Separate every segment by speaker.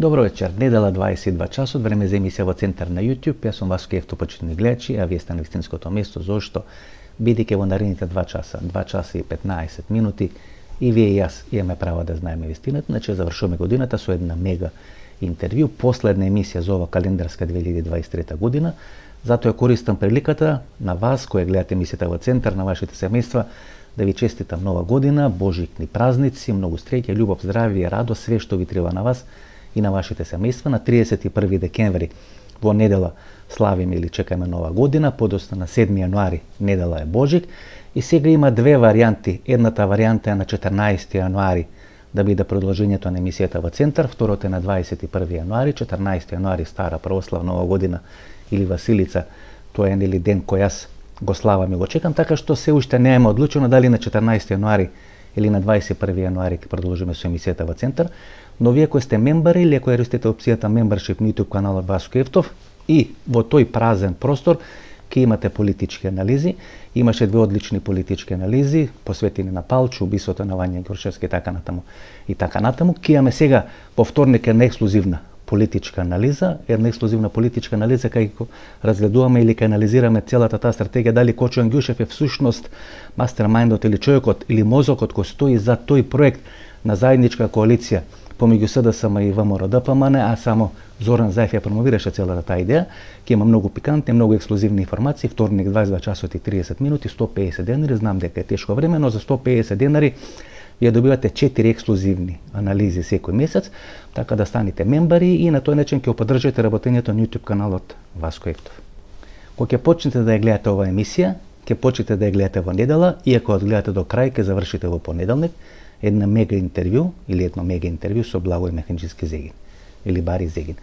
Speaker 1: Добро вечер, недела 22 часот, време за емисија во Центар на YouTube. Јас сум Васко Евтов, почитувани гледачи, а вие сте на вистинското место. Зошто? Бидејќи во наредните 2 часа и 15 минути, и вие и јас имаме право да знаеме вистината. Значи, завршуваме годината со една мега интервју, последна емисија за ова календарска 2023 година. Затоа ја користам приликата на вас, кои гледате емисијата во Центар, на вашите семејства, да ви честитам нова година, божикни празници, многу среќа, љубов, здравје, радост, све што ви треба на вас и на вашите семејства. На 31 декември во недела славиме или чекаме нова година, подоцна на 7 јануари недела е Божик. И сега има две варијанти. Едната варијанта е на 14 јануари да биде продолжењето на емисијата во Центар, второто е на 21 јануари, 14 јануари стара православна нова година или Василица, тоа е нели ден кој јас го славам и го чекам, така што се уште не е одлучено дали на 14 јануари или на 21 јануари ќе продолжиме со емисијата во Центар. Но вие кои сте мембари или кои користите опцијата Membership на YouTube каналот Васко Евтов, и во тој празен простор ќе имате политички анализи. Имаше две одлични политички анализи посветени на Палчу, убиството на Вања Ѓурчевски и така натаму. Ќе имаме сега во вторник една ексклузивна политичка анализа, кај ќе разгледуваме или ќе анализираме целата таа стратегија, дали Кочо Ангјушев е всушност мастермајндот или човекот или мозокот кој стои за тој проект на заедничка коалиција помеѓу СДСМ и ВМРО-ДПМН, а само Зоран Заев ја промовираше целата таа идеја. Ќе има многу пикантни, многу ексклузивни информации. Вторник 22 часот и 30 минути, 150 денари. Знам дека е тешко време, но за 150 денари ја добивате 4 ексклузивни анализи секој месец, така да станете мембари и на тој начин ќе поддржите работењето на YouTube каналот Васко Евтов. Кога ќе почнете да ја гледате оваа емисија, ќе почнете да ја гледате во недела, и ако ја гледате до крај, ќе завршите во понеделник, едно мега интервју со Благој Механџиски Зегин или Бари Зегин.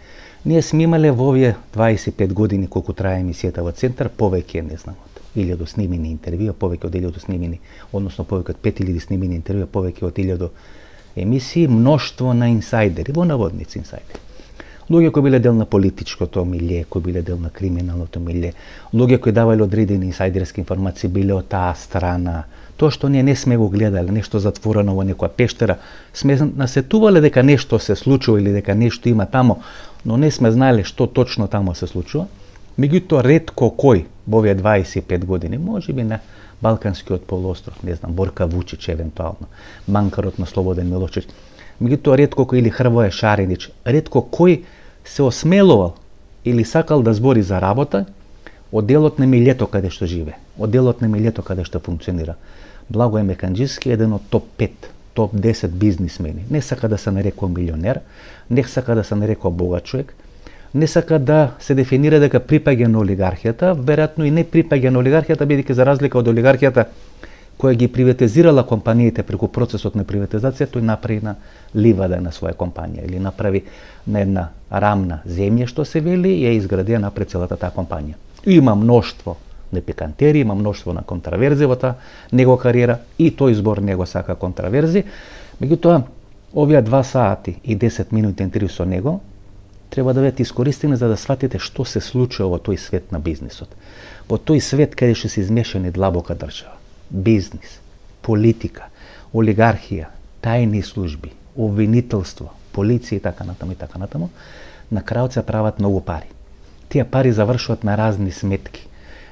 Speaker 1: Ние сме имале во овие 25 години колку трае емисијата во Центар, повеќе не знам од 1000 снимени интервјуа, повеќе од 1000 снимени, односно повеќе од 5000 снимени интервјуа, повеќе од 1000 емисии, мноштво на инсайдери, во наводници инсайдери. Луѓе кои биле дел на политичкото милје, кои биле дел на криминалното милје, луѓе кои давале одредени инсайдерски информации, биле од таа страна. Тоа што ние не сме го гледале, нешто затворено во некоја пештера, сме насетувале дека нешто се случува или дека нешто има тамо, но не сме знаеле што точно тамо се случува. Меѓутоа, ретко кој во овие 25 години, можеби на Балканскиот полуостров, не знам, Борка Вучич евентуално, манкарот на Слободен Милошевич, меѓутоа ретко кој или Хрвоја Шаринич, ретко кој се осмелувал или сакал да збори за работа од делот на милјето каде што живе, од делот на милјето каде што функционира. Благој Механџиски е еден од топ 5, топ 10 бизнисмени. Не сака да се нарекува милионер, не сака да се нарекува богат човек, не сака да се дефинира дека припаѓа на олигархијата, веројатно и не припаѓа на олигархијата, бидејќи за разлика од олигархијата која ги приватизирала компаниите преку процесот на приватизација, тој направи на ливада на своја компанија или направи на една рамна земја, што се вели, и ја изгради напред целата таа компанија. Има мноштво на пикантери, има мноштво на контраверзи во таа негова кариера, и тој збор не го сака контраверзи. Меѓутоа, овие 2 сати и 10 минути интервју со него треба да бидат искористени за да сватите што се случува во тој свет на бизнисот. Во тој свет каде што се измешани длабока држава, бизнис, политика, олигархија, тајни служби, обвинителство, полиција и така натаму, на крајот се прават многу пари. Тие пари завршуваат на разни сметки.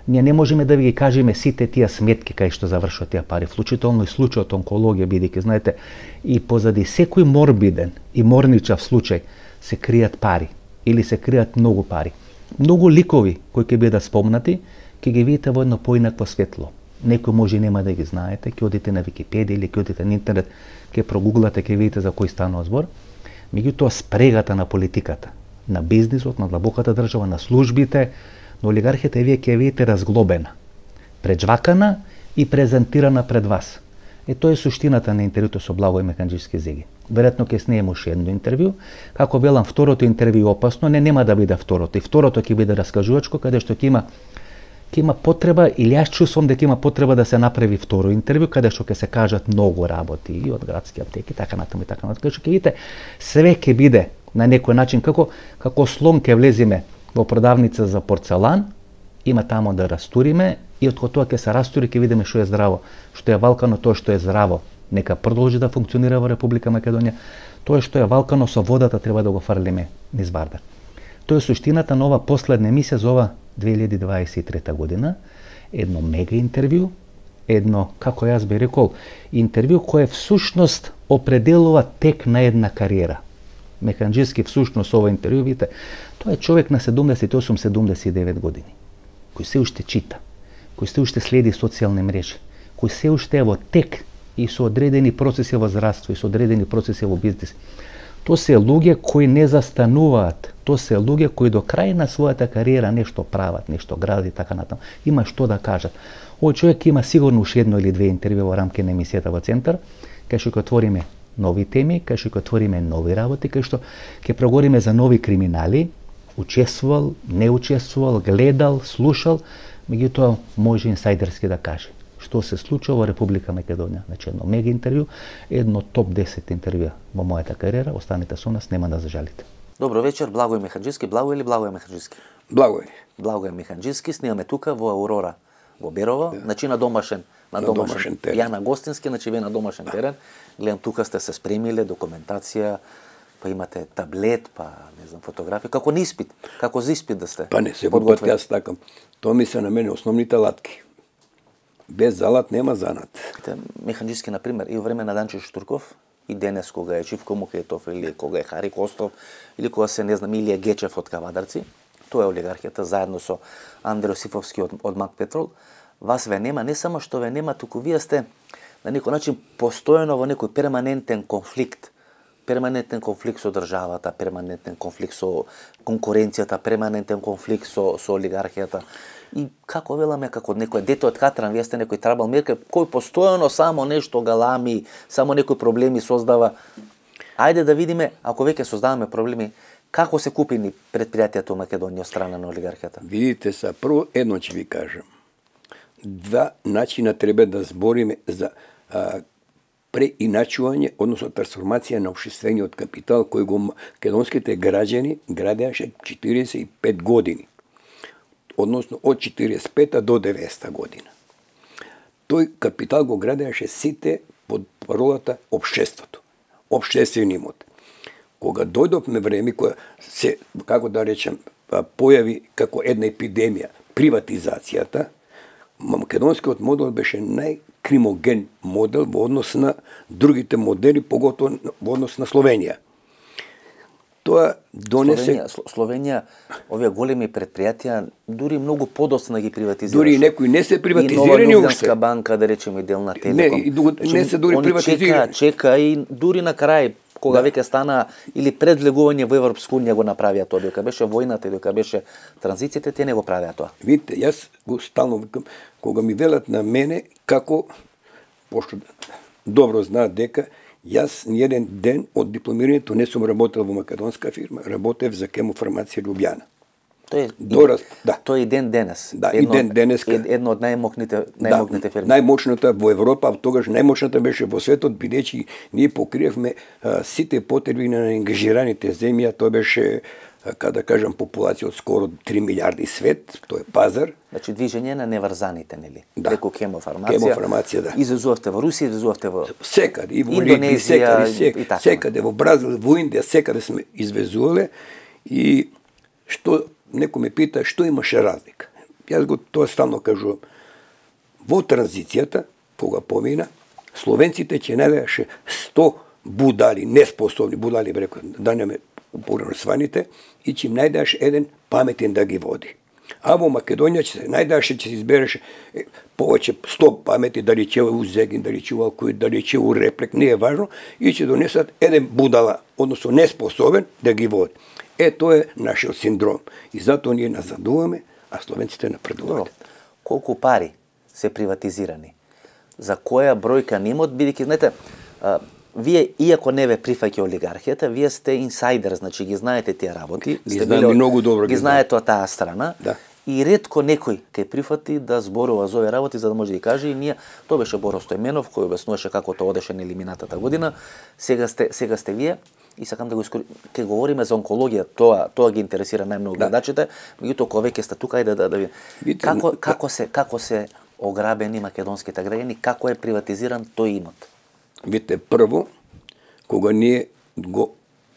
Speaker 1: Ние не можеме да ви ги кажеме сите тие сметки кај што завршуваат тие пари, вклучително и случајот онкологија, бидејќи знаете, и позади секој морбиден и морничав случај се кријат пари или се кријат многу пари. Многу ликови кои ќе бидат спомнати, ќе ги видите во едно поинакво светло. Некој може и нема да ги знаете, ќе одите на Википедија или ќе одите на интернет, ќе прогуглате, ќе видите за кој станува збор. Меѓутоа, спрегата на политиката, на бизнисот, на длабоката држава, на службите, на олигархијата, вие ќе видите разглобена, преджвакана и презентирана пред вас. Тоа е суштината на интервјуто со Благој Механџиски Зегин. Веројатно ќе снеме уште едно интервју. Како велам, второто интервју е опасно, нема да биде второто. И второто ќе биде раскажувачко, каде што ќе има потреба, или јас чувствувам дека има потреба да се направи второ интервју, каде што ќе се кажат многу работи и од градски аптеки, така натаму. Каде што ќе видите, све ќе биде на некој начин, како слон ќе влезиме во продавница за порцелан, има тамо да растуриме, и од тоа ќе се растури, ќе видиме што е здраво, што е валкано, тоа што е здраво, нека продолжи да функционира во Република Македонија, Тоа што е валкано со водата треба да го фрлиме низ барда. Тоа е суштината на ова последна емисија за ова 2023 година. Едно мега интервју, едно, како јас би рекол, интервју кое всушност определува тек на една кариера. Механџиски всушност ова интервју, видите, тоа е човек на 78-79 години, кој се уште чита, кој се уште следи социјални мрежи, кој се уште е во тек и со одредени процеси во здравство и со одредени процеси во бизнис. Тоа се луѓе кои не застануваат, тоа се луѓе кои до крај на својата кариера нешто прават, нешто градат и така натаму. Има што да кажат. Овој човек има сигурно уште едно или две интервју во рамки на емисијата во Центар, кај што ќе отвориме нови теми, кај што ќе отвориме нови работи, кај што ќе проговориме за нови криминали, учествувал, не учествувал, гледал, слушал, меѓутоа може инсайдерски да каже што се случува во Република Македонија. Значи едно мега интервју, едно топ 10 интервјуа во мојата кариера, останете со нас, нема да зажалите.
Speaker 2: Добро вечер, Благој Механџиски. Благој или Благој Механџиски?
Speaker 3: Благој.
Speaker 2: Благој Механџиски, снимаме тука во Аурора во Берово, значи на домашен терен. Ја на гостински, значи вие на домашен терен. Гледам тука сте се спремиле, документација, па имате таблет, па не знам, фотографии, како на испит, како за испит да сте.
Speaker 3: Па не, секој пат јас такам. Тоа ми се на мене основните латки. Без залат нема занат.
Speaker 2: Механџиски, например, и во време на Данчо Штурков, и денес кога е Живко Мухетов, или кога е Хари Костов, или кога се, не знам, Илија Гечев од Кавадарци, тоа е олигархијата, заедно со Андре Осифовски од Мак Петрол, вас ве нема, не само што ве нема, туку вие сте на некој начин постојано во некој перманентен конфликт со државата, перманентен конфликт со конкуренцијата, перманентен конфликт со олигархијата. И како веламе, како некој дете од Катран, вие сте некој трабал мерка, кој постојано само нешто галами, само некои проблеми создава. Ајде да видиме, ако веќе создаваме проблеми, како се купини предпријатието во Македонија од страна на олигархијата?
Speaker 3: Видите са, прво едно ќе ви кажам. Два начина треба да збориме за преиначување, односно трансформација на општествениот капитал кој го македонските граѓани градеаше 45 години. Односно од 45 до 90 година. Тој капитал го градеаше сите под паролата општеството, општествен имот. Кога дојдовме време која се, како да речем, појави како една епидемија приватизацијата, македонскиот модел беше најкримоген модел во однос на другите модели, поготово во однос на Словенија. Тоа донесе
Speaker 2: Словенија, овие големи предпријатија дури многу подоцна ги приватизираше.
Speaker 3: Дури некои не се приватизирани
Speaker 2: уште. И Нова Лјубљанска банка, да речеме, дел на Телеком.
Speaker 3: Не се дури приватизирани.
Speaker 2: Чека и дури на крај, кога веќе стана или пред влегување во Европска унија го направија тоа, дека беше војната и дека беше транзицијата, те не го правеа тоа.
Speaker 3: Видите, јас го стално викам, кога ми велат на мене како, пошто добро знаат дека јас ниеден ден од дипломирањето не сум работел во македонска фирма, работев за Хемофармација Лјубљана.
Speaker 2: Тоа е и ден денес.
Speaker 3: Да, и ден денеска.
Speaker 2: Едно од најмокните фирми.
Speaker 3: Најмочната во Европа, а тогаш најмочната беше во светот, бидејќи ние покриевме сите потреби на ангажираните земји, а тоа беше, да кажам, популација од скоро 3 милиарди свет, тоа е пазар.
Speaker 2: Значи движење на неврзаните, нели?
Speaker 3: Да.
Speaker 2: Преку Хемофармација.
Speaker 3: Хемофармација, да.
Speaker 2: Излезувавте во Русија, излезувавте во
Speaker 3: секаде, и во
Speaker 2: Индонезија,
Speaker 3: секаде, во Бразил, во Индија, секаде сме извезувале. И што некој ме пита што имаше разлика. Јас го тоа стално кажувам. Во транзицијата, кога помина, словенците ќе најдеше 100 будали, неспособни будали, рекол, да не ме сваните, и ќе им најдеше еден паметен да ги води. А во Македонија ќе се најдеше, ќе се избереше повеќе 100 памети, дали ќе у Зегин, дали ќе у Алкој, дали ќе у Реплек, не е важно, и ќе донесат еден будала, односно неспособен, да ги води. Тоа е нашиот синдром. И затоа ние назадуваме, а словенците напредуваат.
Speaker 2: Колку пари се приватизирани? За која бројка нимот, бидејќи, знаете, вие, иако не ве прифаќа олигархијата, вие сте инсайдер, значи ги знаете тие работи.
Speaker 3: Ги знаеме многу добро.
Speaker 2: Ги знаете од таа страна.
Speaker 3: Да.
Speaker 2: И ретко некој ќе прифати да зборува за овие работи, за да може да ги каже. И ние, тоа беше Боро Стојменов, кој објаснуваше како тоа одеше на елиминатата година. Сега сте вие. И сакам да го ќе говориме за онкологија, тоа ги интересира најмногу гледачите, меѓутоа кога веќе сте тука, ајде да видиме. Како се ограбени македонските граѓани, како е приватизиран тој имот?
Speaker 3: Видите, прво, кога ние го,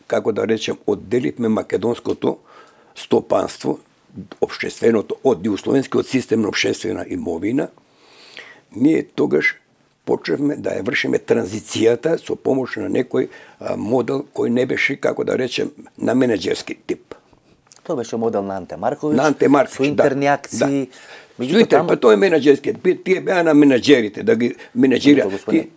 Speaker 3: како да речем, одделивме македонското стопанство, општественото од југословенскиот систем на општествена имовина, ние тогаш почнавме да ја вршиме транзицијата со помош на некој модел кој не беше, како да речем, на менеджерски тип.
Speaker 2: Тоа беше модел на Анте Марковиќ.
Speaker 3: На Анте Марковиќ,
Speaker 2: со интерни акции.
Speaker 3: Меѓутоа, па тоа е менеджерски. Тие беа на менеджерите, да ги менеджира.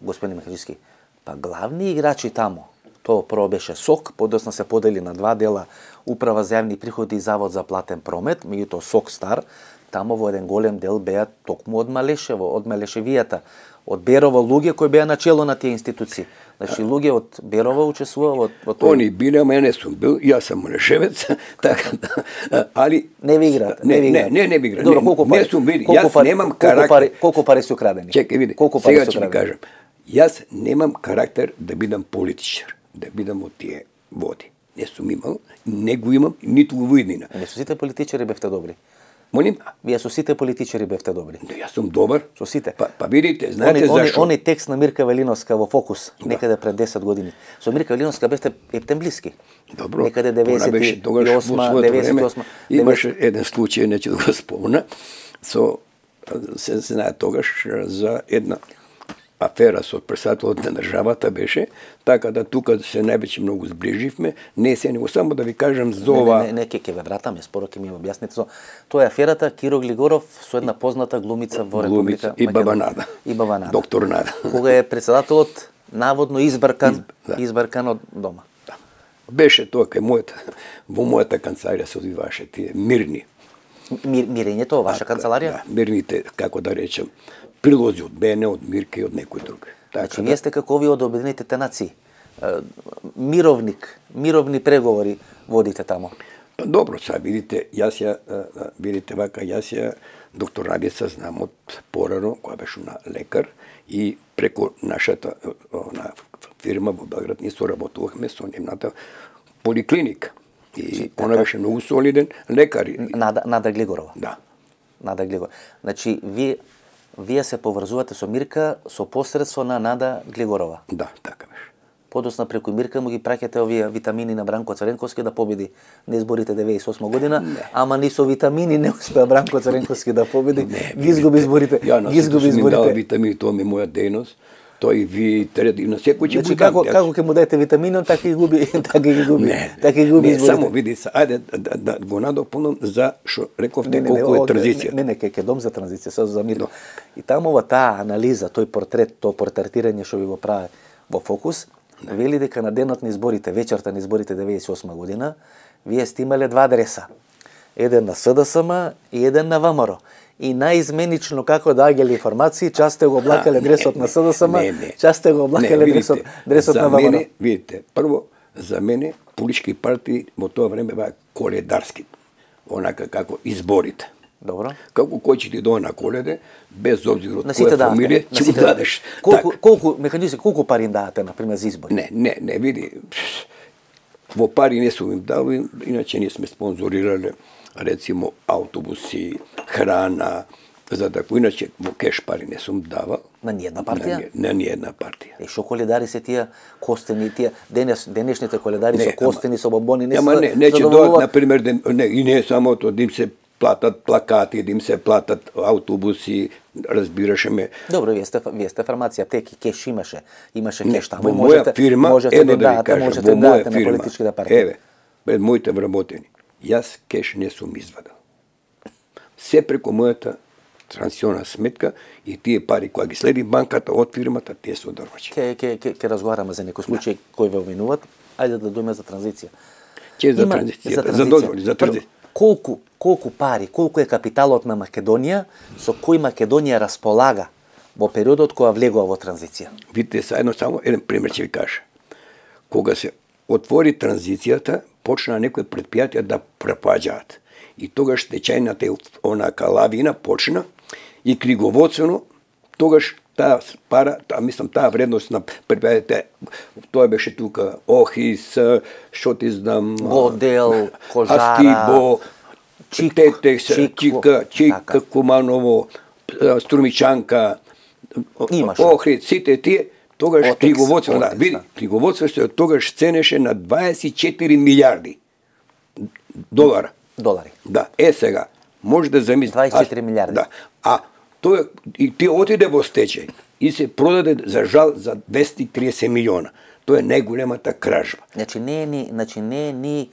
Speaker 2: Господин Михајловски, па главни играчи таму, тоа прво беше СОК, подосна се подели на два дела, Управа за јавни приходи и Завод за платен промет, меѓутоа СОК стар, таму во еден голем дел беа токму од Малешево, од Малешевијата, од Берово луѓе кои беа начело на тие институции. Значи луѓе од Берово учествува во тоа.
Speaker 3: Они биле, ама ја не сум бил, јас сум Малешевец, така да, али
Speaker 2: не ви играте,
Speaker 3: не ви играте.
Speaker 2: Добро, колку пари?
Speaker 3: Не сум види, јас немам карактер.
Speaker 2: Колку пари се украдени?
Speaker 3: Чекај види. Сега ќе ви кажам. Јас немам карактер да бидам политичар, да бидам од тие води. Не сум имал, не го имам, ниту го виднина.
Speaker 2: Не со сите политичари бевте добри.
Speaker 3: Молим?
Speaker 2: Вие со сите политичари бевте добри.
Speaker 3: Јас сум добар.
Speaker 2: Со сите.
Speaker 3: Па видите, знаете зашо?
Speaker 2: Они текст на Мирка Велиновска во Фокус, некаде пред 10 години. Со Мирка Велиновска бевте ептен блиски.
Speaker 3: Добро.
Speaker 2: Некаде 98.
Speaker 3: Имаше еден случај, неќе да го спомна, се знае тогаш за една афера со председателот на државата беше, така да тука се највеќе многу сближивме, не се него само да ви кажам за ова.
Speaker 2: Не, ќе ве вратаме, споро ќе ми објасните. Тоа е аферата Киро Глигоров со една позната глумица во Република
Speaker 3: и Баба Нада.
Speaker 2: И Баба Нада.
Speaker 3: Доктор Нада.
Speaker 2: Кога е председателот наводно избркан од дома.
Speaker 3: Да. Беше тоа кај во мојата канцеларија се одвиваше тие мирни.
Speaker 2: Мирењето во ваша канцеларија?
Speaker 3: Да, мирните, како да речем, прилози од мене, од Мирка и од некој друг.
Speaker 2: Значи, вие сте како овие од Обединетите нации. Мировни преговори водите тамо.
Speaker 3: Добро, сега видите, видите вака, доктор Радица знам од порано, која беше на лекар, и преку нашата фирма во Белград ние соработувавме со нивната поликлиника. И она беше многу солиден лекар.
Speaker 2: Нада Глигорова.
Speaker 3: Да.
Speaker 2: Нада Глигорова. Значи, вие се поврзувате со Мирка со посредство на Нада Глигорова.
Speaker 3: Да, така беше.
Speaker 2: Подосна преку Мирка му ги праќате овие витамини на Бранко Царенковски да победи на изборите 98 година, ама ни со витамини не успеа Бранко Царенковски да победи. Ги изгуби изборите.
Speaker 3: Ги изгуби изборите. Ја витамини, тоа ми е моја дејност. Тој ви треба и на секој ќе
Speaker 2: го дам. Како ќе му даете витамини, така ги губи, така ги губи изборите.
Speaker 3: Само види се, ајде да го надополнам за што рековте колку е транзиција.
Speaker 2: Не, ќе дом за транзиција, со за мир. И таму во таа анализа, тој портрет, тоа портретирање што ви го прави во Фокус, вели дека на денот на изборите, вечерта на изборите 98 година, вие сте имале два адреса. Еден на СДСМ и еден на ВМРО. И наизменично како доаѓале информации, час сте го облакале адресот на СДСМ, час сте го облакале адресот на ВМРО.
Speaker 3: Видите, прво, за мене политички партии во тоа време беа коледарски, онака како изборите.
Speaker 2: Добро.
Speaker 3: Како кој ќе ти дое на коледе, без обзир од која фамилија, ќе му дадеш.
Speaker 2: Колку механизми, колку пари им давате на пример за избори?
Speaker 3: Не, види. Во пари не сум им дал, иначе ние сме спонзорирале рецимо автобуси, храна, за да иначе во кеш пари не сум давал.
Speaker 2: На ниједна партија?
Speaker 3: На ниједна партија.
Speaker 2: Шо коледари се тие костени, тие денешните коледари со костени, со бомбони, не се
Speaker 3: ќе дојдат на пример и не само тоа, да им се платат плакати, да им се платат автобуси, разбираше ме.
Speaker 2: Добро, вие сте фармација, аптеки, кеш имаше кеш таму.
Speaker 3: Во моја фирма, едно да ви кажам, во моја фирма, еве, пред моите вработени, јас кеш не сум извадал. Се преку мојата трансионална сметка и тие пари кои ги следи банката од фирмата, тие се одрвачи.
Speaker 2: Ке разговараме за некој случај кој ве обвинуват. Ајде да дојме за транзиција.
Speaker 3: За транзицијата, за дозволи, за транзиција.
Speaker 2: Колку пари, колку е капиталот на Македонија со кој Македонија располага во периодот кога влегува во транзиција?
Speaker 3: Видите, само еден пример ќе ви кажа. Кога се отвори транзицијата, почна некои предпријатија да пропаѓаат. И тогаш течајната онака лавина почна и книговодствено тогаш таа пара, таа вредност на предпријатите, тоа беше тука Охис, што ти знам,
Speaker 2: Годел, Кожара,
Speaker 3: Астибо, Чика, Куманово, Струмичанка, Охрид, сите тие, Тогаш
Speaker 2: Отекс,
Speaker 3: книговодство, да,
Speaker 2: отекс,
Speaker 3: види,
Speaker 2: да.
Speaker 3: книговодство се тогаш ценеше на 24 милиарди долара.
Speaker 2: Долари.
Speaker 3: Да, сега, може да замислите.
Speaker 2: 24 милиарди.
Speaker 3: Да. А тој и ти отиде во стечај и се продаде за жал за 230 милиона. Тоа е најголемата кражба.
Speaker 2: Значи не е ни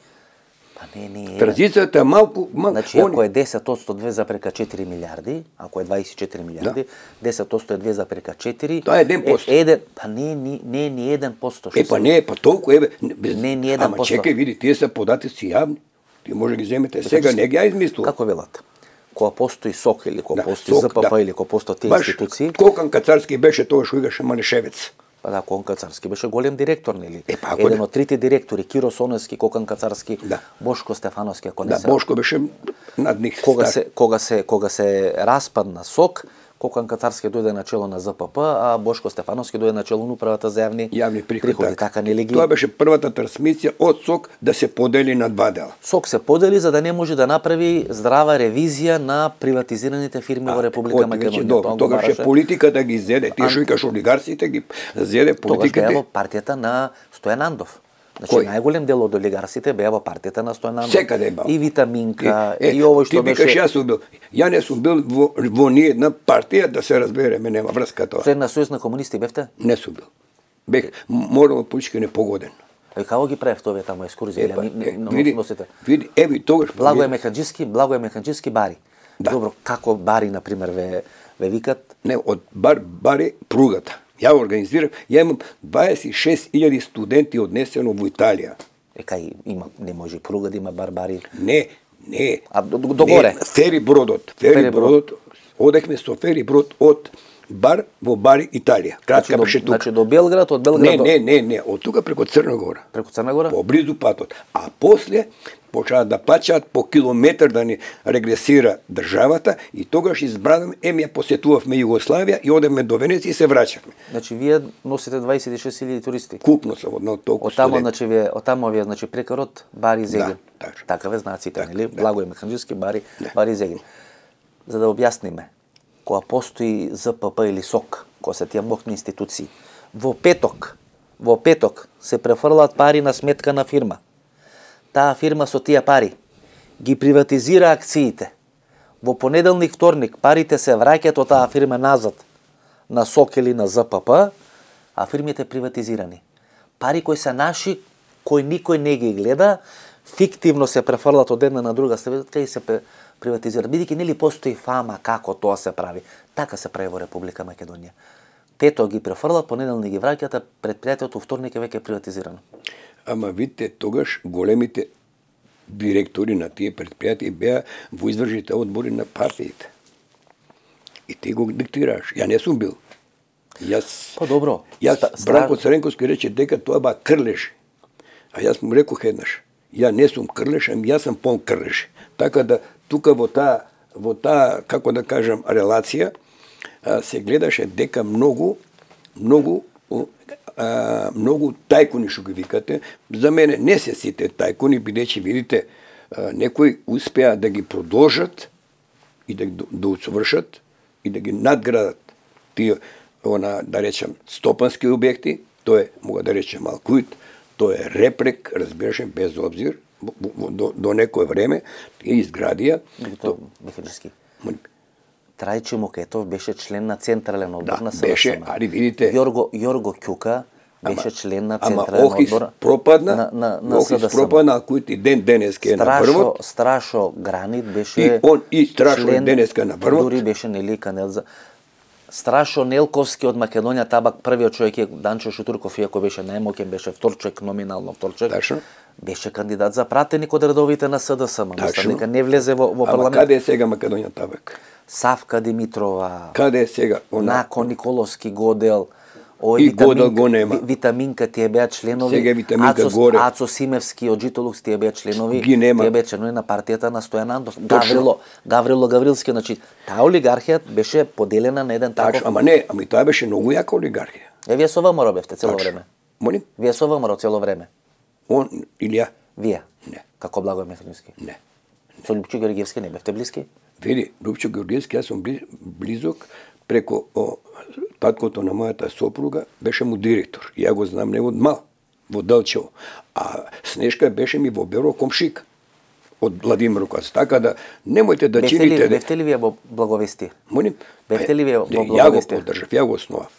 Speaker 3: Транзицијата е малку
Speaker 2: Значи, ако е 10% 2,4 милиарди, ако е 24 милиарди, 10% е 2,4.
Speaker 3: Тоа е 1%.
Speaker 2: Па не е ни 1%.
Speaker 3: Па не е, па толку е.
Speaker 2: Не е ни 1%.
Speaker 3: Ама чекај, види, тие се податоци јавни. Ти може ги земете сега, не ги ја измислува.
Speaker 2: Како велат? Кога постои СОК или кога постои
Speaker 3: СОК,
Speaker 2: ЗПП или кога постои тие институции.
Speaker 3: Кокан Кацарски беше тоа што играше Манешевец.
Speaker 2: Па да, Кокан Кацарски беше голем директор, нели?
Speaker 3: Па,
Speaker 2: еден од трите директори, Киро Соневски, Кокан Кацарски,
Speaker 3: да.
Speaker 2: Бошко Стефановски, ако не се.
Speaker 3: Да, Бошко беше над нив.
Speaker 2: Кога се распадна СОК, Кокан Кацарски дојде на чело на ЗПП, а Бошко Стефановски дојде на чело на управата за јавни приходи. Така нели ги?
Speaker 3: Тоа беше првата трансмисија од СОК да се подели на два дела.
Speaker 2: СОК се подели за да не може да направи здрава ревизија на приватизираните фирми во Република Македонија.
Speaker 3: Тогаш политика да ги зеде, тие што викаш олигарсите ги зеде политиката.
Speaker 2: Тогаш беа во партијата на Стојан Андов. Значи најголем дел од олигарсите беа во партијата на Стојан Андов.
Speaker 3: Секаде беа.
Speaker 2: И Витаминка, и овој што беше.
Speaker 3: Ти викаш јас сум бил. Ја не сум бил во ни една партија, да се разбереме, нема врска тоа.
Speaker 2: Член на Сојуз на комунисти бевте?
Speaker 3: Не сум бил. Бех морално политички непогоден.
Speaker 2: Како ги правев овие таму екскурзија?
Speaker 3: Види, еви тогаш
Speaker 2: Благој Механџиски бари. Добро, како бари на пример ве викат?
Speaker 3: Не, од бари пругата. Ја организирав, ја имам 26.000 студенти однесено во Италија.
Speaker 2: Кај има, не може пруга да има барбари.
Speaker 3: Не.
Speaker 2: А догоре?
Speaker 3: Фери бродот. Одехме со фери брод од бар во бари Италија. Кратка беше тука.
Speaker 2: Значи до Белград, од Белград до...
Speaker 3: Не, од тука преку Црна Гора.
Speaker 2: Преку Црна Гора?
Speaker 3: Поблизу патот. А после почнаа да плаќаат по километар да ни регресира државата и тогаш избранам, ја посетувавме Југославија и одевме до Венеција и се враќавме.
Speaker 2: Значи вие носите 26.000 туристи.
Speaker 3: Купно сам од толку студенти.
Speaker 2: Оттамо вие значи прекарот бари Зегин.
Speaker 3: Да,
Speaker 2: така ве знаат, нели? Благој Механџиски бари Зегин. За да објасниме, кога постои ЗПП или СОК, кога се тие мокни институции, во петок се префрлаат пари на сметка на фирма. Таа фирма со тие пари ги приватизира акциите. Во понеделник, вторник парите се враќаат од таа фирма назад на СОК или на ЗПП, а фирмите приватизирани. Пари кои се наши, кои никој не ги гледа, фиктивно се префрлаат од една на друга страна и се приватизира. Бидејќи нели постои фама како тоа се прави. Така се прави во Република Македонија. Петок ги префрлаат, понеделник ги враќаат, а предпријатието вторник е веќе приватизирано.
Speaker 3: Ама видите, тогаш големите директори на тие предпријатија беа во извршните одбори на партиите. И ти го диктираш. Ја не сум бил.
Speaker 2: Па добро.
Speaker 3: Бранко Цренковски рече дека тоа ба крлеш. А јас му рекох еднаш. Ја не сум крлеш, ами јас сум пон крлеш. Така да тука во таа како да кажам релација се гледаше дека многу тајкуни што ги викате. За мене не се сите тајкуни, бидејќи видите некои успеа да ги продолжат и да усовршат и да ги надградат тие да речем стопански објекти, тоа е мога да речем Алкуит, тоа е Репрек, разбираше без обзир до некое време и изградија.
Speaker 2: Механџиски. Трајче Мокетов беше член на Централен одбор на СДСМ.
Speaker 3: Беше, али видите.
Speaker 2: Јорго Ќука беше член на Централен
Speaker 3: одбор
Speaker 2: на СДСМ.
Speaker 3: Охис пропадна, кој и денеска е на врвот.
Speaker 2: Страшо Гранит беше
Speaker 3: и Страшо денеска на врвот.
Speaker 2: Дури беше нели кандидат за Страшо Нелковски од Македонија Табак, првиот човек е Данчо Шутурков, иако беше најмоќен, беше вторчек, номинално вторчек.
Speaker 3: Тачно.
Speaker 2: Беше кандидат за пратеник од редовите на СДСМ. Мислам дека не влезе во парламент.
Speaker 3: Ама каде е сега Македонија Табак?
Speaker 2: Савка Димитрова.
Speaker 3: Каде е сега?
Speaker 2: Нако Николовски Годел.
Speaker 3: И Годел го нема.
Speaker 2: Витаминка тие беа членови.
Speaker 3: Сега Витаминка горе.
Speaker 2: Ацо Симевски од Житолукс тие беа членови.
Speaker 3: Ги нема.
Speaker 2: Тие беа членови на партијата на Стојан Андов. Гаврило Гаврилски, значи таа олигархија беше поделена на еден таков.
Speaker 3: Ама не, ами тоа беше многу јака олигархија.
Speaker 2: Вие со ВМРО бевте цело време.
Speaker 3: Молим?
Speaker 2: Вие со ВМРО цело време.
Speaker 3: Он или ја?
Speaker 2: Вие?
Speaker 3: Не.
Speaker 2: Како Благој Механџиски?
Speaker 3: Не.
Speaker 2: Со Лупчо Георгиевски не бевте блиски?
Speaker 3: Види, Лупчо Георгиевски, јас сум близок преку таткото на мојата сопруга беше му директор. Ја го знам него од мал, во Делчево. А Снешка беше ми во Беро комшик од Владимировкац. Така да немојте да чините...
Speaker 2: Бевте ли вие во Благовестие?
Speaker 3: Молим?
Speaker 2: Бевте ли вие во
Speaker 3: Ја го
Speaker 2: Благовестие?
Speaker 3: поддржав, ја го основав.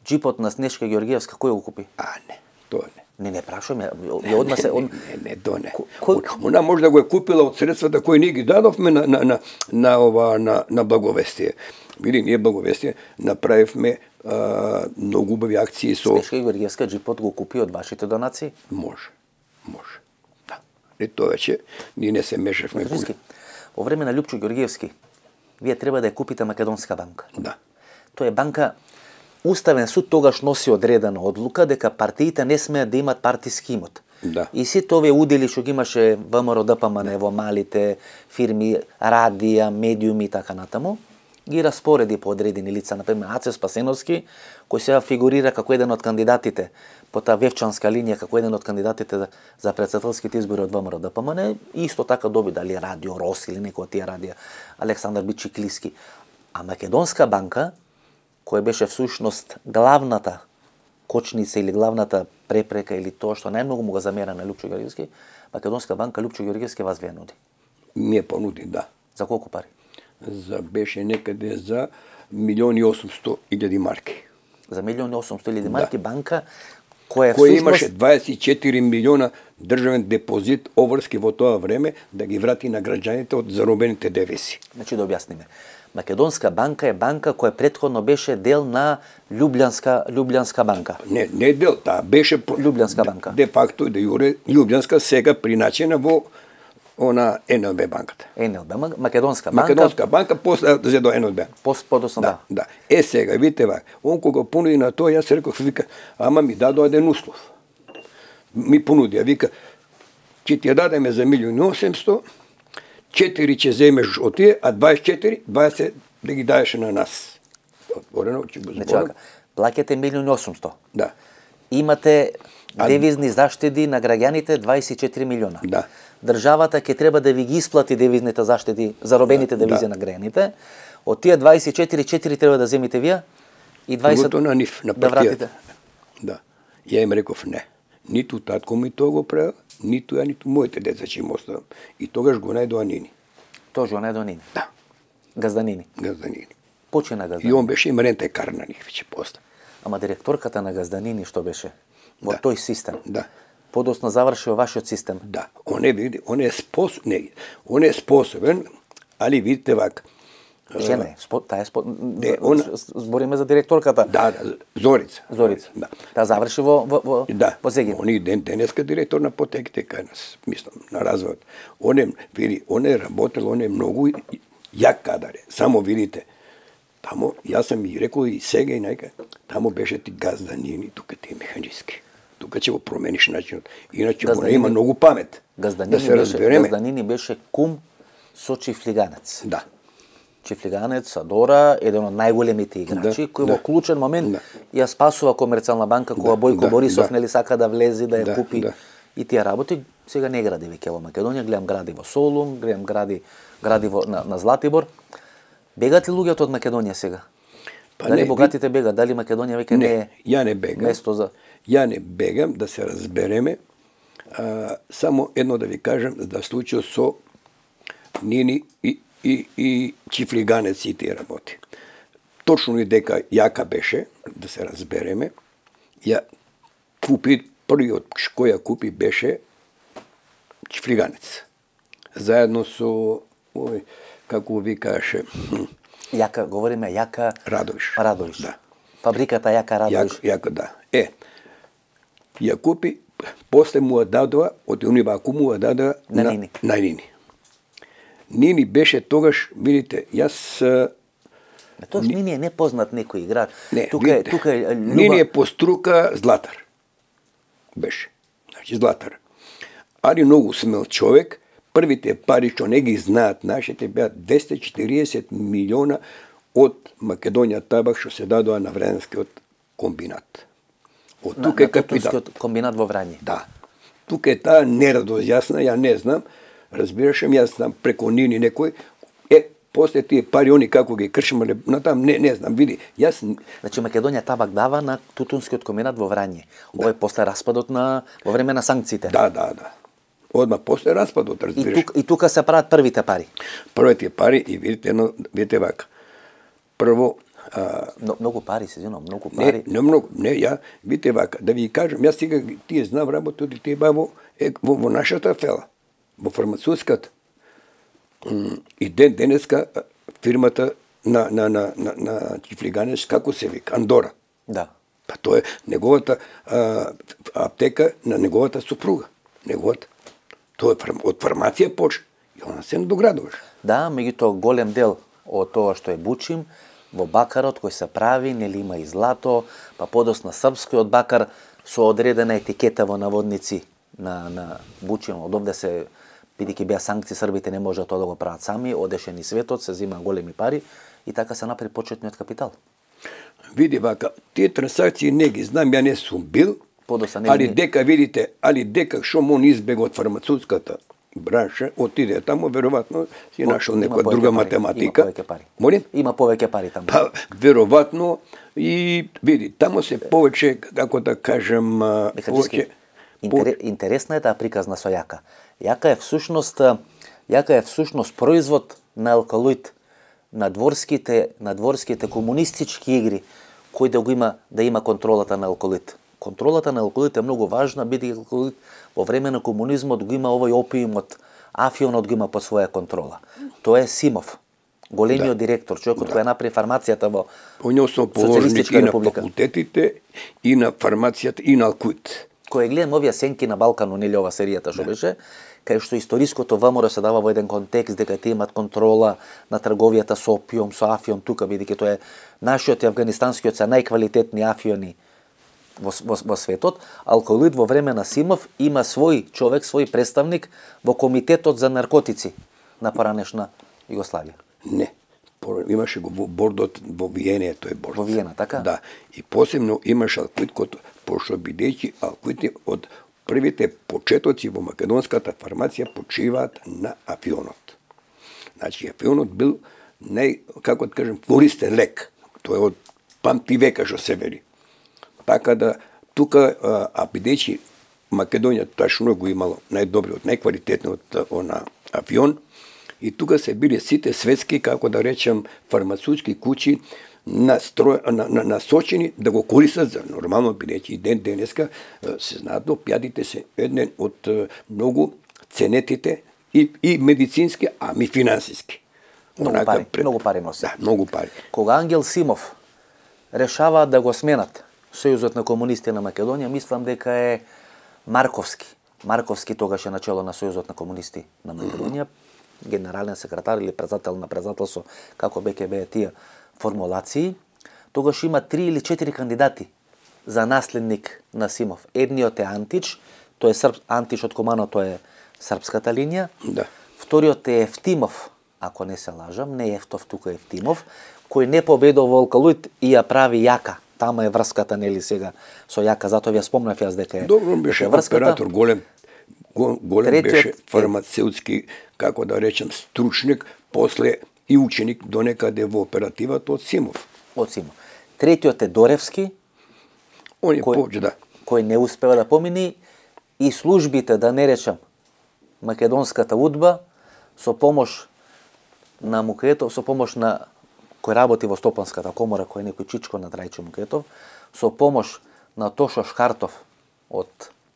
Speaker 2: Джипот на Снешка Георгиевска кој го купи?
Speaker 3: Не, тоа не.
Speaker 2: Не прашувам, ја одма се...
Speaker 3: Не, тоа не. Она може да го е купила од средствата кои ние ги дадовме на Благовестие. Види, ние Благовестие направивме многу убави акции со...
Speaker 2: Снешка Георгиевска джипот го купи од вашите донации?
Speaker 3: Може. Да. И тоа вече ние не се мешавме.
Speaker 2: Во време на Лјупчо Георгиевски, вие треба да ја купите Македонска банка.
Speaker 3: Да.
Speaker 2: Тоа е банка. Уставен суд тогаш носи одредена одлука дека партиите не смеат да имат партиски имот.
Speaker 3: Да.
Speaker 2: И сите овие удели што ги имаше ВМРО ДПМН во малите фирми, радија, медиуми и така натаму, ги распореди по одредени лица, например Аце Спасеновски, кој сега фигурира како еден од кандидатите по таа вевчанска линија, како еден од кандидатите за претседателските избори од ВМРО ДПМН, исто така доби дали Радио Рос или некој од тие радија, Александар Бичиклиски. А Македонска банка, која беше всушност главната кочница или главната препрека или тоа што најмногу му го замера на Лјупчо Георгиевски, Македонска банка Лјупчо Георгиевски вас ве нуди.
Speaker 3: Ми е понуди, да.
Speaker 2: За колку пари?
Speaker 3: Беше некаде за 1.800.000 марки.
Speaker 2: За 1.800.000 марки банка која
Speaker 3: имаше 24 милиона државен депозит обврски во тоа време да ги врати на граѓаните од заробените девизи.
Speaker 2: Значи да објасниме. Македонска банка е банка која претходно беше дел на Љубљанска банка.
Speaker 3: Не дел, таа беше
Speaker 2: Љубљанска банка.
Speaker 3: Де факто и де јуре Љубљанска, сега приначена во она НЛБ банката.
Speaker 2: НЛБ, Македонска банка.
Speaker 3: Македонска банка после зе до НЛБ.
Speaker 2: Подосно да.
Speaker 3: Да. Сега видите вака, он кога понуди на тоа, јас реков, вика, ама ми дадо еден услов. Ми понуди, вика, ќе ти ја дадеме за 1.800.000, 4 ќе земеш од тие, а 20 да ги даеш на нас. Отворено, ќе го зборам.
Speaker 2: Плаќате 1.800.000.
Speaker 3: Да.
Speaker 2: Имате девизни заштеди на граѓаните 24 милиона.
Speaker 3: Да.
Speaker 2: Државата ќе треба да ви ги исплати девизните заштеди, заробените девизи на граѓаните. Од тие 24 треба да земите вие и 20
Speaker 3: другото на нив, на
Speaker 2: да вратите.
Speaker 3: Да. Ја им реков не. Ниту татко ми тоа го правил, ниту ја, ниту моите деца ќе им оставам. И тогаш го најдоа Нини.
Speaker 2: Тоа го најдоа Нини?
Speaker 3: Да.
Speaker 2: Газданини?
Speaker 3: Газданини.
Speaker 2: Почина Газданини.
Speaker 3: И он беше им рентекар на нив, веќе после.
Speaker 2: Ама директорката на Газданини што беше? Во тој систем?
Speaker 3: Да.
Speaker 2: Подоцна заврши во вашиот систем?
Speaker 3: Да. Он е способен, али видите вака.
Speaker 2: Жена, збориме за директорката.
Speaker 3: Да, Зорица.
Speaker 2: Да. Таа заврши во Зегин.
Speaker 3: Он е денеска директор на потеките кај нас, мислам, на развојот. Он е работел, он е многу јак кадар е. Само видите, тамо, јас сам и рекол и сега и најка, тамо беше ти Газданини, тука ти е механички. Тука ќе го промениш начинот. Иначе го има многу памет.
Speaker 2: Газданини беше кум со Чифлиганец.
Speaker 3: Да.
Speaker 2: Чифлиганец, Адора, еден од најголемите играчи, кој во клучен момент ја спасува Комерцијална банка, кога Бојко Борисов нели сака да влезе, да ја купи и тие работи. Сега не гради веќе во Македонија, гледам гради во Солун, гледам гради на Златибор. Бегат ли луѓето од Македонија сега? Дали богатите бегат? Дали Македонија веќе не е место за...
Speaker 3: Ја не бегам, да се разбереме. Само едно да ви кажам, да случил со Нини и Чифлиганец и тие работи. Точно и дека јака беше, да се разбереме, ја купи, првиот кој ја купи беше Чифлиганец. Заедно со, како ви каже...
Speaker 2: Јака, говориме Јака Радовиш.
Speaker 3: Да.
Speaker 2: Фабриката Јака Радовиш.
Speaker 3: Јака, да. Ја купи, после му ја дадоа, од униваку му ја дадоа на Нини. Нини беше тогаш, видите, јас...
Speaker 2: Тоа Нини е непознат некој играч.
Speaker 3: Тука е Нини е по струка златар. Беше. Значи златар. Али многу смел човек, првите пари што не ги знаат нашите беа 240 милиона од Македонија табак што се дадоа на Врањскиот комбинат. Од тука е
Speaker 2: капитал. Комбинат во Врање.
Speaker 3: Да. Тука е таа нерадост јасна, ја не знам. Разбирашем, јас знам преко Нини некој. после тие пари они како ги кршимале, натам не знам, види, јас...
Speaker 2: Значи Македонија табак дава на тутунскиот комбинат во Врање. Ова е после распадот во време на санкциите.
Speaker 3: Да. Одма после распадот, разбираш.
Speaker 2: И тука се прават првите пари.
Speaker 3: Првите пари и видите вака. Прво
Speaker 2: многу пари се извинувам, многу пари.
Speaker 3: Не многу, видите вака, да ви кажам, јас сега тие знам работи од тие баво во нашата фела, во фармацевтската. И денеска фирмата на Чифлиганеш, како се вика, Андора.
Speaker 2: Да.
Speaker 3: Па тоа е неговата аптека на неговата супруга. Тоа е од фармација почна и она се надоградуваш.
Speaker 2: Да, меѓутоа голем дел од тоа што е бучим во бакарот кој се прави, нели има и злато, па подосна српскиот бакар со одредена етикета во наводници на бучим. Од овде се, бидејќи беа санкции, србите не можат тоа да го прават сами, одеше ни светот, се зема големи пари и така се направи почетниот капитал.
Speaker 3: Види вака, тие трансакции не ги знам, ја не сум бил, али дека видите, што он избега од фармацевтската бранша, отиде таму, веројатно си нашол некоја друга математика.
Speaker 2: Има повеќе пари. Има повеќе пари таму.
Speaker 3: Па, веројатно, и види, таму се повеќе, како да кажем,
Speaker 2: Интересна е таа приказна со јака. Јака е всушност производ на алкалоид, на дворските комунистички игри, кој да има контролата на алкалоид. Контролата на алкалоид е многу важна, бидејќи алкалоид во време на комунизмот го има овој опиумот, афионот го има под своја контрола. Тоа е Симов, големиот директор, човекот кој направи фармацијата во Социјалистичка република.
Speaker 3: И на факултетите, и на фармацијата, и на алкалоид.
Speaker 2: Кој гледам овие сенки на Балкану, нели ова серијата што беше, кај што историското ВМРО се дава во еден контекст дека тие имат контрола на трговијата со опиум, со афион тука, бидејќи тоа е нашиот и афганистанскиот се најквалитетни афиони во светот. Алкалоид во време на Симов има свој човек, свој представник во комитетот за наркотици на поранешна Југославија.
Speaker 3: Не, имаше го во бордот во Виена, тој борд.
Speaker 2: Во Виена, така?
Speaker 3: Да, и посебно имаше алкалоид, пошто бидејќи алкалоид од првите почетоци во македонската фармација почиваат на афионот. Значи, афионот бил како да кажем, користен лек. Тоа е од памти века што се вели. Така да, тука, бидејќи Македонија ташно го имало најдобриот, најквалитетниот афион, и тука се биле сите светски, како да речем, фармацевтски куќи насочени да го користат за нормално, бидејќи денеска се знаат опијатите се еден од многу ценетите и медицински, ами финансиски.
Speaker 2: Многу пари носи.
Speaker 3: Да, многу пари.
Speaker 2: Кога Ангел Симов решава да го сменат Сојузот на комунисти на Македонија, мислам дека е Марковски. Марковски тогаш е начело на Сојузот на комунисти на Македонија, генерален секретар или председател на председателство, како беа тие формулации. Тогаш има 3 или 4 кандидати за наследник на Симов. Едниот е Антич, тој е Антич од Комано, тоа е српската линија.
Speaker 3: Да.
Speaker 2: Вториот е Евтимов, ако не се лажам, не Ефтов, тука е Евтимов, кој не победува во алкалоид и ја прави Јака. Тама е врската, нели сега, со Јака, затоа ви ја спомнав јас дека е врската.
Speaker 3: Добро, беше оператор, голем беше фармацевтски, како да речем, стручник, после и ученик до некаде во оперативата од Симов.
Speaker 2: Од Симов. Третиот е Доревски, кој не успева да помини, и службите, да не речем, македонската удба, со помош на Мукетов, со помош на кој работи во Стопанската комора, кој е некој чичко на Трајчо Мукетов, со помош на Тошо Шкартов од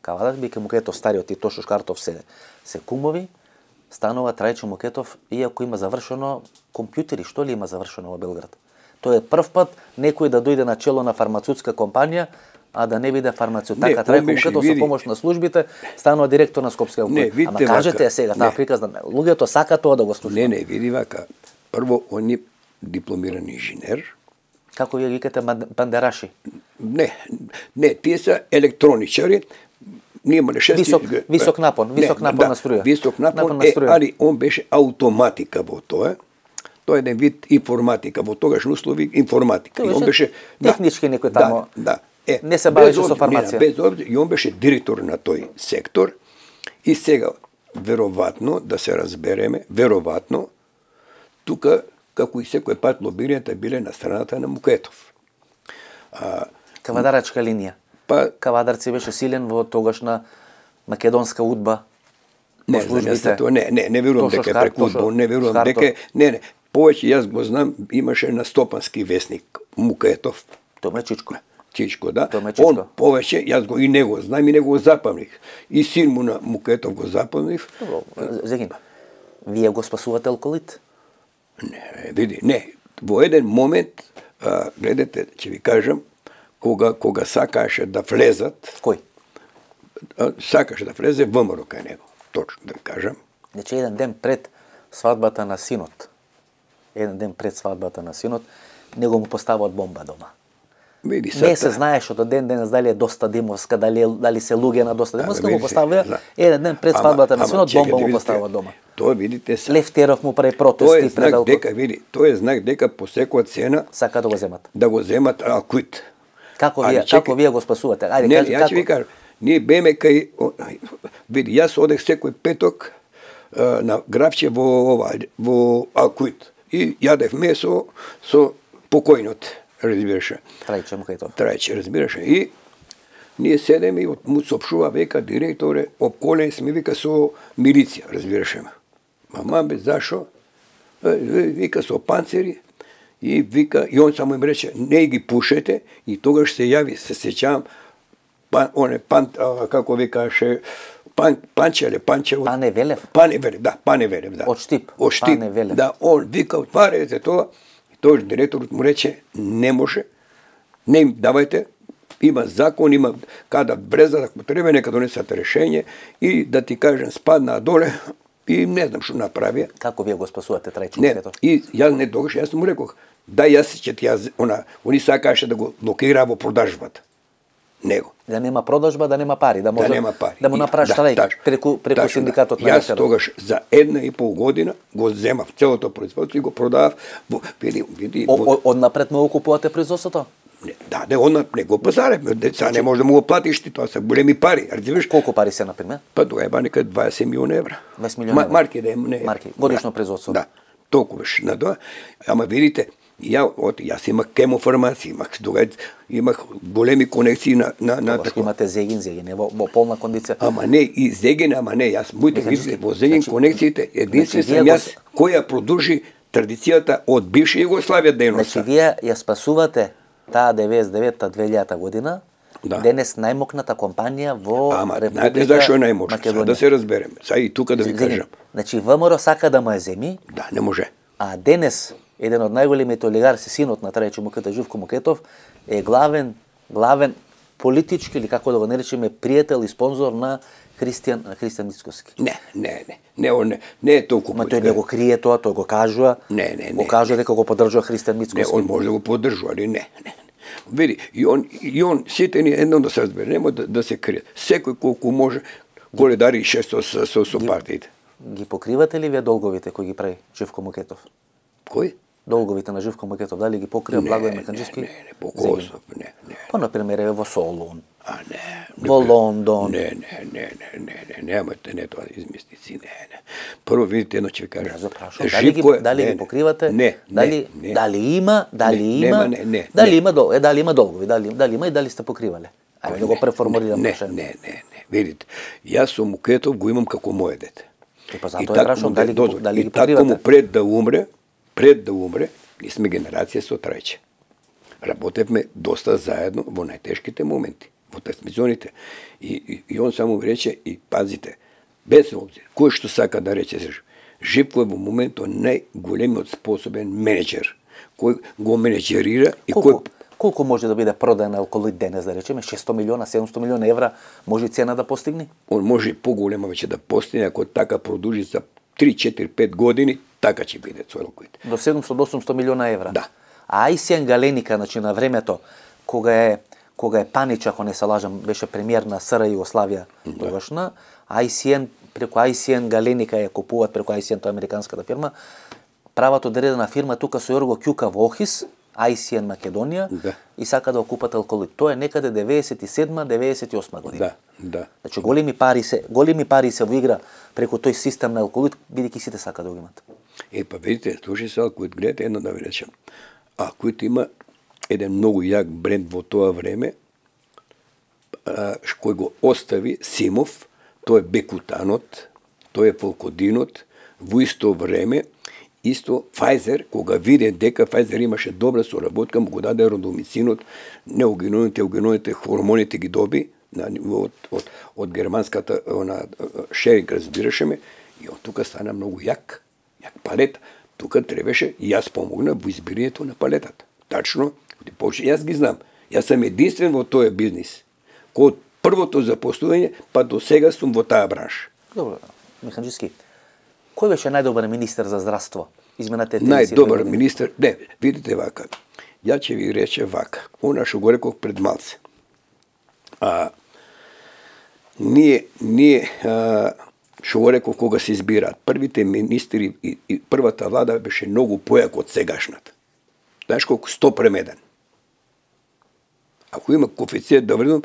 Speaker 2: Кавадар, бике Мукетов стариот и Тошо Шкартов се кумови, станува Трајчо Мукетов, иако има завршено компјутери, што ли има завршено во Белград. Тоа е прв пат некој да дојде на чело на фармацевтска компанија, а да не биде фармацевт. Така Трајко Мукетов со помош на службите станува директор на Скопскиот алкалоид. Ама кажете сега, таа приказна, луѓето сака тоа да го слушаат.
Speaker 3: Не, види вака. Прво, он е дипломиран инженер.
Speaker 2: Како вие викате бандераши?
Speaker 3: Не, тие се електроничари. Ние имале
Speaker 2: висок напон на струја.
Speaker 3: Висок напон, али он беше автоматика во тоа. Тоа е еден вид информатика, во тогашни услови информатика.
Speaker 2: И он беше технички некој тамо.
Speaker 3: Да.
Speaker 2: Не се бавеше со фармација.
Speaker 3: Без обзир, и он беше директор на тој сектор. И сега, веројатно, да се разбереме, веројатно, тука, како и секој пат, лобирањата биле на страната на Мукетов.
Speaker 2: Кавадарачка линија.
Speaker 3: Па,
Speaker 2: Кавадарци беше силен во тогашна македонска удба.
Speaker 3: не знам, не верувам дека е преку удба, не верувам дека не, повеќе јас го знам, имаше на Стопански весник Мукетов.
Speaker 2: Тоа е Чичко.
Speaker 3: Чичко, да.
Speaker 2: Он
Speaker 3: повеќе, јас го и него знам и него го запамних. И син му на Мукетов го запамних.
Speaker 2: Зегин, вие го спасувате алколит?
Speaker 3: Не, види, не. Во еден момент, гледате, ќе ви кажам, кога сакаше да влезат...
Speaker 2: Кој?
Speaker 3: Сакаше да влезе ВМРО кај него, точно да ви кажам.
Speaker 2: Значи, еден ден пред свадбата на синот, него му постават бомба дома.
Speaker 3: Види,
Speaker 2: не се знаеше до ден дали е Доста Димовска, дали се луѓе на Доста Димовска, му поставија еден ден пред свадбата на синот, бомба му поставува дома.
Speaker 3: Тоа видите се.
Speaker 2: Левтеров му прави протести
Speaker 3: пред алкој. Тоа е знак дека по секоја цена
Speaker 2: сака да го земат.
Speaker 3: Да го земат алкоит.
Speaker 2: Како вие го спасувате? Ајде,
Speaker 3: кажи како. Ја ќе ви кажам. Ние беме кај види, јас одех секој петок на графче во алкоит и јадев месо со покојнот, разбираше. Трајче, разбираше. И ние седеме и му соопштува, века директоре, обколен сме, вика со милиција, разбираше. Мама бе, зашо? Вика со панцери и вика, и он само им рече, не ги пушете, и тогаш се јави, се сеќавам, како викаше, Панчеве.
Speaker 2: Пане Велев?
Speaker 3: Пане Велев, да.
Speaker 2: Од Штип.
Speaker 3: Пане Велев. Да, он вика, отварете тоа, и тој директорот му рече, не може, не им давајте, има закон, има када бреза, ако треба, нека донесат решение и да ти кажем, спадна доле и не знам што направи.
Speaker 2: Како вие го спасувате Трајче?
Speaker 3: Не, и јас не тогаш, јас му рекох, да јас ќе ти они сакаше да го блокира во продажбата. Него.
Speaker 2: Да нема продажба, да нема пари, да може да му направиш штрајк преку синдикатот на
Speaker 3: јас тогаш за 1,5 година го земав целото производство и го продавав. Види.
Speaker 2: Однапред му купувате производството?
Speaker 3: Да, не го пазарев, деца не може да му го платиш ти, тоа се големи пари, разбираш?
Speaker 2: Колку пари се например?
Speaker 3: Па тоа е нека 20 милиона евра.
Speaker 2: 20 милиона евра.
Speaker 3: Марки да не.
Speaker 2: Марки, годишно производство.
Speaker 3: Да. Толку беше на тоа. Ама видите, јас имах кемофармација, имах големи конекции на
Speaker 2: така. Имате Зегин во полна кондиција.
Speaker 3: Ама не, и Зегин, јас моите видите во Зегин конекциите, единствен сум јас која продолжи традицијата од бивша Југославија дејноста.
Speaker 2: Значи вие ја спасувате таа 99-2000 година, денес најмокната компанија во Република Македонија.
Speaker 3: Знаете зашо е најмокната? Да се разбереме. Сега и тука да ви кажам.
Speaker 2: Значи ВМРО сака да му ја земи.
Speaker 3: Да, не може.
Speaker 2: А денес еден од најголемите олигарси, синот на Трајче Мукета, Живко Мукетов, е главен политички, или како да го наречеме, пријател и спонзор на Христијан Мицкоски.
Speaker 3: Не е толку.
Speaker 2: Ма тој не го крие тоа, тој го кажува.
Speaker 3: Не.
Speaker 2: Го кажува дека го поддржува Христијан Мицкоски.
Speaker 3: Не, он може да го поддржува, али не. Види, и он сите ни едно да се разбере, нема да се крие. Секој колку може голедари и шесто со партиите.
Speaker 2: Ги покривате ли вие долговите кои ги прави Живко Мукетов?
Speaker 3: Кој?
Speaker 2: Долговите на Живко Мукетов, дали ги покрива Благој Меканџиски?
Speaker 3: Не, по Косов, не.
Speaker 2: Па, например, во Солун.
Speaker 3: Не.
Speaker 2: Во Лондон.
Speaker 3: Не, немате, не тоа измислици, не. Прво видите, едно ќе ви кажам.
Speaker 2: Дали ги покривате?
Speaker 3: Не.
Speaker 2: Дали има долгови, дали има и дали сте покривале? Ајде да го преформулирам прашање.
Speaker 3: Не. Видите, јас со Мукетов го имам како моје дете.
Speaker 2: И па затоа е прашам дали ги покривате.
Speaker 3: И тако му пред да умре, ние сме генерација со Трајче. Работевме доста заедно во најтешките моменти, во трансмисионите. И он само ми рече, и пазите, без обзир, кој што сака да рече, Живко е во моментот најголемиот способен менеджер, кој го менеджерира и кој...
Speaker 2: Колку може да биде продан алколит денес, да речеме, 600 милиона, 700 милиона евра, може цена да постигне?
Speaker 3: Он може и поголема веќе да постигне, ако така продолжи за 3, 4, 5 години, така ќе биде со алколит.
Speaker 2: До 700-800 милиона евра?
Speaker 3: Да.
Speaker 2: А Ајсијан Галеника, значи на времето, кога е Панич, ако не се лажам, беше премиер на СР Југославија тогашна, преку Ајсијан Галеника ја купуваат, преку Ајсијан, тоа е американската фирма, прават одредена фирма тука со Јорго Ќука во Охис, Ајсијан Македонија, и сака да окупат алколит. Тоа е некаде 97-98 година.
Speaker 3: Да.
Speaker 2: Значи големи пари се во игра преку тој систем на алколит, бидејќи сите сака да го имат.
Speaker 3: Па видите, слушай се, ако гледате едно да ви речем. Ако има еден многу јак бренд во тоа време, кој го остави Симов, тој е Бекутанот, тој е Фолкодинот, во исто време, исто Pfizer, кога виде дека Pfizer имаше добра соработка, му го даде родомицинот, неогеноните хормоните ги доби, од германската шеринг, разбираше ме, и од тука стана многу јак палета. Тука требаше и јас помогна во избирањето на палетата. Тачно, јас ги знам. Јас сам единствен во тој бизнис. Од првото запослување, па до сега сум во таа бранша.
Speaker 2: Добро, Механџиски, кој беше најдобар министер за здравство? Изминалите 30
Speaker 3: најдобар министер, не, видите вака. Ја ќе ви рече вака. Она што го реков пред малце. Ние што го реков кога се избираат, првите министри и првата влада беше многу појак од сегашната. Знаеш колку 100:1. Ако има коефициент да вредам,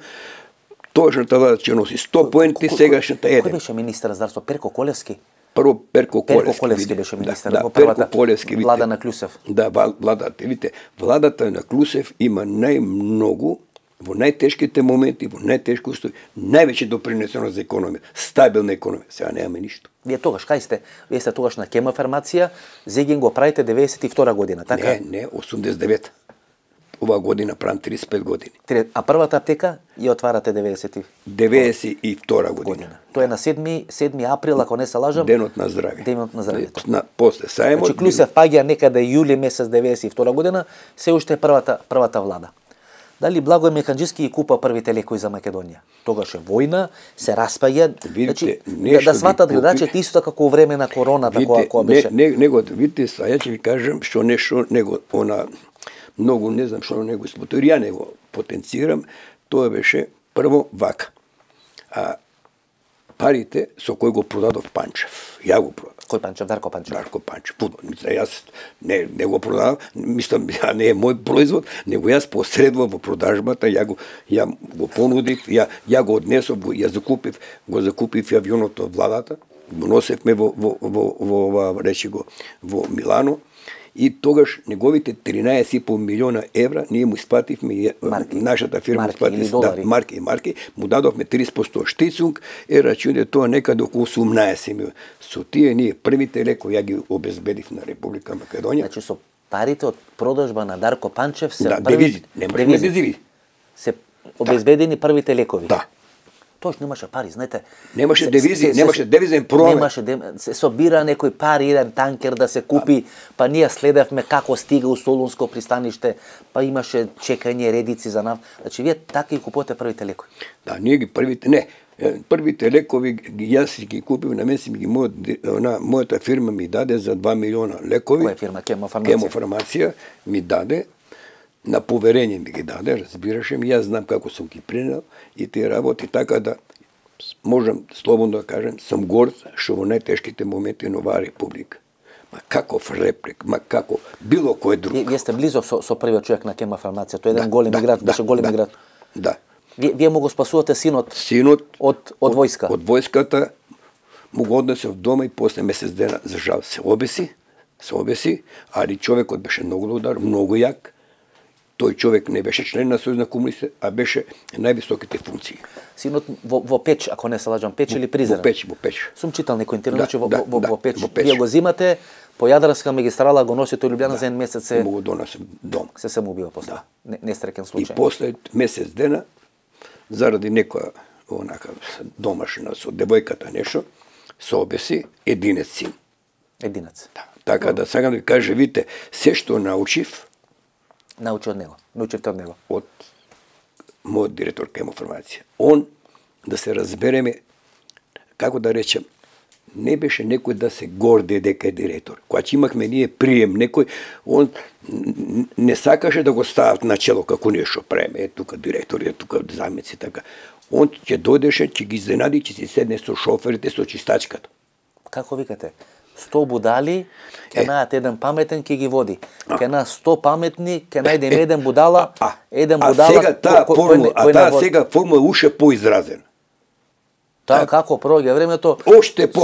Speaker 3: точната влада ќе носи 100 поенти, сегашната 1.
Speaker 2: Кој беше министер за здравство? Перко Колевски?
Speaker 3: Прво Перко
Speaker 2: Колевски беше министер во првата влада на Клюсев.
Speaker 3: Да, владата, видите, владата на Клюсев има најмногу во најтешките моменти, во најтешки услови, највеќе допринесено за економија, стабилна економија. Сега немаме ништо.
Speaker 2: Вие тогаш, кај сте? Вие сте тогаш на Кемофармација, Зегин го правите 92 година, така?
Speaker 3: Не, 89. Ова година правам 35 години.
Speaker 2: А првата аптека ја отварате
Speaker 3: 92 година.
Speaker 2: Тоа е на 7 април, ако не се лажам.
Speaker 3: Денот на здравје.
Speaker 2: Денот на здравјето.
Speaker 3: После сајмот.
Speaker 2: Значи Клюсев паѓа некаде јули месец 92 година, се уште е првата влада. Дали Благој Механџиски ги купа првите лекови за Македонија? Тогаш е војна, се распаѓа.
Speaker 3: Видите,
Speaker 2: значи, да сватат гледачите исто како во време на короната, кога беше.
Speaker 3: Него, видите, ја ќе ви кажам што нешто него многу не знам што него испотори, ја него потенцирам, тоа беше прво вака. Парите со кој го продадов Панчев. Ја го продав.
Speaker 2: Кој Панчев? Дарко Панчев.
Speaker 3: Дарко Панчев. Јас не го продав, мислам, не е мој производ, него јас посредував во продажбата, ја го понудив, ја го однесов, ја закупив авионот од владата, го носевме во Милано. И тогаш неговите 13,5 милиона евра ние му исплативме, нашата фирма марки, му дадовме 30% штицунг, рачуне тоа некаде околу 18 милиона. Со тие ние првите лекови ја ги обезбедив на Република Македонија.
Speaker 2: Значи со парите од продажба на Дарко Панчев се
Speaker 3: девизи, девизи.
Speaker 2: Се обезбедени првите лекови.
Speaker 3: Да.
Speaker 2: Тоаш немаше пари, знаете.
Speaker 3: Немаше девизи, немаше девизен промет.
Speaker 2: Немаше се собира некој пари, еден танкер да се купи, па ние следевме како стига у Солунско пристаниште, па имаше чекање, редици за нафта. Значи вие така и купувате првите лекови.
Speaker 3: Да, ние ги првите лекови јас ги купив, на мен си ги мојата фирма ми даде за 2 милиона лекови.
Speaker 2: Која фирма?
Speaker 3: Кемофармација ми даде. На поверење ми ги даде, разбираше ми, јас знам како сум ги принел и тие работи, така да можам слободно да кажем, сум горд што во најтешките моменти на оваа република. Ма каков реплик, ма како било кој друг.
Speaker 2: Вие сте близо со првиот човек на Кемофармација, тој е еден голем играч, беше голем играч.
Speaker 3: Да.
Speaker 2: Вие му го спасувате синот од војска.
Speaker 3: Од војската му го однесов дома и после месец дена за жал се обеси, али човекот беше многу добар, многу јак. Тој човек не беше член на Сојуз на комунистите, а беше највисоките функции.
Speaker 2: Синот во Печ, ако не се лажам, Печ или Призрак?
Speaker 3: Во Печ.
Speaker 2: Сум читал некој интервју, че во Печ. Вие го зимате, по Јадарска магистрала го носите во Лјубљана за еден месец се...
Speaker 3: Му го донесем дом.
Speaker 2: Се самоубива после. Несреќен случај.
Speaker 3: И после месец дена, заради некоја домашна со девојката нешто, се обеси единец син.
Speaker 2: Единец.
Speaker 3: Да. Така да сакам да ви кажа, видите, се што научив,
Speaker 2: научите од него.
Speaker 3: Од мојот директор Кемофармација. Он, да се разбереме, како да речем, не беше некој да се горде дека е директор. Кога имахме ние прием некој, он не сакаше да го стават на чело како нешто преме, тука директор, тука замеци, така. Он ќе дојдеше, ќе ги изненади, ќе си седне со шоферите, со чистачката.
Speaker 2: Како викате? 100 будали, ќе најдат еден паметен, ќе ги води. Ќе на 100 паметни, ќе најдем еден будала, еден будала...
Speaker 3: таа сега формула е уште поизразена.
Speaker 2: Таа како проѓа времето,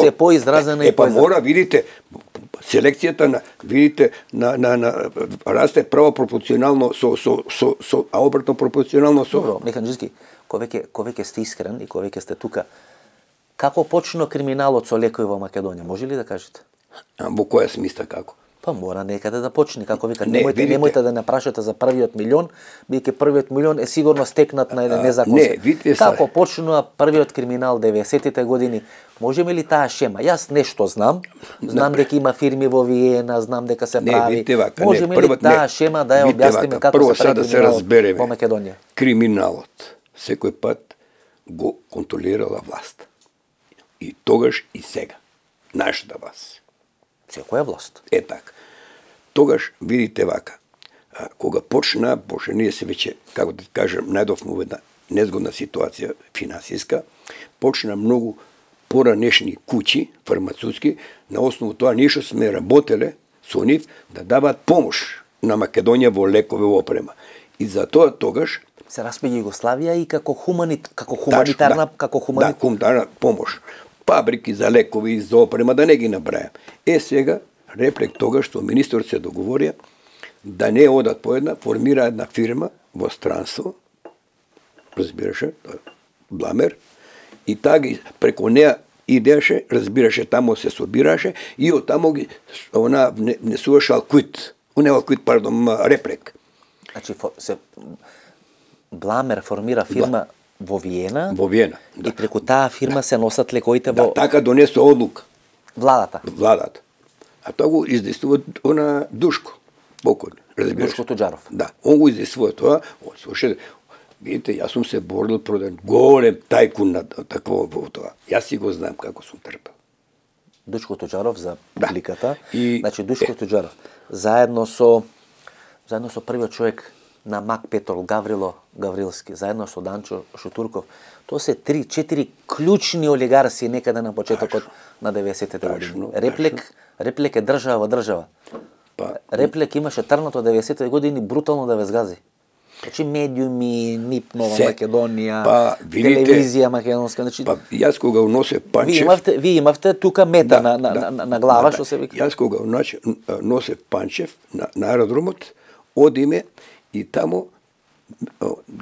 Speaker 3: се
Speaker 2: поизразена и
Speaker 3: па мора, видите, селекцијата на, видите, на расте право пропорционално а обратно пропорционално со...
Speaker 2: Добро, Механџиски, кој веќе сте искрен и кој веќе сте тука, како почна криминалот со лекови во Македонија, може ли да кажете?
Speaker 3: Во која смисла како?
Speaker 2: Па мора некаде да почне, како вика, немојте да не прашате за првиот милион, бидејќи првиот милион е сигурно стекнат на еден незаконски. Како почнува првиот криминал 90-тите години? Можеме ли таа шема? Јас нешто знам дека има фирми во Виена, знам дека се прави. Можеме ли таа шема да ја објасниме како се прави криминал во Македонија?
Speaker 3: Криминалот секој пат го контролирала власт. И тогаш и сега. Нашата власт.
Speaker 2: Секоја власт.
Speaker 3: Така. Тогаш, видите вака, кога почна, ние се веќе, како да кажем, најдовме во една незгодна ситуација финансиска, почна многу поранешни куќи, фармацутски, на основу тоа ние што сме работеле со нив да даваат помош на Македонија во лекови опрема. И за тоа тогаш
Speaker 2: се распаѓа Југославија и како хуманитарна
Speaker 3: помош. Фабрики за лекови и за опрема, да не ги набрајам. Сега, реплек тогаш што министрот се договорија да не одат по една, формира една фирма во странство, разбираше, Бламер, и таа ги преку неа идеше, разбираше, тамо се собираше и од тамо ги она внесуваше реплек.
Speaker 2: Значи Бламер формира фирма во Виена.
Speaker 3: Во Виена,
Speaker 2: да. И преку таа фирма се носат лекоите во...
Speaker 3: Да, така донесе одлука.
Speaker 2: Владата.
Speaker 3: А тоа го издействува она Душко, покојен, разбираш.
Speaker 2: Душко Туџаров.
Speaker 3: Да, он го издействува тоа. Слушајте, видите, јас сум се борил против голем тајкун на такво тоа. Јас си го знам како сум трпел.
Speaker 2: Душко Туџаров за публиката. Значи Душко Туџаров заедно со првиот човек на МАК Петрол Гаврило Гаврилски, заедно со Данчо Шутурков. Тоа се 3-4 клучни олигарси некаде на почетокот на 90-те години. Реплек е држава во држава. Реплек имаше трното 90-те години брутално да ве згази. Значи медиуми, НИП Нова Македонија, телевизија македонска, значи
Speaker 3: јас кога носе Панчев,
Speaker 2: вие имавте тука мета на глава што се вика.
Speaker 3: Јас кога носе Панчев на аеродромот, одиме и тамо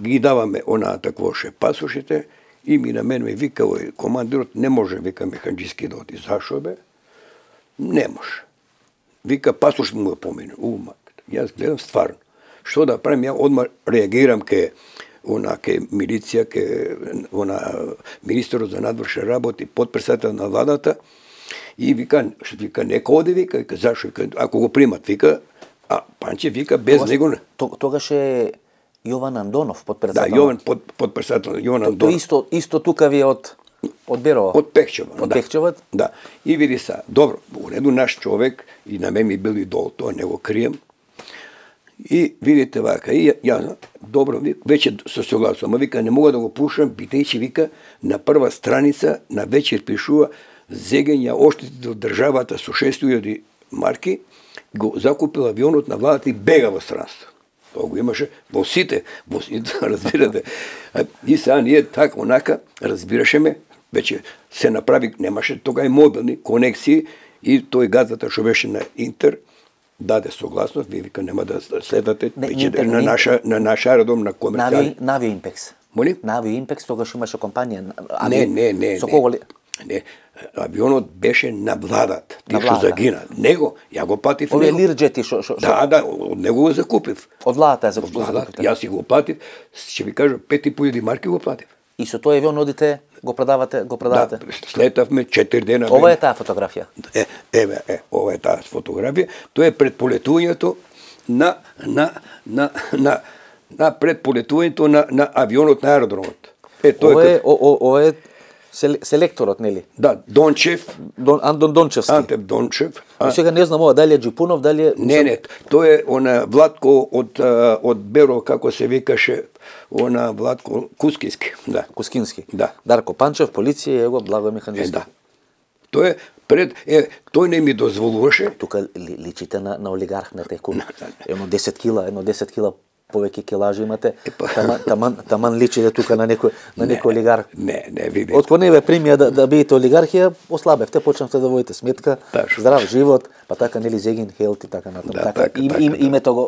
Speaker 3: ги даваме онаа таквоше пасошите и ми на мен ме вика командирот, не може, вика Механџиски да оди. Зашо бе? Не може. Вика пасош му го помине. Јас гледам стварно. Што да правим, ја одма реагирам ке милиција, ке министерот за надворшни работи, потпредседател на владата и вика нека оди, вика, зашо, ако го примат, вика, а Панчев вика без него не.
Speaker 2: Тогаш е Јован Андонов, потпредседател.
Speaker 3: Да, Јован потпредседател, Јован Андонов.
Speaker 2: Тоа исто тука ви од Берово.
Speaker 3: Од Пехчева.
Speaker 2: Од Пехчева?
Speaker 3: Да. И види са, добро, у реду наш човек и на мен ми бил идол, тоа не го крием. И видите вака, и ја, добро, веќе се согласувам, вика не мога да го пушам, бидејќи вика на прва страница на вечер пишува зегење оштети од државата со 6.000 марки, го закупил авионот на владата и бега во странство. Тоа го имаше во сите, разбирате. И сега ние така онака разбирашеме, веќе се направи, немаше тога и мобилни конексии и тој газата што беше на Интер даде согласност, вие вика нема да следате на наша аеродром на комерцијални.
Speaker 2: На Авиоимпекс.
Speaker 3: Моли?
Speaker 2: На Авиоимпекс тогаш имаше компанија.
Speaker 3: Не.
Speaker 2: Со кого ли?
Speaker 3: Не, авионот беше на владата. Ти што загина. Него, ја го платив него.
Speaker 2: Овие лирџети што...
Speaker 3: Да, од него го закупив.
Speaker 2: Од владата ја закупив.
Speaker 3: Јас си го платив, ќе ви кажам, 5.500 марки го платив.
Speaker 2: И со тој авион одите, го продавате?
Speaker 3: Да, слетавме 4 дена.
Speaker 2: Ова е таа фотографија.
Speaker 3: Ова е таа фотографија. Тоа е пред полетувањето на на авионот на аеродромот.
Speaker 2: Ова е селекторот, нели?
Speaker 3: Да, Дончев.
Speaker 2: Антон Дончевски.
Speaker 3: Антеп Дончев.
Speaker 2: Сега не знам ова дали е Джипунов, дали е...
Speaker 3: Не, тој е она Владко од Беро, како се викаше, она Владко Кускински. Да.
Speaker 2: Кускински.
Speaker 3: Да.
Speaker 2: Дарко Панчев, полиција, его Благој Механџиски.
Speaker 3: Да. Тој е пред тој не ми дозволуваше.
Speaker 2: Тука личите на олигарх на текум. Едно 10 кила повеќе килажи имате, таман личите тука на некој олигарх.
Speaker 3: Не, видите.
Speaker 2: Откако не ве примија да бидете олигархија, ослабевте, почнавте да водите сметка, здрав живот, па така нели Зегин Хелт и така натаму.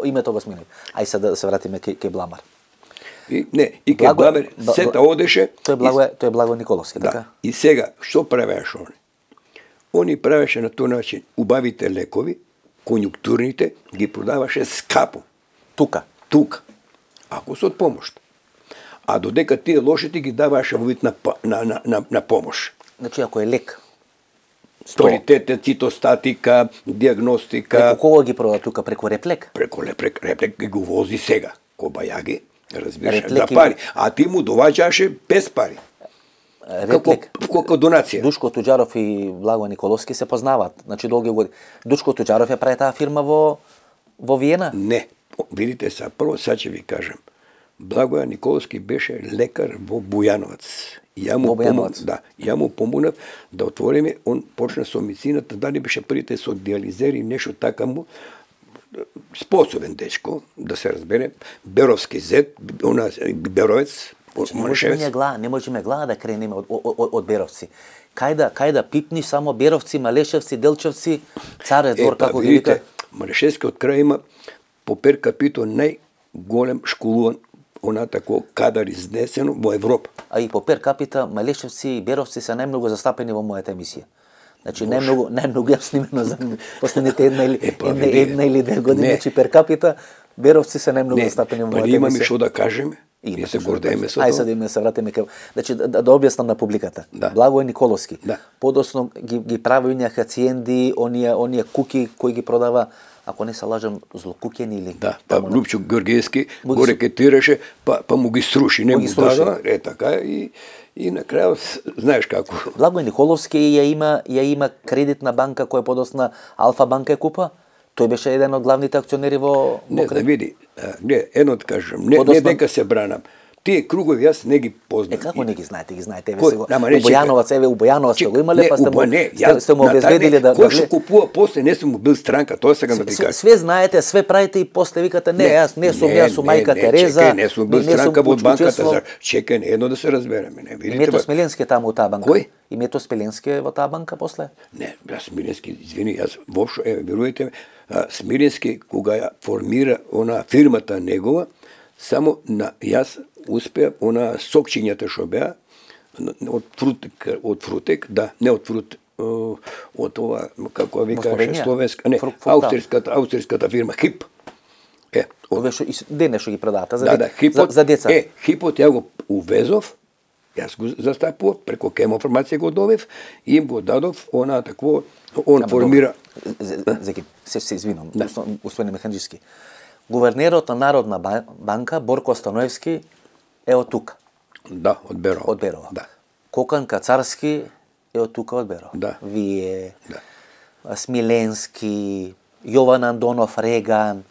Speaker 2: Името го смени. Ај сега да се вратиме кај Бламар.
Speaker 3: И кај Бламар сета одеше.
Speaker 2: Тој е Благо Николовски, така?
Speaker 3: И сега што правеше они? Они правеше на тој начин убавите лекови, конјунктурните, ги продаваше скапо.
Speaker 2: Тука.
Speaker 3: Ако се од помош. А додека тие лошите ги даваше во вид на помош.
Speaker 2: Значи ако е лек,
Speaker 3: Приоритете, цитостатика, диагностика.
Speaker 2: Преку кого ги прода тука? Преку Реплек?
Speaker 3: Преку Реплек ги го вози сега. Кобајаги, разбираш, за пари. А ти му доваѓаше без пари.
Speaker 2: Реплек.
Speaker 3: Како донација.
Speaker 2: Душко Туџаров и Благо Николовски се познаваат. Значи долги години. Душко Туџаров ја прави таа фирма во Виена?
Speaker 3: Не. Видите са, прво сега ќе ви кажам. Благоја Николовски беше лекар во Бујановац. Ја му помогнав да отвориме, он почна со медицината, дали беше првите со диализери, нешто така му, способен дечко, да се разбере, Беровски зет, Беровец,
Speaker 2: не можеме глава да кренеме од Беровци. Кај да пипни само Беровци, Малешевци, Делчевци, Царе двор, како ги вика?
Speaker 3: Малешевски од крај има по пер капито најголем школуван тако кадар изнесено во Европа.
Speaker 2: А и по пер капита Малешевци и Беровци се најмногу застапени во мојата емисија. Значи најмногу ја снимено за последните една или две години, значи пер капита Беровци се најмногу застапени во мојата емисија.
Speaker 3: Имаме што да кажеме. Ние се гордееме со тоа.
Speaker 2: Ај сега да се вратиме кај. Значи да објаснам на публиката. Благо Николовски. Подосно ги прави оние хациенди, оние куки кои ги продава, ако не се лажам, злокукени или...
Speaker 3: Да, па Лупчо Георгиевски го рекетираше, па му ги сруши, не му дава, така, и на крај, знаеш како.
Speaker 2: Благо Николовски ја има кредитна банка која подосна Алфа банка е купа? Тој беше еден од главните акционери во...
Speaker 3: Не, да види, едно да кажам, не дека се бранам. Тие кругови јас не ги познам.
Speaker 2: Како не ги знаете? Ги знаете, еве сега. У Бојановац го имале, па сте му обезбедили да...
Speaker 3: Кој што купува после, не сум бил странка, тоа сега да ти кажам.
Speaker 2: Све знаете, све правите и после викате, не, јас не сум мајка Тереза.
Speaker 3: Не сум бил странка во банката. Чекај, едно да се разбереме.
Speaker 2: Името Смиленски е таму во таа банка.
Speaker 3: Кој?
Speaker 2: Името Смиленски е во таа банка после?
Speaker 3: Не, јас Смиленски, извини, јас воопшто, верувате ме, Смиленски кога ја формира она фирмата негова, само јас успеа сокчињата што беа од фрутек, да, не од фрут, од ова, како ви кажа, словенска, не, аустриската фирма Хип.
Speaker 2: Денес што ги продавате
Speaker 3: за
Speaker 2: деца.
Speaker 3: Хипот ја го увезов, јас го застапував, преку Кемофармација го добив и им го дадов такво, он формира...
Speaker 2: Зеки, се извинам, господин Механџиски. Гувернерот на Народна банка, Борко Становевски, е од тука.
Speaker 3: Да, од Берова.
Speaker 2: Од Берова.
Speaker 3: Да.
Speaker 2: Кокан Кацарски е од тука, од Берова.
Speaker 3: Да.
Speaker 2: Вие, Смиленски, Јован Андонов Реган,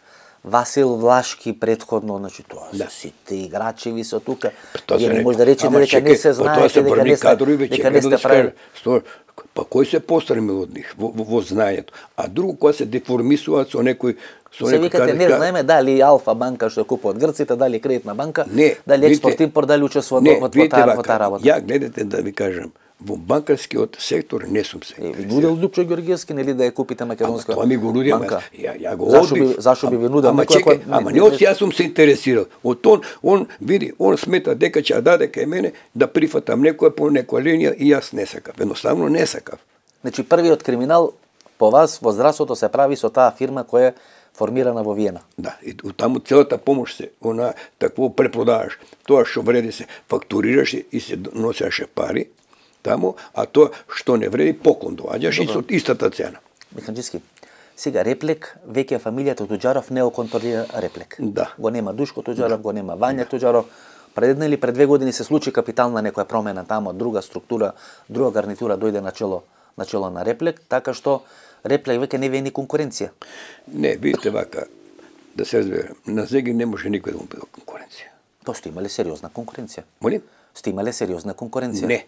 Speaker 2: Васил Влашки предходно, значи тоа се сите играчи ви се тука. Вие не може да речете дека не се знаете, дека не сте прави.
Speaker 3: Па кој се постреми од нив во знаењето? А друго кој се деформисуваат со некој
Speaker 2: се викате, не знаеме дали Алфа банка што купува од грците, дали кредитна банка, дали експорт-импорт, дали учествува во таа работа.
Speaker 3: Ја гледате да ви кажам, во банкарскиот сектор не сум се.
Speaker 2: Нудел Лупчо Георгиевски, нели да ја купите македонска банка?
Speaker 3: Тоа ми го нудил, ја го
Speaker 2: Зашо би ви нудел
Speaker 3: некој? Ама не од јас сум се интересирал. Од он види, он смета дека ќе даде кај мене да прифатам некоја по некоја линија и јас не сакав. Едноставно не сакав.
Speaker 2: Значи првиот криминал по вас во здравството се прави со таа фирма која формирана во Виена.
Speaker 3: Да, и таму целата помош се, такво препродаваш. Тоа што вреди се фактурираше и се носеше пари таму, а тоа што не вреди поклон доаѓаш и со истата цена.
Speaker 2: Механџиски, сега Реплек, веќе фамилијата Туџаров не го контролира Реплек.
Speaker 3: Да.
Speaker 2: Го нема Душко Туџаров, го нема Вања Туџаров. Пред една или пред 2 години се случи капитална некоја промена таму, друга структура, друга гарнитура дојде на чело на Реплек, така што Реплек веќе не ве ни конкуренција.
Speaker 3: Не, видите вака, да се разберем, на Зеги не може никој да му биде конкуренција.
Speaker 2: Тоа сте имале сериозна конкуренција.
Speaker 3: Молим?
Speaker 2: Сте имале сериозна конкуренција.
Speaker 3: Не.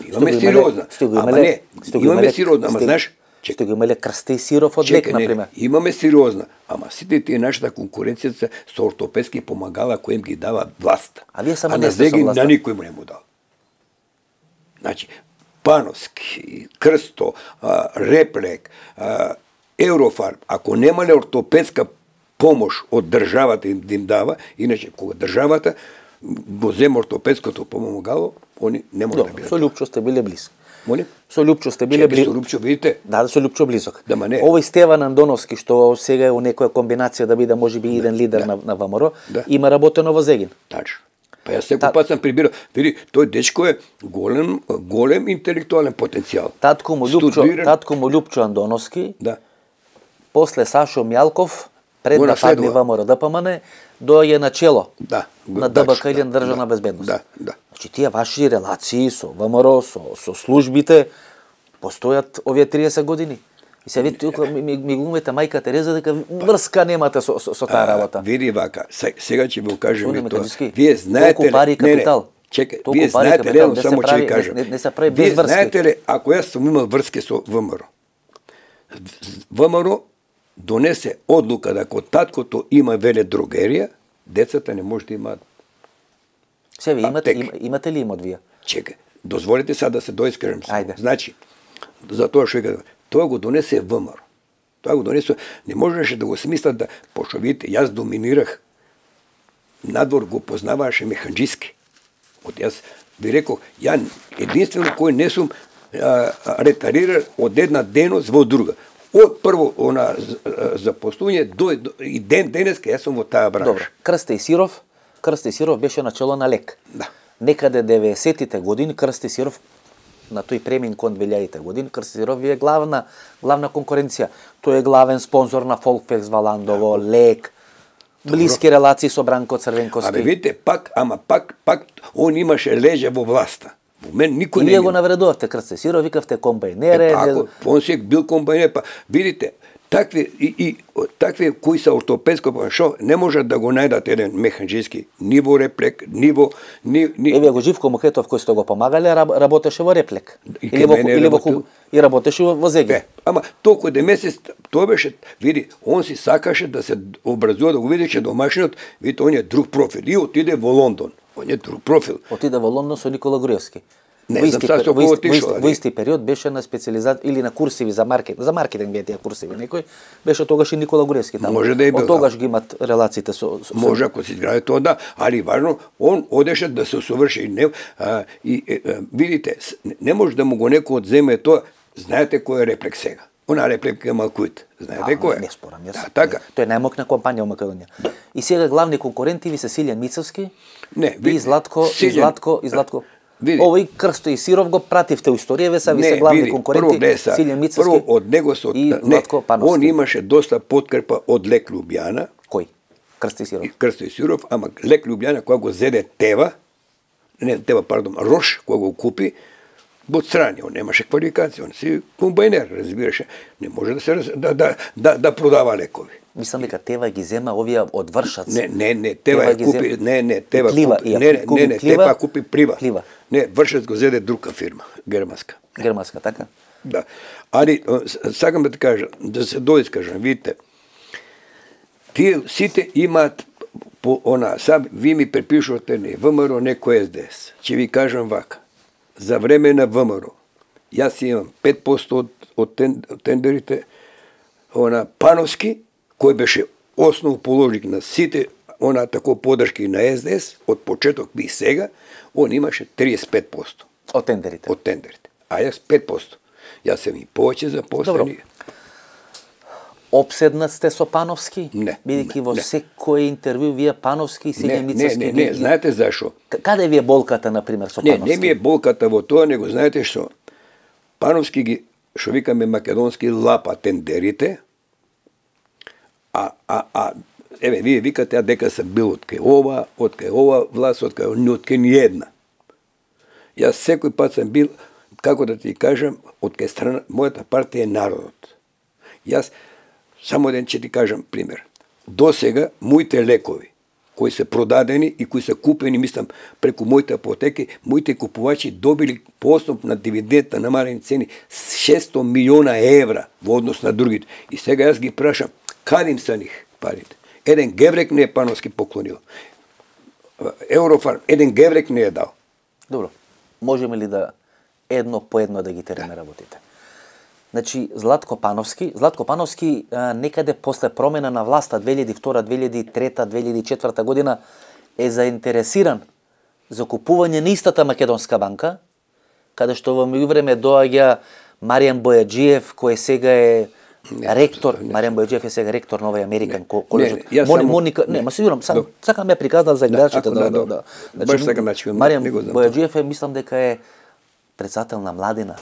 Speaker 3: Имаме сериозна. Ама не, имаме сериозна, ама знаеш,
Speaker 2: Што го имале крсте и сиров од лек, например.
Speaker 3: Имаме сериозна, ама сите тие нашата конкуренција се со ортопедски помагала кои им ги дава власт.
Speaker 2: А вие само не сте со власт.
Speaker 3: На никој му не му дал. Значи, Пановски, Крсто, Реплек, Еврофарм, ако немале ортопедска помош од државата им дава, иначе кога државата го зема ортопедското помагало, они не може да бидат.
Speaker 2: Со Лјупчо сте биле близки.
Speaker 3: Молим?
Speaker 2: Со Лјупчо сте биле близки.
Speaker 3: Со Лјупчо, видите?
Speaker 2: Да, со Лјупчо близок.
Speaker 3: Да, ма не.
Speaker 2: Овој Стеван Андоновски, што сега е у некоја комбинација да биде можеби иден лидер на ВМРО, има работено во Зегин.
Speaker 3: Тачно. Па јас секој пат сам прибирал, види, тој дечко е голем интелектуален потенцијал.
Speaker 2: Татко му Лјупчо Андоновски,
Speaker 3: да.
Speaker 2: После Сашо Мјалков, пред да падне ВМРО ДПМН, дојде на чело на ДБК или на државна безбедност.
Speaker 3: Да.
Speaker 2: Значи тие ваши релации со ВМРО, со службите постојат овие 30 години. И се видите, ми глумите мајка Тереза дека врска немате со таа работа.
Speaker 3: Види вака, сега ќе ви кажам тоа.
Speaker 2: Вие знаете толку пари капитал.
Speaker 3: Чекај, вие знаете ли, само ќе ви кажам.
Speaker 2: Не се прави без врски.
Speaker 3: Вие знаете ли, ако јас сум имал врски со ВМРО, ВМРО донесе одлука дека таткото има веле дрогерија, децата не може да имаат.
Speaker 2: Се ви имате ли имот вие?
Speaker 3: Чекај, дозволите сега да се доискажам.
Speaker 2: Ајде.
Speaker 3: Значи, за тоа што кажам, тоа го донесе ВМРО. Тоа го донесе, не можеше да го смислат да, пошто видите, јас доминирах, надвор го познаваше механџиски. Од јас ви реков, ја единствено кој не сум ретарирал од една деност во друга. Од прво запослување и денеска јас сум во таа бранша.
Speaker 2: Добро. Крсте и Сиров беше начело на лек.
Speaker 3: Да.
Speaker 2: Некаде 90-тите години Крсте и Сиров на тој премин кон 2000-те години, Крсте и Сиров е главна конкуренција. Тој е главен спонзор на Фолкфекс Валандово, Лек, блиски релации со Бранко Црвенковски.
Speaker 3: Абе видите, пак он имаше леже во власта. Во мен никој не.
Speaker 2: И вие го навредувавте Крсте и Сиров, викавте комбајнере.
Speaker 3: Он се бил комбајнер, па видите, такви кои се ортопедско, шо не можат да го најдат еден механџиски ни во Реплек, ни
Speaker 2: Еве го Живко Мухетов кој сте го помагале, работеше во Реплек. И работеше во Зегин.
Speaker 3: Ама толку де месец тоа беше, види, он си сакаше да се образува, да го видеше домашниот, видите, он е друг профил и отиде во Лондон. Он е друг профил.
Speaker 2: Отиде во Лондон со Никола Груевски.
Speaker 3: Не знам сега со кого отишол.
Speaker 2: Во исти период беше на специализација или на курсиви за маркетинг беа тие курсиви некој, беше тогаш и Никола Груевски таму.
Speaker 3: Може да е бил.
Speaker 2: Од тогаш ги имат релациите со
Speaker 3: може ако се изгради тоа да, али важно он одеше да се усоврши видите, не може да му го некој одземе тоа. Знаете кој е Реплек сега? Она Реплека е Малкуит. Знаете кој е?
Speaker 2: Не спорам јас.
Speaker 3: Да, така.
Speaker 2: Тој е најмокна компанија во Македонија. И сега главни конкуренти ви се Силјан Мицовски и Златко. Овој Крсто и Сиров го пративте у историјаве, са ви се главни конкуренти, Силјан Мицовски.
Speaker 3: Прво од него и Златко Пановски. Он имаше доста подкрепа од Лек Лјубјана.
Speaker 2: Кој? Крсто и Сиров.
Speaker 3: Крсто и Сиров, ама Лек Лјубјана кога го зеде Рош, кога го купи, во страни, он немаше квалификација, он си комбајнер, разбираше, не може да продава лекови.
Speaker 2: Мислам дека Тева ги зема овие од Вршац.
Speaker 3: Не, Тева купи, Тева купи Плива. Не, Вршац го зеде друга фирма, германска.
Speaker 2: Германска, така?
Speaker 3: Да. Али сакам да ти кажам, да се доискажам, видите. Тие сите имаат сам ви ми препишувате не ВМРО, некој СДС. Ќе ви кажам вака. За време на ВМРО, јас имам 5% од тендерите, Пановски, кој беше основоположник на сите тако подршки на СДС, од почеток и сега, он имаше 35%.
Speaker 2: Од тендерите.
Speaker 3: А јас 5%. Јас сум и повеќе запослени.
Speaker 2: Обседнат сте со Пановски?
Speaker 3: Не.
Speaker 2: Бидејќи во секој интервју вие Пановски и Силјан Мицовски...
Speaker 3: Не, знаете зашо?
Speaker 2: Каде ви е болката, например, со Пановски?
Speaker 3: Не ми е болката во тоа, него знаете што? Пановски ги, што викаме македонски, лапа тендерите, еве, вие викате дека се бил од кај ова власт, од кај ни една. Јас секој пат сам бил, како да ти кажам, од кај страна, мојата партија е народот. Јас само еден ќе ти кажам пример. До сега, моите лекови, кои се продадени и кои се купени, мислам, преку моите апотеки, моите купувачи добили по основ на дивидендта намалени цени 600 милиона евра во однос на другите. И сега јас ги прашам, каде им са них парите? Еден геврек не е Пановски поклонил. Еврофарм, еден геврек не е дал.
Speaker 2: Добро. Можеме ли да едно по едно да ги тереме работите? Значи, Златко Пановски некаде после промена на власта 2002, 2003, 2004 година е заинтересиран за купување на истата Македонска банка, каде што во меѓувреме доаѓа Маријан Бојаджиев, кој сега е ректор, Маријан Бојаджиев е сега ректор на овој Американ колеж. Моника, ма сигурно, сакам ја приказнат за гледачите да.
Speaker 3: Баш така значи.
Speaker 2: Маријан Бојаджиев е, мислам дека е председател на младина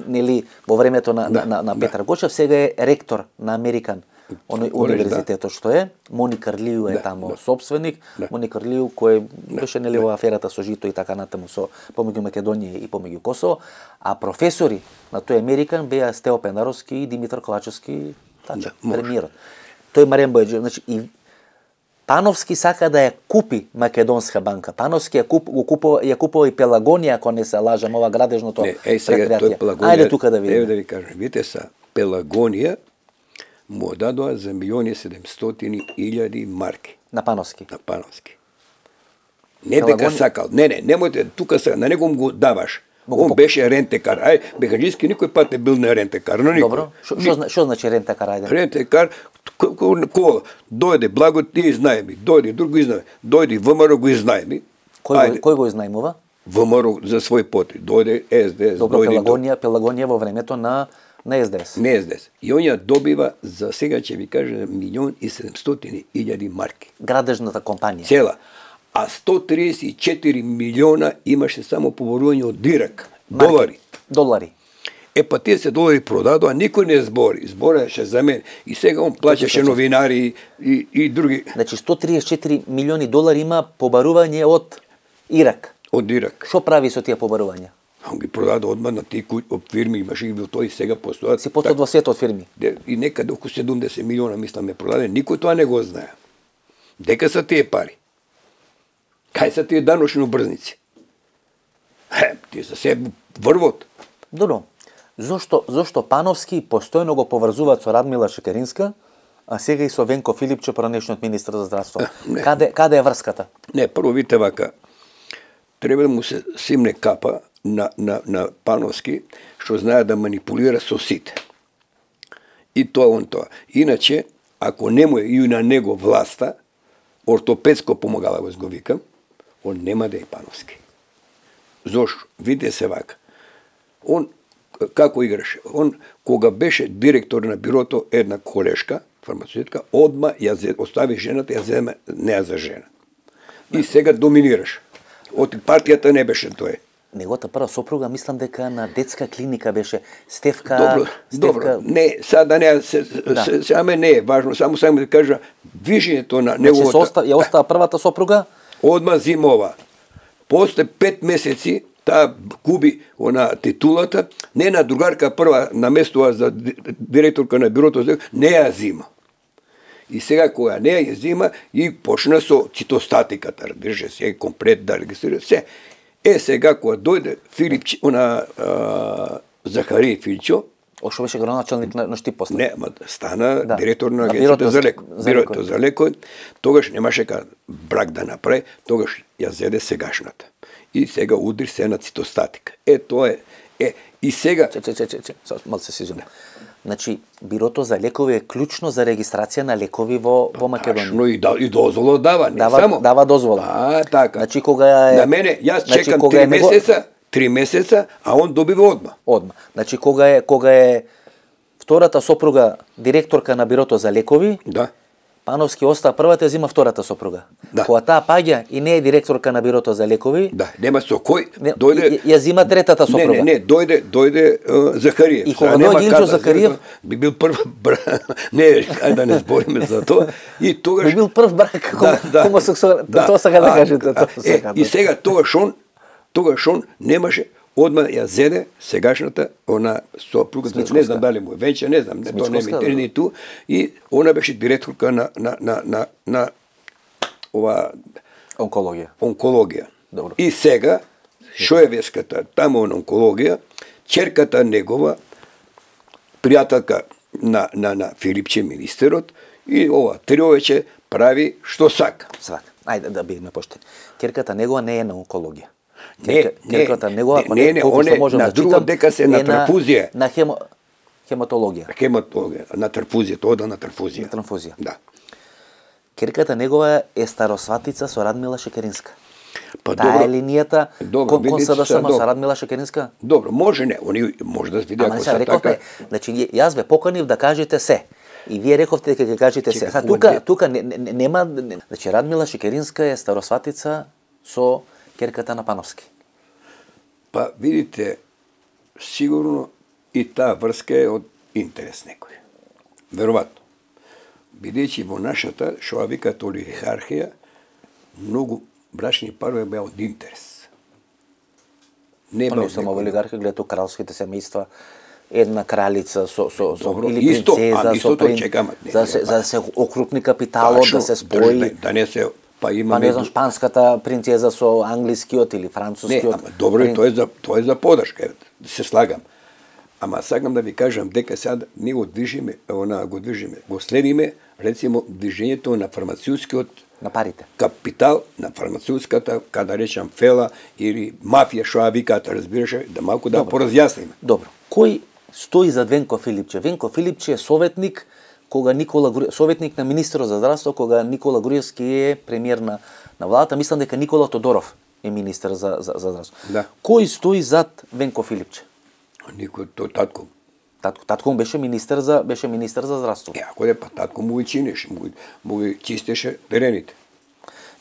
Speaker 2: нели во времето на Петар Гочев, сега е ректор на Американ универзитетот што е. Моника Рлију е тамо собственик. Моника Рлију кој беше нели во аферата со жито и така натаму со помеѓу Македонија и помеѓу Косово, а професори на тој Американ беа Стео Пенаровски и Димитар Ковачевски, премиерот. Тој Маријан Бојаджиев, значи и Пановски сака да ја купи Македонска банка. Пановски ја купува и Пелагонија, ако не се лажам, ова градежното предпријатие. Ајде тука да видиме.
Speaker 3: Еве да ви кажам, видите са, Пелагонија му дадоа за 1.700.000 марки.
Speaker 2: На Пановски.
Speaker 3: На Пановски. Не дека сакал. Не, немојте, тука са, на него го даваш. Он беше рентекар. Бехаджиски никој пат не бил на рентекар.
Speaker 2: Добро. Што значи рентекар? Ајде.
Speaker 3: Рентекар, кола, дојде Благо, ти изнајми, дојде друг го изнајми, дојде ВМРО го изнајми.
Speaker 2: Кој го изнајмува?
Speaker 3: ВМРО за свој потреб. Дојде СДС.
Speaker 2: Добро, Пелагонија во времето на СДС.
Speaker 3: Не СДС. И он ја добива за сега ќе ви кажа 1.700.000 марки.
Speaker 2: Градежната компанија.
Speaker 3: Цела. А 134 милиона имаше само поборување од дирак. Долари. Па тие се долари продадоа, никој не збори. Збореше за мен. И сега он плаќаше новинари и други.
Speaker 2: Значи 134 милиони долари има побарување од Ирак.
Speaker 3: Од Ирак.
Speaker 2: Што прави со тие побарувања?
Speaker 3: Он ги продаде одма на тие фирми, имаше ги бил тој и сега постојат.
Speaker 2: Си постојат во светот фирми.
Speaker 3: И некаде околу 70 милиона мислам е продаде, никој тоа не го знае. Дека са тие пари? Кај са тие даношни обрзници? Тие са се врвот.
Speaker 2: Добро. Зошто Пановски постојано го поврзуваат со Радмила Шекеринска, а сега и со Венко Филипче, поранешниот министр за здравство? Каде е врската?
Speaker 3: Не, прво видите вака, треба да му се симне капа на Пановски, што знае да манипулира со сите. И тоа. Иначе, ако нему е и на него власта, ортопедско помагала го викам, он нема да е Пановски. Зошто? Видите се вака. Он како играше? Он, кога беше директор на бирото, една колешка, фармацевтка, одма ја остави жената, ја земе неа за жена. И сега доминираш. Од партијата не беше тој.
Speaker 2: Неговата прва сопруга, мислам дека на детска клиника беше Стефка.
Speaker 3: Добро. Не, сада не, саме не е важно, само да кажа движењето на неговата.
Speaker 2: Значи ја остава првата сопруга?
Speaker 3: Одма зимова. После 5 месеци таа губи титулата, не на другарка прва наместува за директорка на бирото, не ја зима. И сега кога не ја зима и почна со цитостатиката, разбираше се, комплет да регистрира се. Сега кога дојде Филипче, Захари Филчо,
Speaker 2: што беше градоначалник на Штип после.
Speaker 3: Не, стана директор на агенцијата за бирото за лекови. Тогаш немаше брак да направи, тогаш ја зеде сегашната. И сега удри се на цитостатика. Тоа е. И сега...
Speaker 2: Мал се сизум. Значи, бирото за лекови е клучно за регистрација на лекови во Македонија.
Speaker 3: И дозвола дава, не само.
Speaker 2: Дава дозвола.
Speaker 3: Така.
Speaker 2: Значи, кога е...
Speaker 3: На мене, јас чекам 3 месеца, а он добива одма.
Speaker 2: Значи, кога е втората сопруга директорка на бирото за лекови, Пановски остаа првата, ја зима втората сопруга. Кога таа паѓа и не е директорка на бирото за лекови,
Speaker 3: нема со кој дојде.
Speaker 2: Ја зима третата сопруга.
Speaker 3: Не, дојде Захариев.
Speaker 2: И кога дојде Илчо Захариев,
Speaker 3: би бил прв брак. Не, ајде да не збориме за тоа. И тогаш
Speaker 2: би бил прв брак хомосексуален. Тоа сака да кажете.
Speaker 3: И сега тогаш он немаше одма ја зеде сегашната она сопругата, не знам дали му е веќе, не знам, тоа не ми интересува ту, и она беше директорка на ова онкологија.
Speaker 2: Добро.
Speaker 3: И сега Шоевеската таму на онкологија, ќерката негова, пријателка на Филипче министерот, и ова триовече прави што сака.
Speaker 2: Свака. Ајде да бидеме поштени. Ќерката негова не е на онкологија.
Speaker 3: Ќерката негова, не, на друго дека се на трансфузија.
Speaker 2: На хематологија.
Speaker 3: На трансфузија, тоа да на трансфузија.
Speaker 2: На трансфузија.
Speaker 3: Да.
Speaker 2: Ќерката негова е старосватица со Радмила Шекеринска.
Speaker 3: Па
Speaker 2: таа
Speaker 3: добро.
Speaker 2: е линијата кон СДСМ со Радмила Шекеринска?
Speaker 3: Добро, може не, они може да се види ако се така.
Speaker 2: Значи јас ве поканив да кажете се. И вие рековте дека ќе кажете се. Тука нема, значи Радмила Шекеринска е старосватица со ќерката на Пановски.
Speaker 3: Па видите, сигурно и таа врска е од интерес некој. Веројатно. Бидејќи во нашата, што викаат олигархија, многу брачни парови беа од интерес.
Speaker 2: Не само во олигархија, гледато кралските семејства, една кралица со или принцеза со принц, за да се окрупни капиталот, да се спои.
Speaker 3: Да не се па
Speaker 2: не знам шпанската принцеза со англискиот или францускиот.
Speaker 3: Не, добро е тоа е за подршка, се слагам. Ама сакам да ви кажам дека сега ние го движиме, го следиме, рецимо движењето на фармацевтскиот
Speaker 2: на парите.
Speaker 3: Капитал на фармацевтската, када речам фела или мафија, што ја викаат, разбираше, да малку да поразјасниме.
Speaker 2: Добро. Кој стои зад Венко Филипче? Венко Филипче е советник советник на министерот за здравство кога Никола Груевски е премиер на владата. Мислам дека Никола Тодоров е министер за здравство.
Speaker 3: Да.
Speaker 2: Кој стои зад Венко Филипче?
Speaker 3: Никој, тој татко.
Speaker 2: Татко му беше министер за здравство.
Speaker 3: Ако е па татко му ги чинеше, му ги чистеше терените.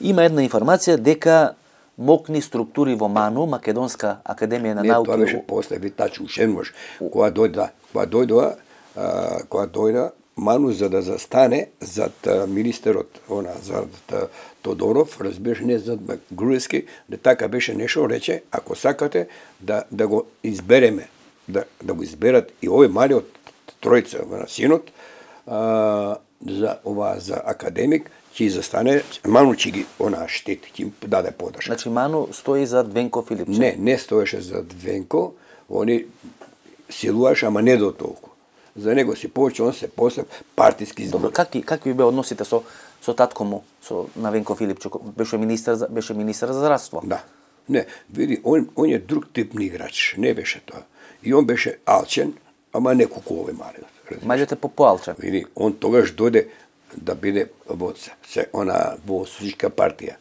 Speaker 2: Има една информација дека мокни структури во МАНУ, Македонска академија на науки.
Speaker 3: Не, тоа беше после ви тачу ушенуваш. Кога дојда МАНУ за да застане зад министерот, зад Тодоров, разбираш, не зад Груевски, да така беше нешто, рече, ако сакате да го избереме, да го изберат и овој малиот тројца на синот, за академик, ќе застане, МАНУ ќе ги штити, ќе им даде подршка.
Speaker 2: Значи МАНУ стои зад Венко Филипче?
Speaker 3: Не стоеше зад Венко, они силуваше, ама не до толку. За него си повеќе, он се после партиски избор.
Speaker 2: Добро, какви бе односите со татко му, на Венко Филипче, беше министер за здравство?
Speaker 3: Да. Не, види, он е друг тип на играч, не беше тоа. И он беше алчен, ама не кукуве малиот.
Speaker 2: Малиот е поалчен.
Speaker 3: Види, он тогаш дојде да биде во социјалистичка партија.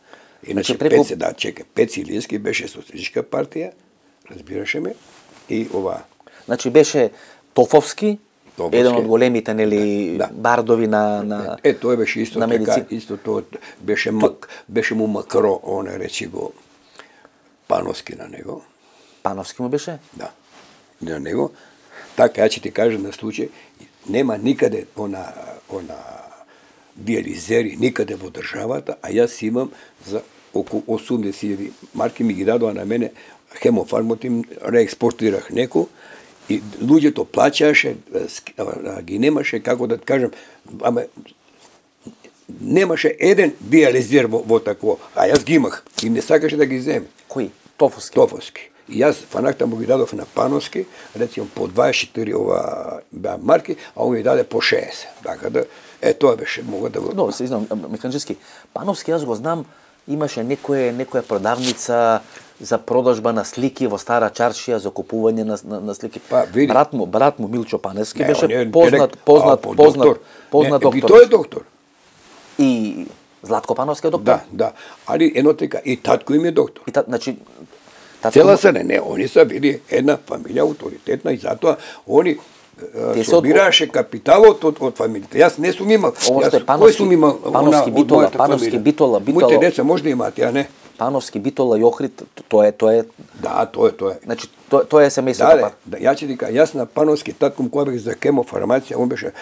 Speaker 3: Иначе Пеци Илиевски беше социјалистичка партија, разбираше ме, и ова.
Speaker 2: Значи беше Тофовски, еден од големите бардови на
Speaker 3: тој беше исто така, исто тоа беше му Макро, он речи го Пановски на него.
Speaker 2: Пановски му беше?
Speaker 3: Да. На него. Така, ја ќе ти кажам на случај, нема никаде диализери, никаде во државата, а јас имам за околу 80.000 марки, ми ги дадоа на мене, Хемофармот им реекспортирах неко, и луѓето плаќаше, ги немаше, како да кажам, ама немаше еден диализер во такво, а јас ги имах и не сакаше да ги земе.
Speaker 2: Кој? Тофовски?
Speaker 3: Тофовски. И јас фанакта му ги дадов на Пановски, рецимо по 24 марки, а он ми даде по 60. Така да, тоа беше, мога да го...
Speaker 2: Но, се знам, механички. Пановски, јас го знам, имаше некоја продавница за продажба на слики во Стара Чаршија, за купување на слики.
Speaker 3: Па, види.
Speaker 2: Брат му Милчо Паневски беше
Speaker 3: познат доктор.
Speaker 2: И
Speaker 3: тој е доктор.
Speaker 2: И Златко Пановски е доктор.
Speaker 3: Да. Али едно така, и татко им е доктор.
Speaker 2: Значи,
Speaker 3: цела се не, они са били една фамилија авторитетна и затоа они собираше капиталот од фамилиите. Јас не сум имал. Кој сум имал?
Speaker 2: Пановски Битола.
Speaker 3: Моите деца може да имаат, ја не.
Speaker 2: Пановски Битола и Охрид, тоа е.
Speaker 3: Да, тоа е.
Speaker 2: Значи, тоа е семејството.
Speaker 3: Да, ја ќе ти кажам, јас на Пановски татком кој бех за хемофармација, он беше,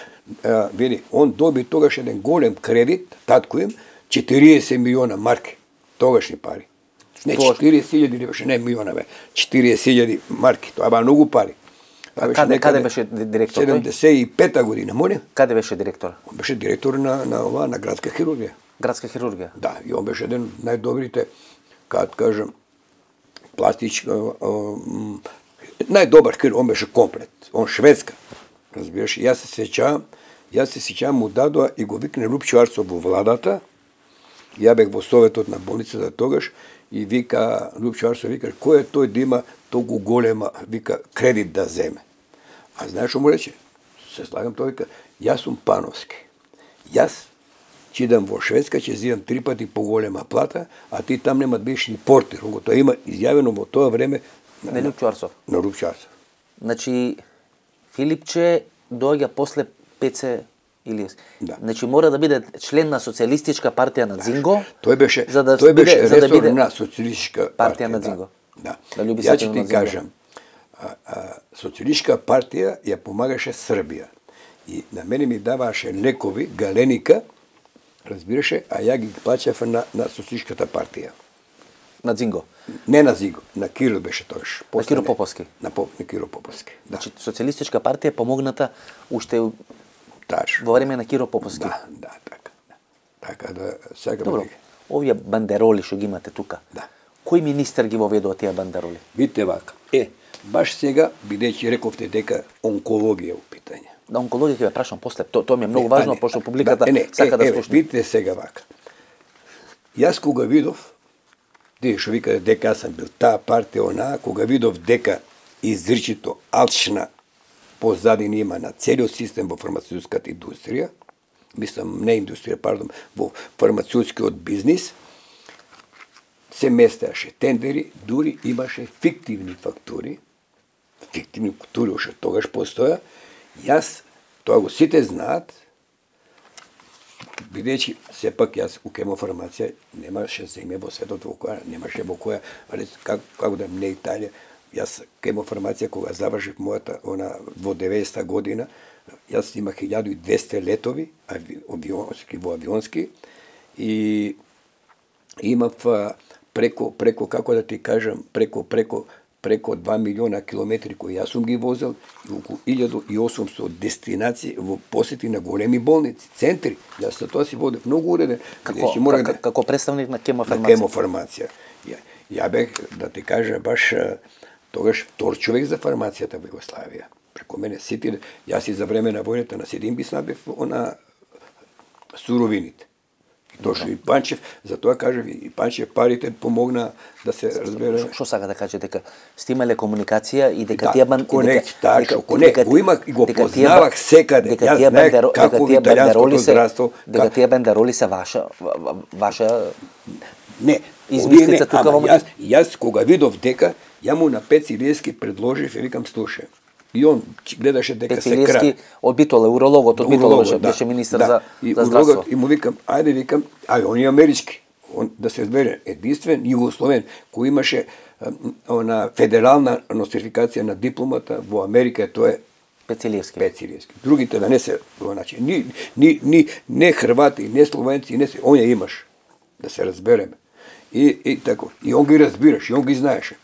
Speaker 3: види, он доби тогаш еден голем кредит, татко им, 40 милиона марки, тогашни пари. Не, 40.000 не беше, не милиона бе. 40.000 марки, тоа беа многу пари.
Speaker 2: Каде беше директор тој?
Speaker 3: 75-та година, молим.
Speaker 2: Каде беше директор?
Speaker 3: Он беше директор на градска хирургија.
Speaker 2: Градска хирургија?
Speaker 3: Да, и он беше еден најдобрите, како кажам, пластичка, најдобар хирург, он беше комплет. Он шведска, разбираш. Јас се сеќавам му дадоа и го викне Лупчо Арцов во владата. Ја бех во советот на болницата тогаш и вика Лупчо Арцов вика кој е тој да има толку голема вика кредит да земе. А знаеш што му рече? Се слагам тој вика јас сум пановски. Јас ќе идам во Шведска, ќе зидам 3 пати поголема плата, а ти там нема да бидеш ни портир. Го тоа има изјавено во тоа време
Speaker 2: на Лупчо Арцов.
Speaker 3: На Лупчо Арцов.
Speaker 2: Значи Филипче доаѓа после Пеце Илиевски.
Speaker 3: Да.
Speaker 2: Значи мора да биде член на Социјалистичка партија на Дзинго.
Speaker 3: Тој беше ресор на Социјалистичка партија
Speaker 2: на Дзинго.
Speaker 3: Да.
Speaker 2: Ја
Speaker 3: ќе ти кажам, Социјалистичка партија ја помагаше Србија. И на мене ми даваше лекови, галеника, разбираше, а ја ги плаќав на Социјалистичката партија.
Speaker 2: На Дзинго?
Speaker 3: Не на Дзинго, на Кирил беше тогаш.
Speaker 2: На Киро Поповски?
Speaker 3: На Киро Поповски, да.
Speaker 2: Значи Социјалистичка партија помогната уште
Speaker 3: Таш.
Speaker 2: Во време на Киро Поповски?
Speaker 3: Да, така. Така да сега
Speaker 2: Добро, овие бандероли што ги имате тука,
Speaker 3: да.
Speaker 2: Кој министер ги воведува тие бандероли?
Speaker 3: Видите вака, баш сега, бидејќи рековте дека онкологија у питање.
Speaker 2: Да, онкологија ќе ве прашам после, тоа ми е многу важно, пошто публиката сака да слушне.
Speaker 3: Видите сега вака. Јас кога видов, тие што вика дека јас сум бил таа партија, онаа, кога видов дека изричито алчна позадина има на целиот систем во фармацевтската индустрија, мислам не индустрија, пардон, во фармацевтскиот бизнис, се местеаше тендери, дури имаше фиктивни фактури уште тогаш постоја. Јас, тоа го сите знаат, бидејќи сепак јас у хемофармација немаше земја во светот во која, немаше во која, како да не Италија, јас хемофармација кога завршив мојата во 90-та година, јас имах 1200 летови во авионски и имав преко како да ти кажам, преко 2 милиона километри кои јас сум ги возел и околу 1800 дестинации во посети на големи болници, центри. Јас за тоа си водев многу уреден.
Speaker 2: Како представник на
Speaker 3: хемофармација. Ја бех, да ти кажа, баш тогаш втор човек за фармацијата во Југославија. Преко мене сите, јас и за време на војната на Седим би снабив суровините. Дошли и Панчев, затоа кажав и Панчев парите помогна да се разбере.
Speaker 2: Што сака да каже дека сте имале комуникација и дека тие
Speaker 3: го познавах секаде. Јас знаех како италијанското здравство.
Speaker 2: Дека тие бандероли се ваша
Speaker 3: не,
Speaker 2: измислица тука во
Speaker 3: јас кога видов дека ја му на Пеци Илиевски предложив и викам слушај. И он гледаше дека се кра.
Speaker 2: Пеци од Битола, урологот од Битола беше министар за здравство.
Speaker 3: И му викам, ајде викам, он е амерички. Он да се збере единствен југословен кој имаше федерална нострификација на дипломата во Америка, тоа е
Speaker 2: Пеци Илиевски.
Speaker 3: Другите да не се, значи не хрвати, не словенци, не се, он ја имаш. Да се разбереме. И тако. И он ги разбираш, и он ги знаеше.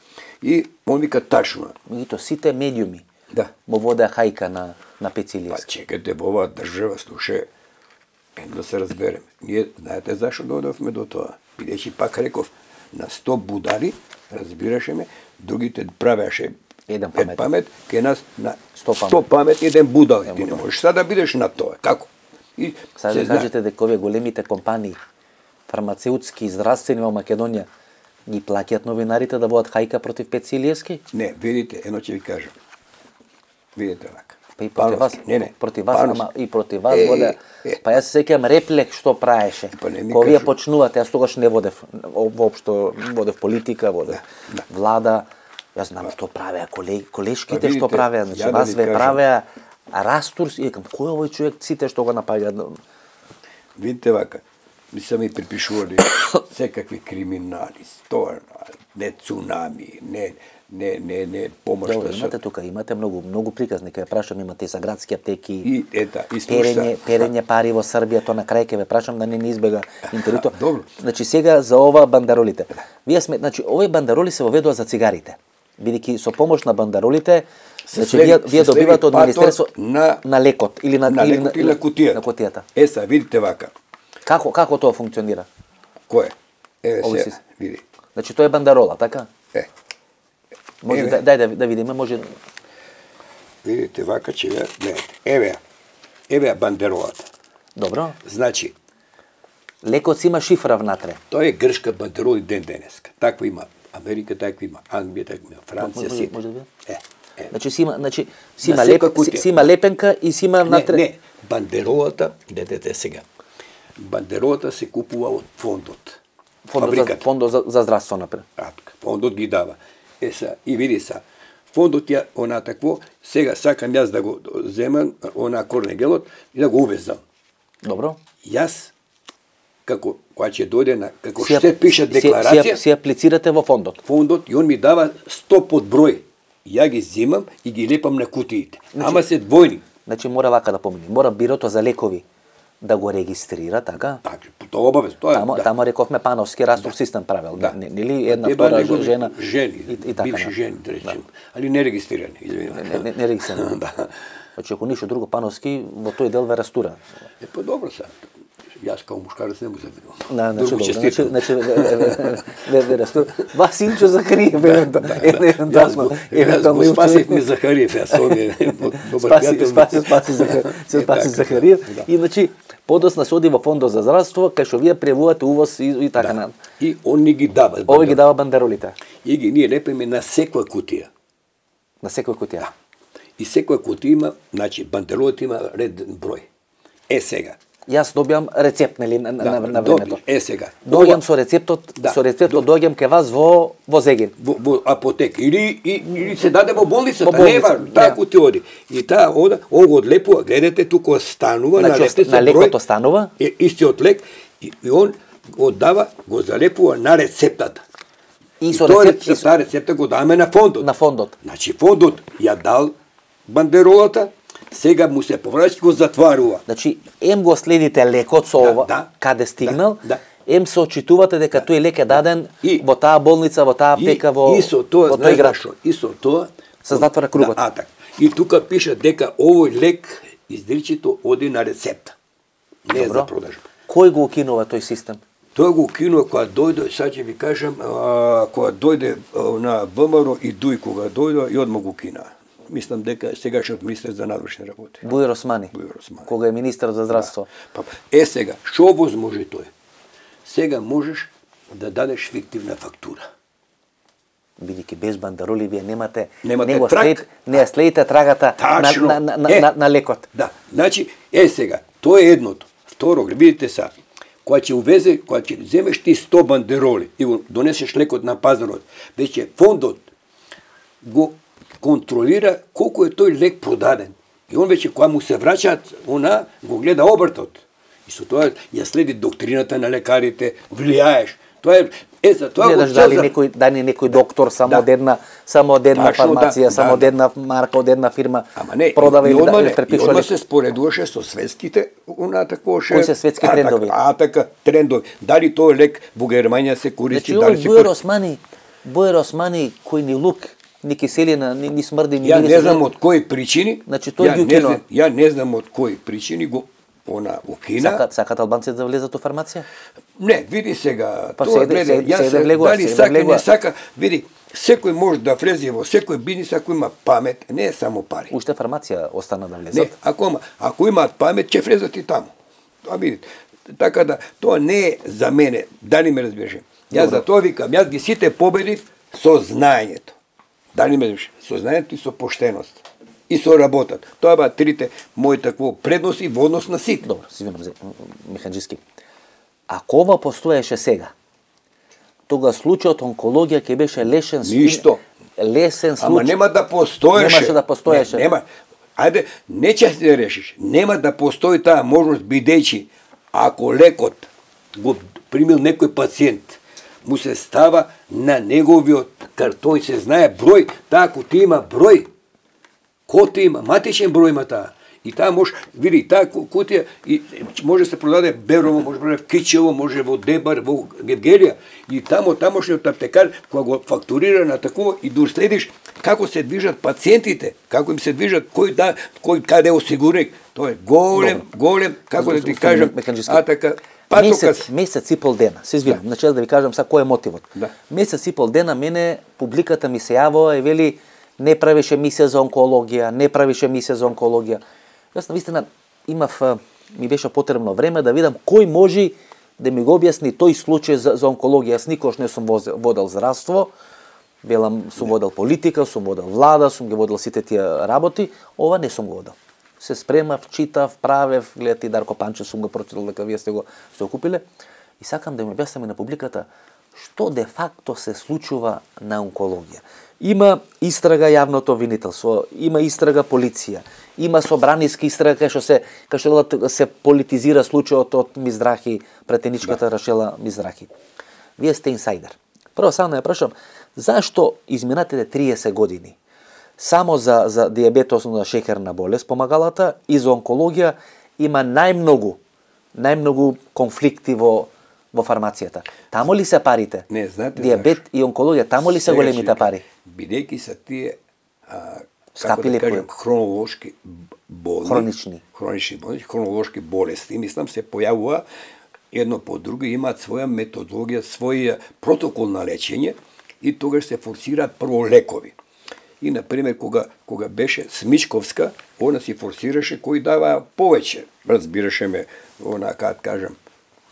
Speaker 3: И он вика тачно.
Speaker 2: Меѓутоа сите медиуми
Speaker 3: да
Speaker 2: му водеа хајка на Пеци Илиевски.
Speaker 3: Па чекате, во оваа држава, слушај, да се разбереме. Ние, знаете зашо додовме до тоа? Бидејќи пак реков, на 100 будари, разбираше ме, другите правеше
Speaker 2: еден
Speaker 3: памет, кај нас на 100 памет, еден будал. Ти не можеш сега да бидеш на тоа. Како?
Speaker 2: Сега да кажете дека овие големите компании, фармацеутски и здравствени во Македонија, ги плаќаат новинарите да водат хајка против Пеци Илиевски?
Speaker 3: Не, видите, едно ќе ви кажам. Видите вака.
Speaker 2: Па и против вас, против вас, ама и против вас воде. Па јас се сеќавам реплек што праеше. Кога вие почнувате, јас тогаш не водев воопшто, водев политика, водев влада. Јас знам што правеа колешките, што правеа, значи вас ве правеа растурс и викам кој овој човек сите што го напаѓа.
Speaker 3: Видите вака, ми се ми припишували секакви криминали, не цунами, не помош.
Speaker 2: Добро, имате тука, имате многу приказни, кај прашам, имате и за градски аптеки,
Speaker 3: и
Speaker 2: перење пари во Србија, то на крај ќе ве прашам да не избега интервјуто.
Speaker 3: Добро.
Speaker 2: Значи сега за ова бандеролите. Вие значи овие бандероли се воведува за цигарите. Бидејќи со помош на бандеролите, значи вие добивате од министерство на лекот или на
Speaker 3: кутија.
Speaker 2: На кутијата.
Speaker 3: Са, видите вака.
Speaker 2: Како тоа функционира?
Speaker 3: Кој? Се, види.
Speaker 2: Значи тоа е бандерола, така? Може дај да видиме, може.
Speaker 3: Видите вака че гледате. Еве бандеролата.
Speaker 2: Добро.
Speaker 3: Значи
Speaker 2: лекот си има шифра внатре.
Speaker 3: Тоа е грчка бандерола и ден денеска. Таква има Америка, таква има Англија, таква има Франција, си.
Speaker 2: Може да
Speaker 3: биде?
Speaker 2: Значи си има лепенка и си има внатре.
Speaker 3: Не, бандеролата, гледате сега. Бандеролата се купува од фондот.
Speaker 2: Фондот за здравство напред.
Speaker 3: Фондот ги дава. И види са, фондот ја, она такво, сега сакам јас да го земам, она корнегелот, и да го увезам.
Speaker 2: Добро.
Speaker 3: Јас, кога ќе дојде како ще пише декларација,
Speaker 2: си аплицирате во фондот.
Speaker 3: Фондот, и он ми дава 100 под број. Ја ги земам и ги лепам на кутиите. Ама се двојни.
Speaker 2: Значи мора вака да помине. Мора бирото за лекови да го регистрира, така?
Speaker 3: Така, тоа обавез, тоа е.
Speaker 2: Тамо рековме Пановски растов систем правил, нели една втора жена и така.
Speaker 3: Бивши жени, да речем, али не регистрирани, извинувам.
Speaker 2: Не регистрирани. Значи ако ништо друго Пановски во тој дел ве растура.
Speaker 3: Па добро са. Јас као мушкарец не му
Speaker 2: завидувам. Значи ве растура. Вас Инчо Захариев евентуално.
Speaker 3: Јас го спасив ми Захариев, јас
Speaker 2: спаси Захариев. И значи подосна се оди во фондот за здравство, кај што вие превувате увоз и така на.
Speaker 3: И он ни ги дава.
Speaker 2: Овој ги дава бандеролите.
Speaker 3: И ги ние лепиме на секоја кутија.
Speaker 2: На секоја кутија.
Speaker 3: И секоја кутија има, значи бандеролите има реден број. Сега.
Speaker 2: Јас добиам рецепт, нели, на времето.
Speaker 3: Сега.
Speaker 2: Доаѓам со рецептот, доаѓам кај вас во Зегин.
Speaker 3: Во апотека или се даде во болницата, нева, таку ти оди. И таа ода, го одлепува, гледате тука останува, на
Speaker 2: лекот останува.
Speaker 3: Истиот лек и он го дава, го залепува на рецептата.
Speaker 2: И со
Speaker 3: рецепта го даваме на фондот.
Speaker 2: На фондот.
Speaker 3: Значи фондот ја дал бандеролата, сега му се повраќа го затварува.
Speaker 2: Значи, го следите лекот со ова, каде стигнал, се очитувате дека тој лек е даден во таа болница, во таа аптека, во тој град.
Speaker 3: И со тоа
Speaker 2: се затвара кругот.
Speaker 3: И тука пише дека овој лек изричито оди на рецепта. Не е за продажба.
Speaker 2: Кој го укинува тој систем?
Speaker 3: Тој го укинува кога дојде, сега ќе ви кажам, кога дојде на ВМРО и Дуј кога дојде и одма го укина. Мислам дека сегашниот министер за надворешни работи.
Speaker 2: Буир Османи. Кога е министер за здравство.
Speaker 3: Сега, што возможи тој? Сега можеш да дадеш фиктивна фактура.
Speaker 2: Бидејќи без бандероли вие немате
Speaker 3: трак.
Speaker 2: Не следите трагата на лекот.
Speaker 3: Да, значи, сега, тоа е едното. Второ, видите са, кога ќе земеш ти 100 бандероли и го донесеш лекот на пазарот, веќе фондот го контролира колку е тој лек продаден. И он веќе кога му се враќаат, го гледа обртот. И со тоа ја следи доктрината на лекарите, влијаеш. Тоа е за тоа
Speaker 2: гледаш дали некој доктор само од една фармација, само од една марка, од една фирма продава или препишува.
Speaker 3: И одма се споредуваше со светските,
Speaker 2: кои се светски трендови?
Speaker 3: Трендови. Дали тој лек во Германија се користи, дали се
Speaker 2: користи? Буир Османи, кој ни лук, ни киселина, ни смрди, ни
Speaker 3: Ја не знам од кои причини.
Speaker 2: Значи тој ги укинува.
Speaker 3: Ја не знам од кои причини го укина.
Speaker 2: Сакат албанците да влезат во фармација?
Speaker 3: Не, види сега.
Speaker 2: Тоа гледа,
Speaker 3: дали сака, не сака, види, секој може да влезе во секој бизнис ако има памет, не е само пари.
Speaker 2: Уште фармација остана да влезат.
Speaker 3: Не, ако имаат памет, ќе влезат и таму. Тоа видите. Така да, тоа не е за мене, дали ме разбираш. Јас за тоа викам, јас ги сите победив со знаењето. Дали ме разбираш? Со знаењето и со поштеност. И со работат. Тоа ба трите мои такво предности во однос на сите.
Speaker 2: Добро, си винам, Механџиски. Ако ова постоеше сега, тога случајот онкологија ќе беше лесен
Speaker 3: случај. Ама нема да постоеше.
Speaker 2: Немаше да постоеше.
Speaker 3: Нема. Ајде, не ќе се решиш. Нема да постои таа можност бидејќи ако лекот го примил некој пациент, му се става на неговиот картон, се знае број, таа кутија има број. Кота има, матичен број има таа. И таа може, види, таа кутија и може да се продаде Берово, може да в Кичево, може во Дебар, во Гевгелија. И тамошниот аптекар, кога го фактурира на такова и да следиш како се движат пациентите, како им се движат, кој каде осигурник. Тоа е голем, како да ти кажам, така,
Speaker 2: Месец и пол дена, се извинам, значи да ви кажам сега кој е мотивот.
Speaker 3: Да.
Speaker 2: Месец и пол дена мене публиката ми се јавува и вели не правише мисија за онкологија, Јас навистина ми беше потребно време да видам кој може да ми го објасни тој случај за онкологија. Јас никош не сум водел здравство, сум водел политика, сум водел влада, сум ги водел сите тие работи, ова не сум го водел. Се спремав, читав, правев, гледате и Дарко Панчев сум го прочитал дека вие сте го окупиле. И сакам да ми објасниме на публиката што де факто се случува на онкологија. Има истрага јавното обвинителство, има истрага полиција, има собраниска истрага кај што се политизира случајот од Мизрахи, претеничката Рашела Мизрахи. Вие сте инсайдер. Прво само да ја прашам, зашто изминатите 30 години само за дијабет, основна шеќерна болест, помагалата и за онкологија има најмногу конфликти во фармацијата. Тамо ли се парите?
Speaker 3: Не, знаете
Speaker 2: дијабет и онкологија, тамо ли се големите пари?
Speaker 3: Бидејќи се тие
Speaker 2: скапи ли
Speaker 3: хронолошки болни, хронолошки болести, мислам се појавува едно по друго, имаат своја методологија, свој протокол на лечење и тогаш се форсираат прво лекови. И, например, кога беше Смичковска, она си форсираше кој дава повеќе. Разбираше ме, она, как кажам,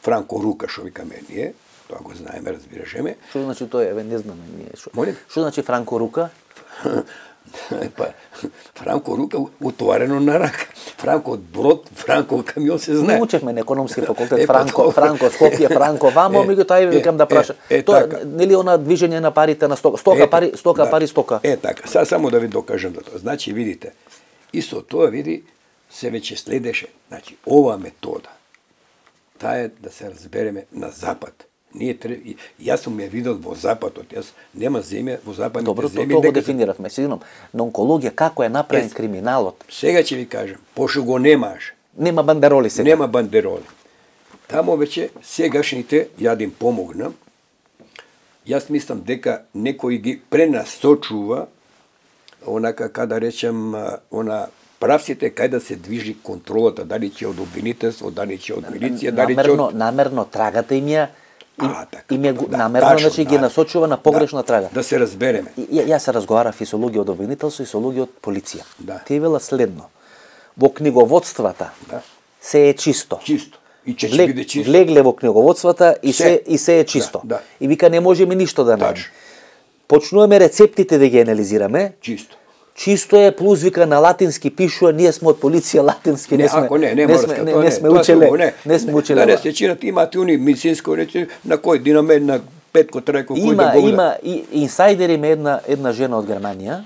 Speaker 3: Франко Рука, шо викаме ние, тоа го знаеме, разбираше ме.
Speaker 2: Што значи тоа, не знаме ние. Што значи Франко Рука?
Speaker 3: Франко Рука утоварено на рака. Франко брод, Франко камион се знае.
Speaker 2: Не учевме на економски факултет, Франко Скопје, Франко вамо, меѓутоа викам да праша. Тоа нели она движење на парите на стока пари.
Speaker 3: Така. Само да ви докажам да тоа. Значи видите, исто тоа види се веќе следеше. Значи ова метода таа е да се разбереме на запад. Јас сум ја видел во западот, јас нема земја во западните земји.
Speaker 2: Добро, тоа го дефиниравме. Сигурно, на онкологија како е направен криминалот?
Speaker 3: Сега ќе ви кажам, пошто го немаш.
Speaker 2: Нема бандероли сега.
Speaker 3: Нема бандероли. Тамо веќе сегашните ја да им помогнам. Јас мислам дека некој ги пренасочува онака када речем правците кај да се движи контролата, дали ќе од обвинителство, дали ќе од милиција, дали ќе од
Speaker 2: намерно трагата им ја намерно, значи ги насочува на погрешна трага.
Speaker 3: Да се разбереме.
Speaker 2: Јас се разговарав и со луѓе од обвинителство и со луѓе од полиција. Тие велат следно. Во книговодствата се е чисто.
Speaker 3: Чисто. И ќе биде чисто.
Speaker 2: Влегле во книговодствата и се е чисто. И вика не можеме ништо да најдеме. Почнуваме рецептите да ги анализираме.
Speaker 3: Чисто.
Speaker 2: Чисто е плюс вика на латински пишува, ние сме од полиција латински, не сме учеле.
Speaker 3: Да се чинат имаат уни медицинско речи на кој динаме на Петко Трајко кој да го
Speaker 2: има инсайдер има една жена од Германија.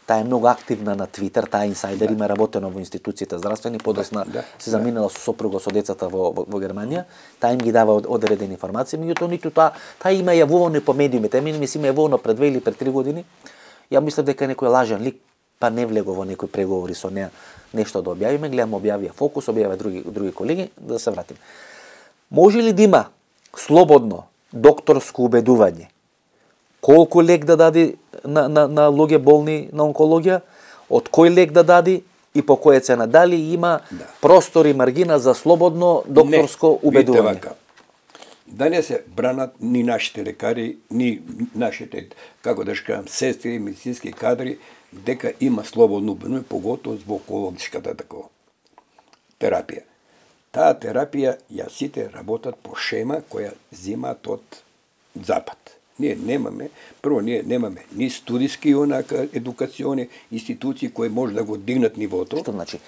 Speaker 2: Таа е многу активна на Твитер, таа инсайдер има работено во институциите здравствени, подосна се заминала со сопруга со децата во Германија. Таа им ги дава одредени информации, меѓутоа ниту таа има јавувано по медиумите. Ми се има јавувано пред 2 или пред 3 години. Ја мислев дека некој лажен лик па не влего во некои преговори со неа нешто да објавиме, гледам објавија Фокус, објавија други колеги, да се вратим. Може ли да има слободно докторско убедување колку лек да даде на луѓе болни на онкологија, од кој лек да даде и по која цена, дали има простор и маргина за слободно докторско убедување?
Speaker 3: Да не се бранат ни нашите лекари, ни нашите, како да кажам, сестри, медицински кадри, дека има слободно убедување, поготово во онкологичката такова терапија. Таа терапија ја сите работат по шема која земаат од запад. Ние немаме ни студиски едукациони институции кои може да го дигнат нивото.
Speaker 2: Што значи?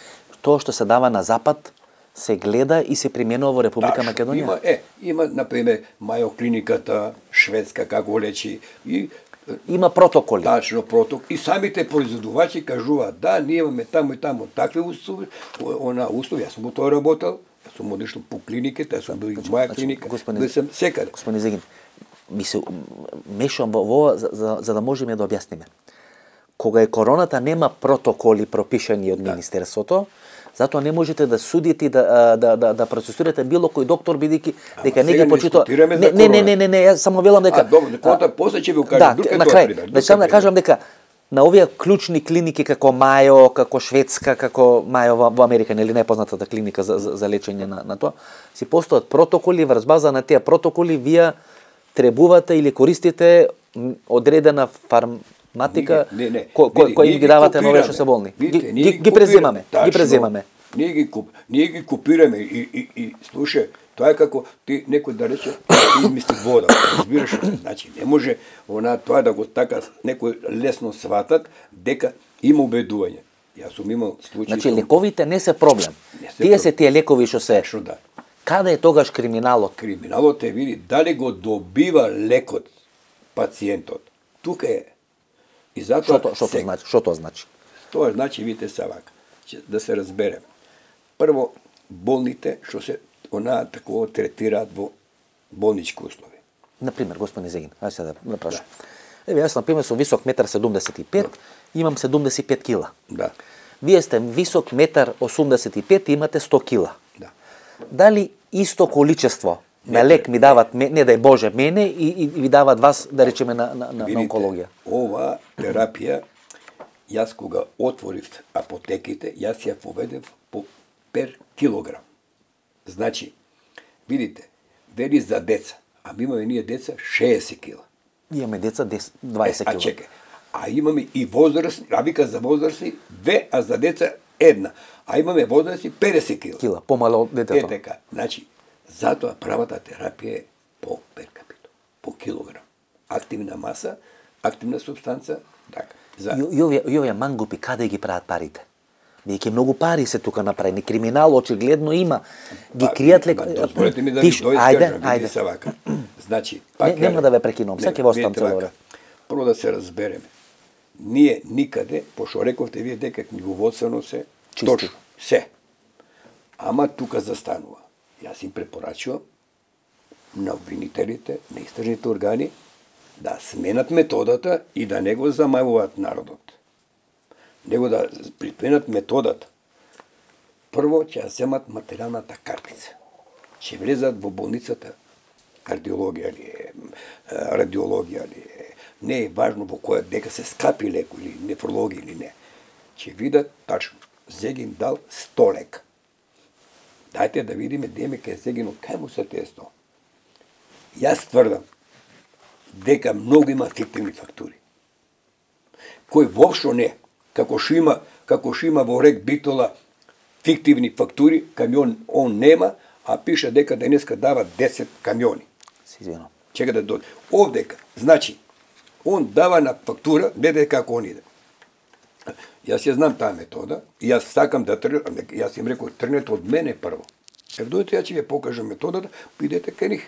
Speaker 2: Тоа што се дава на запад се гледа и се применува во Република Македонија?
Speaker 3: Има, например, Мајо клиниката, шведска, како лечи, и
Speaker 2: има протоколи.
Speaker 3: Тачно протокол. И самите производувачи кажуваат, да, ние имаме тамо и тамо такви услови, јас сум тоа работел, јас сум одишол по клиниките, јас сум бил и моја клиника, бил сум секаде.
Speaker 2: Господин Зегин, ми се мешам во ова за да можеме да објасниме. Кога е короната нема протоколи пропишани од министерството, затоа не можете да судите и да процесирате било кој доктор бидејќи дека не ги почитува. Не, јас само велам дека
Speaker 3: добро, дека после ќе ви кажам друг е тоа пример.
Speaker 2: Да, само да кажам дека на овие клучни клиники како Мајо, како Шведска, како Мајо во Америка, нели најпознатата клиника за лечење на тоа, си постојат протоколи, врз база на тие протоколи вие требувате или користите одредена фарматика кој ги давате на овие што се болни. Ги преземаме.
Speaker 3: Ние ги копираме и слушај, тоа е како ти некој да рече измисли вода, разбираш? Значи не може тоа да го така некој лесно сватат дека има убедување. Јас сум имал случаи.
Speaker 2: Значи лековите не се проблем. Тие се тие лекови што се.
Speaker 3: Да.
Speaker 2: Каде е тогаш криминалот?
Speaker 3: Криминалот е види дали го добива лекот пациентот. Тука е. И затоа
Speaker 2: Што тоа значи?
Speaker 3: Тоа значи видите се вака. Да се разбереме. Прво болните што се такова третираат во болнички услови.
Speaker 2: Например, господин Зегин, ајде сега да прашам. Еве јас на пример сум висок 1,75 м, имам 75 кила.
Speaker 3: Да.
Speaker 2: Вие сте висок 1,85 м и имате 100 кила.
Speaker 3: Да.
Speaker 2: Дали исто количество на лек ми дават, не дај Боже, мене и ви дават вас, да речеме, на онкологија?
Speaker 3: Ова терапија, јас кога отворив апотеките, јас ја поведев по пер килограм. Значи, видите, вели за деца, а ми имаме ние деца 60 кила.
Speaker 2: Имаме деца 20 кила.
Speaker 3: А чекај, а имаме и возрастни, а вика за возрастни 2, а за деца 1. А имаме возрастни 50 кила.
Speaker 2: Кила, помало од детето.
Speaker 3: Е така, значи, затоа правата терапија е по пер капито, по килограм. Активна маса, активна субстанца, така.
Speaker 2: И овие мангупи, каде ги прават парите? Веќе многу пари се тука направени, криминал очигледно има. Ги кријат лекови.
Speaker 3: Дозволете ми да ви доискажам, види се вака. Значи,
Speaker 2: нема да ве прекинувам, сега ќе во оставам цело време.
Speaker 3: Прво да се разбереме. Ние никаде, пошто рековте вие дека книговодствено се точно, се. Ама тука застанува. Јас им препорачувам на обвинителите, на истражните органи да сменат методата и да не го замајуваат народот. Него да припенат методата. Прво ќе ја земат материјалната картица. Ќе влезат во болницата, кардиологија ли е, радиологија ли е, не е важно во која дека се скапи леко или нефрологија или не. Ќе видат тачно, Зегин дал 100 лека. Дајте да видиме деме кај Зегинот, кај му се тие 100. Јас тврдам дека многу има фиктивни фактури. Кој воопшто не, како што има во рек Битола фиктивни фактури, камион он нема, а пише дека денеска дава 10 камиони.
Speaker 2: Се извинувам.
Speaker 3: Чека да дојде. Овдека, значи, он дава на фактура, гледај како он иде. Јас ја знам таа метода, и јас сакам да тргнем, јас им рекол, тргнете од мене прво. Дојдете, ја ќе ви покажам методата, идете кај нив.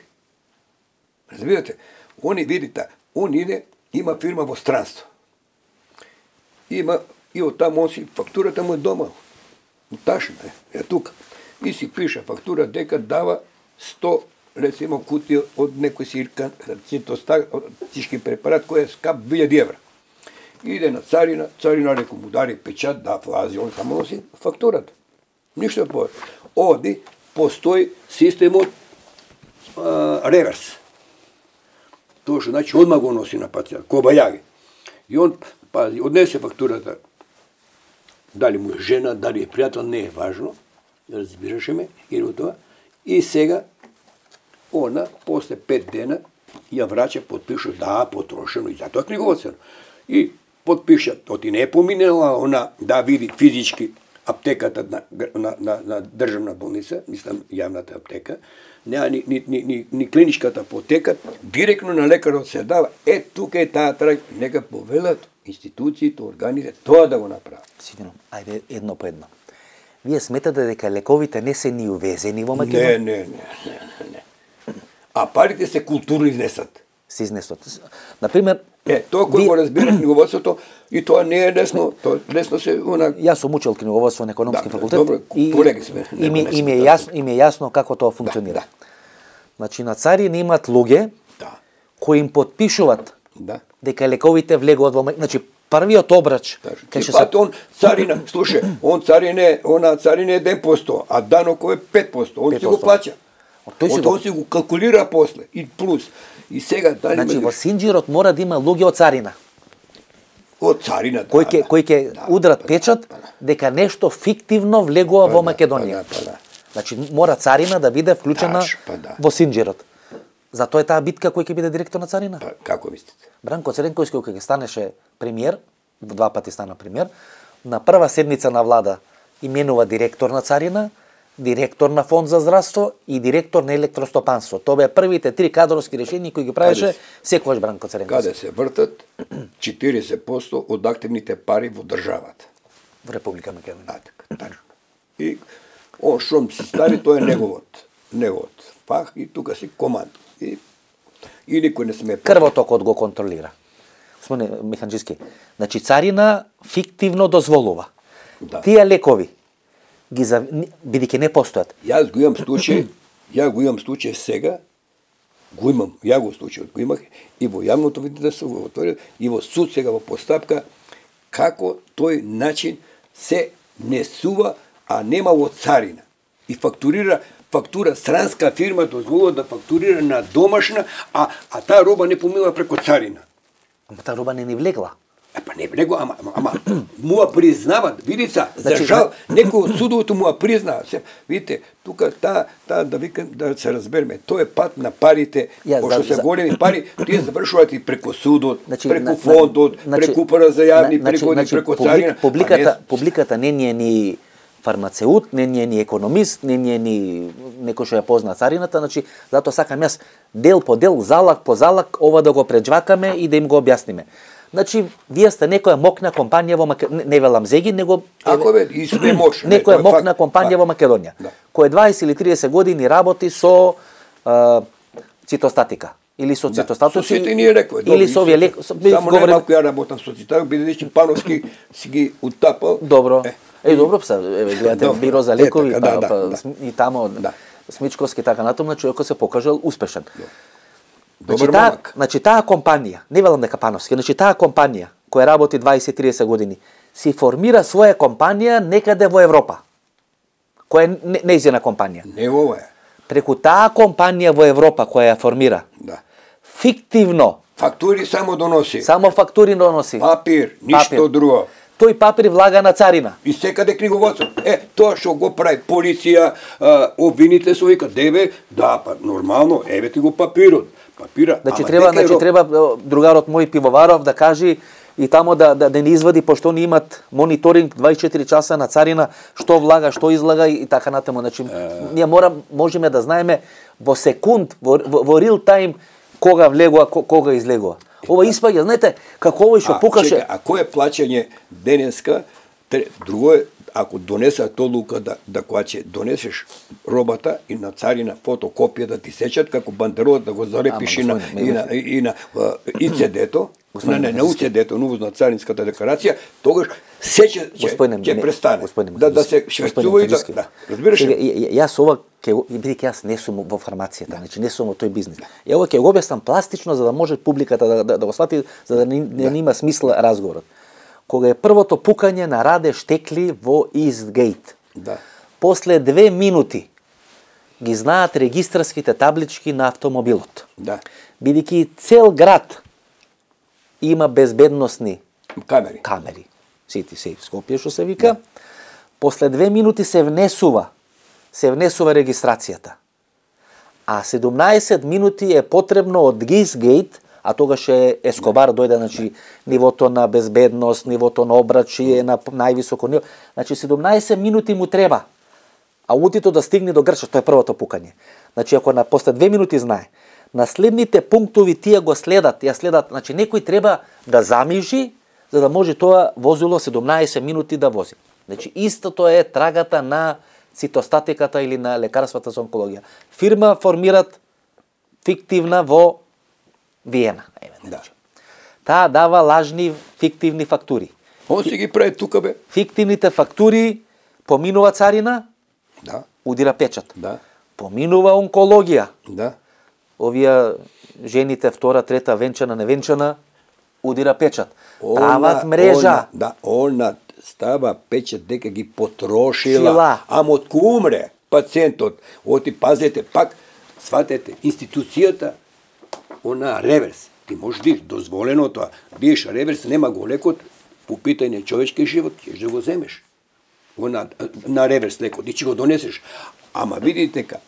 Speaker 3: Разбирате? Они, видите, он иде, има фирма во странство. Има, и од таму он си, фактурата му е дома. Ташна е тука. И си пише фактура дека дава 100, рецимо, кутија од некој сиркан, цитостатички препарат, кој е скап 2000 евра. Иде на царина, царина реко му дари печат, да влази, он само носи фактурата. Ништо повеќе. Оди, постои системот реверс. Тоа што значи одма го носи на пациент, кобајаги. И он, пази, однесе фактурата. Дали му е жена, дали е пријател, не е важно. Разбираше ме, и тоа. И сега, она, после 5 дена, ја врача, подпиша, да, потрошено, и затоа книговодствено. И подпиша, оти не е поминела, она, да види физички аптеката на државна болница, мислам, јавната аптека, нема ни клиничката аптека, директно на лекарот се дава. Тука е таа трај, нека повелат институциите, органите, тоа да го направат.
Speaker 2: Сигурно. Ајде едно по едно. Вие сметате дека лековите не се ни увезени во Македонија?
Speaker 3: Не. А парите се културно изнесат.
Speaker 2: Се изнесат. Например,
Speaker 3: тоа кој го разбира книговодството, и тоа не е лесно, тоа лесно се
Speaker 2: Јас сум учел книговодство на економски факултет.
Speaker 3: Добро, колеги сме.
Speaker 2: И ми е јасно како тоа функционира. Значи на Царина имаат луѓе кои им потпишуваат
Speaker 3: Да.
Speaker 2: дека лековите влегуваат во значи првиот обрач
Speaker 3: Ти пати он царина, слушай, он царина е 1%, а данок е 5%, он си го плаќа. Он си го калкулира после и плюс. И сега дали
Speaker 2: значи во синџирот мора да има луѓе од царина.
Speaker 3: Од царина,
Speaker 2: кои ќе удрат печат дека нешто фиктивно влегува во Македонија. Значи мора царина да биде вклучена во синџирот. Затоа е таа битка кој ќе биде директор на царина.
Speaker 3: Како мислите?
Speaker 2: Бранко Цренковски кога ќе станеше премиер, 2 пати стана премиер, на прва седница на влада именува директор на царина, директор на фонд за здравство и директор на електростопанство. Тоа беа првите 3 кадровски решенија кои ги правеше секогаш Бранко Цренковски.
Speaker 3: Каде се вртат 40% од активните пари во државата.
Speaker 2: Во Република Македонија.
Speaker 3: Така. И он шом се стави, тоа е неговот фах и тука си команд. И никој не сме
Speaker 2: крвотокот го контролира. Господине Миханџиски, значи царина фиктивно дозволува.
Speaker 3: Да.
Speaker 2: Тие лекови ги бидејќи не постојат.
Speaker 3: Јас го имам случај сега, ја го случајот го имах и во јавното видителство го отворил и во суд сега во постапка како тој начин се несува, а нема во царина. И фактура странска фирма дозволува да фактурира на домашна, а таа роба не поминува преку царина.
Speaker 2: Ама таа роба не ни влегла.
Speaker 3: Па не влегла, ама му ја признават. Видите, за жал, некој од судовото му ја признава. Видите, тука таа да се разбереме, тоа е пат на парите, пошто се големи пари, тие завршуваат и преку судот, преку фондот, преку управа за јавни приходи, преку царина.
Speaker 2: Публиката не ни е ни фармацеут, не ни е ни економист, не ни е ни некој што ја позна царината, значи затоа сакам јас дел по дел, залак по залак ова да го преџвакаме и да им го објасниме. Значи, вие сте некоја мокна компанија во Македонија, не велам Зеги, него некоја мокна компанија во Македонија, која 20 или 30 години работи со цитостатика или со цитостатици или со овие лекови.
Speaker 3: Само не малку ја работам со цитостатика, бидејќи Пановски си ги утапал.
Speaker 2: Добро. Добро, гледате биро за лекови, и тамо Смичковски така натаму, човекот се покажал успешен. Значи таа компанија, не велам дека Пановски, значи таа компанија која работи 20-30 години, си формира своја компанија некаде во Европа. Која е нејзина компанија.
Speaker 3: Не ова е.
Speaker 2: Преку таа компанија во Европа која ја формира. Фиктивно.
Speaker 3: Фактури само доноси.
Speaker 2: Само фактури доноси.
Speaker 3: Папир, ништо друго.
Speaker 2: Тој папир влага на царина.
Speaker 3: И секаде книговодство. Тоа што го прави полиција, обвините се вика, деве, нормално, еве ти го папирот.
Speaker 2: Значи треба другарот мој Пивоваров да кажи и тамо да не извади, пошто они имат мониторинг 24 часа на царина, што влага, што излага и така натаму. Значи ние можеме да знаеме во секунд, во реал тайм кога влегува, кога излегува. Ова испаѓа, знаете, како овој што покаже.
Speaker 3: А кој е плаќање денеска? Друго е, ако донесат одлука да кога ќе донесеш робата и на царина фотокопија да ти сечат, како бандеролот да го залепиш и на ИЦД-то, на УЦД-то, на царинската декларација, тогаш сече ќе престане. Да се шверцува и да. Разбираш?
Speaker 2: Јас ова бидејќи јас не сум во фармацијата, значи не сум во тој бизнис. Ја ова ќе го објаснам пластично за да може публиката да го свати, за да не има смисла разговорот. Кога е првото пукање на Раде Штекли во Истгейт. После 2 минути ги знаат регистарските таблички на автомобилот. Бидејќи цел град има безбедносни камери. Сити се в Скопје што се вика. После 2 минути се внесува регистрацијата. А 17 минути е потребно од Гисгейт, а тогаш Ескобар дојде, значи нивото на безбедност, нивото на обрачи е на највисоко ниво. Значи 17 минути му треба. Аутито да стигне до Грча, тоа е првото пукање. Значи ако после 2 минути знае, на следните пунктови тие го следат, значи некој треба да замижи за да може тоа возило 17 минути да вози. Значи истото е трагата на цитостатиката или на лекарствата за онкологија. Фирма формират фиктивна во Виена. Таа дава лажни фиктивни фактури.
Speaker 3: Он си ги прави тука бе.
Speaker 2: Фиктивните фактури поминува царина, удира печат. Поминува онкологија. овие жените втора, трета, венчана, невенчана, удира печат. Прават мрежа.
Speaker 3: Она става печат дека ги потрошила. Ама од кој умре пациентот, оти пазете пак, сватете, институцијата, она реверс. Ти можеш диш, дозволено тоа. Диш реверс, нема го лекот, по питање човечки живот, ќе да го земеш. На реверс лекот, и ќе го донесеш. Ама видите дека,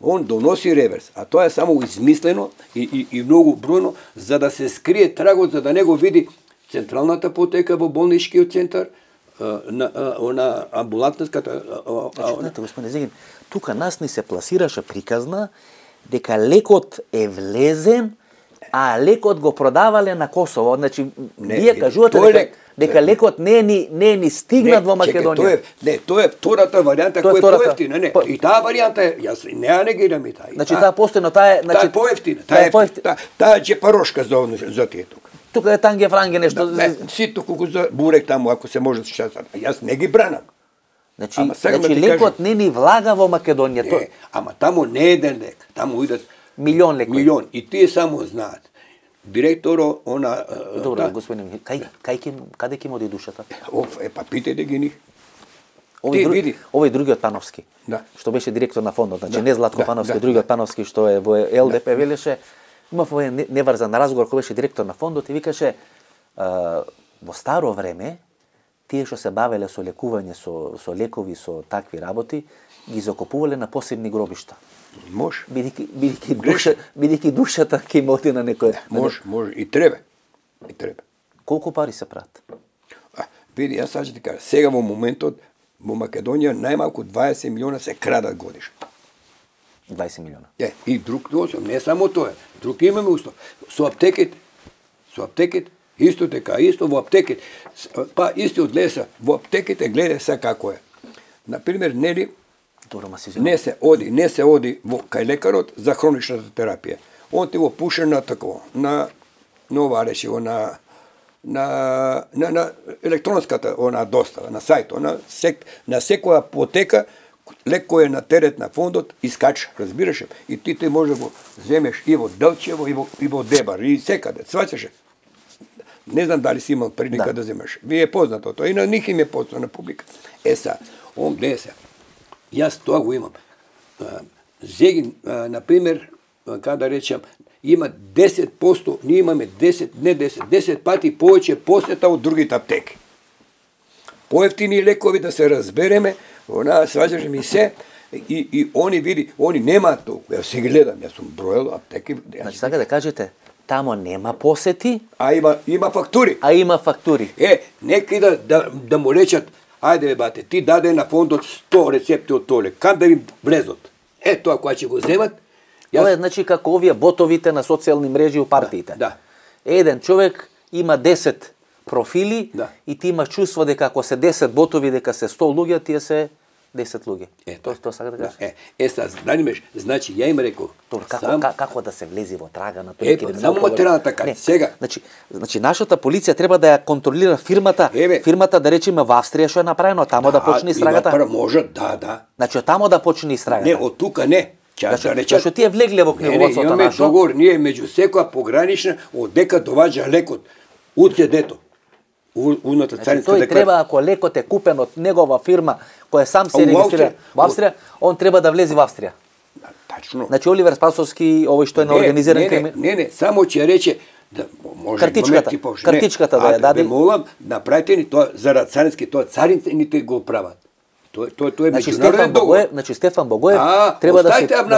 Speaker 3: он доноси реверс, а тоа е само измислено и многу бројно, за да се скрие трагот, за да не го види централната апотека во болничкиот центар, она амбулантската...
Speaker 2: Знаете, господине Зегин, тука нас ни се пласираше приказна дека лекот е влезен, а лекот го продавале на Косово. Значи, вие кажувате дека лекот не е ни стигнат во Македонија.
Speaker 3: Тоа е втората варијанта која е поевтина. И таа варијанта е, јас не ја негирам и таа.
Speaker 2: Значи, таа постојно, таа е
Speaker 3: поевтина. Таа е джепарошка за тие тука.
Speaker 2: Тука е танге франге нешто.
Speaker 3: Сито колку за бурек таму, ако се може да се. Јас не ги бранам.
Speaker 2: Значи лекот не ни влага во Македонија.
Speaker 3: Ама таму не е еден лек. Таму идат
Speaker 2: милион лекови.
Speaker 3: Милион. И тие само знаат. Директоро, она...
Speaker 2: Добро, господин, каде ќе му оди душата?
Speaker 3: Па питајте ги нив.
Speaker 2: Овој другиот Пановски, што беше директор на фондот, значи не Златко Пановски, другиот Пановски што е во ЛДП, велеше, имав овој неврзан разговор кој беше директор на фондот и викаше, во старо време, тие што се бавеле со лекување, со лекови, со такви работи, ги закопувале на посебни гробишта.
Speaker 3: Може.
Speaker 2: Бидејќи душата ќе им оди на некој.
Speaker 3: Може, и треба.
Speaker 2: Колку пари се прават?
Speaker 3: Види, јас саѓа ти кажа, сега во моментот во Македонија најмалку 20 милиона се крадат годишно.
Speaker 2: 20 милиона.
Speaker 3: И друг не само тоа. Друг имаме услов. Со аптеките, исто така, исто во аптеките. Па исти од леса, во аптеките гледа се како е. Например, нели не се оди кај лекарот за хроничната терапија. Он ти го пуше на такво, на нова речи на електронската достава, на сајто, на секоја апотека лек кој е на терет на фондот искача, разбираш? И ти може да го земеш и во Делчево, и во Дебар, и секаде, сваќаше. Не знам дали си имал прилика да земеш. Ви е познато тоа, и на них им е познато на публика. Он гледа се. Јас тоа го имам. Зегин, например, каде да речам, има 10%, ние имаме 10 пати повеќе посета од другите аптеки. Поевтини лекови, да се разбереме, сваѓаше ми се, и они види, они немаат толку. Јас се гледам, јас сум броел аптеки.
Speaker 2: Значи, сака да кажете, тамо нема посети,
Speaker 3: а има фактури.
Speaker 2: Нека
Speaker 3: да му речат, ајде бате, ти даде на фондот 100 рецепти од толе, кај да им влезот? Тоа која ќе го земат.
Speaker 2: Тоа е, значи, како овие ботовите на социјални мрежи у партиите. Еден човек има 10 профили и ти имаш чувство дека ако се 10 ботови, дека се 100 луѓе, тие се 10 луѓе. Тоа сака да кажеш?
Speaker 3: Значи, ја им реков.
Speaker 2: Како да се влези во трага на тоа?
Speaker 3: Само материјалната карта. Сега.
Speaker 2: Значи, нашата полиција треба да ја контролира фирмата. Фирмата, да речеме, во Австрија што е направено, тамо да почне истрагата.
Speaker 3: Може, да.
Speaker 2: Значи, тамо да почне истрагата.
Speaker 3: Не, од тука не.
Speaker 2: Зашто тие влегле во книговодството нашо?
Speaker 3: Имаме договор, ние меѓу секоја погранична, од дека доваѓа лекот, од седето.
Speaker 2: Тој треба, ако лекот е купен од негова фирма, која сам се регистрира во Австрија, он треба да влезе во Австрија.
Speaker 3: Тачно.
Speaker 2: Значи, Оливер Спасовски, овој што е на организиран криминал.
Speaker 3: Не, само ќе рече,
Speaker 2: картичката да ја даде.
Speaker 3: Молам, направете ни тоа, зарад царински, тоа царините го прават. Тоа е меѓународен договор.
Speaker 2: Значи, Стефан Богоев треба да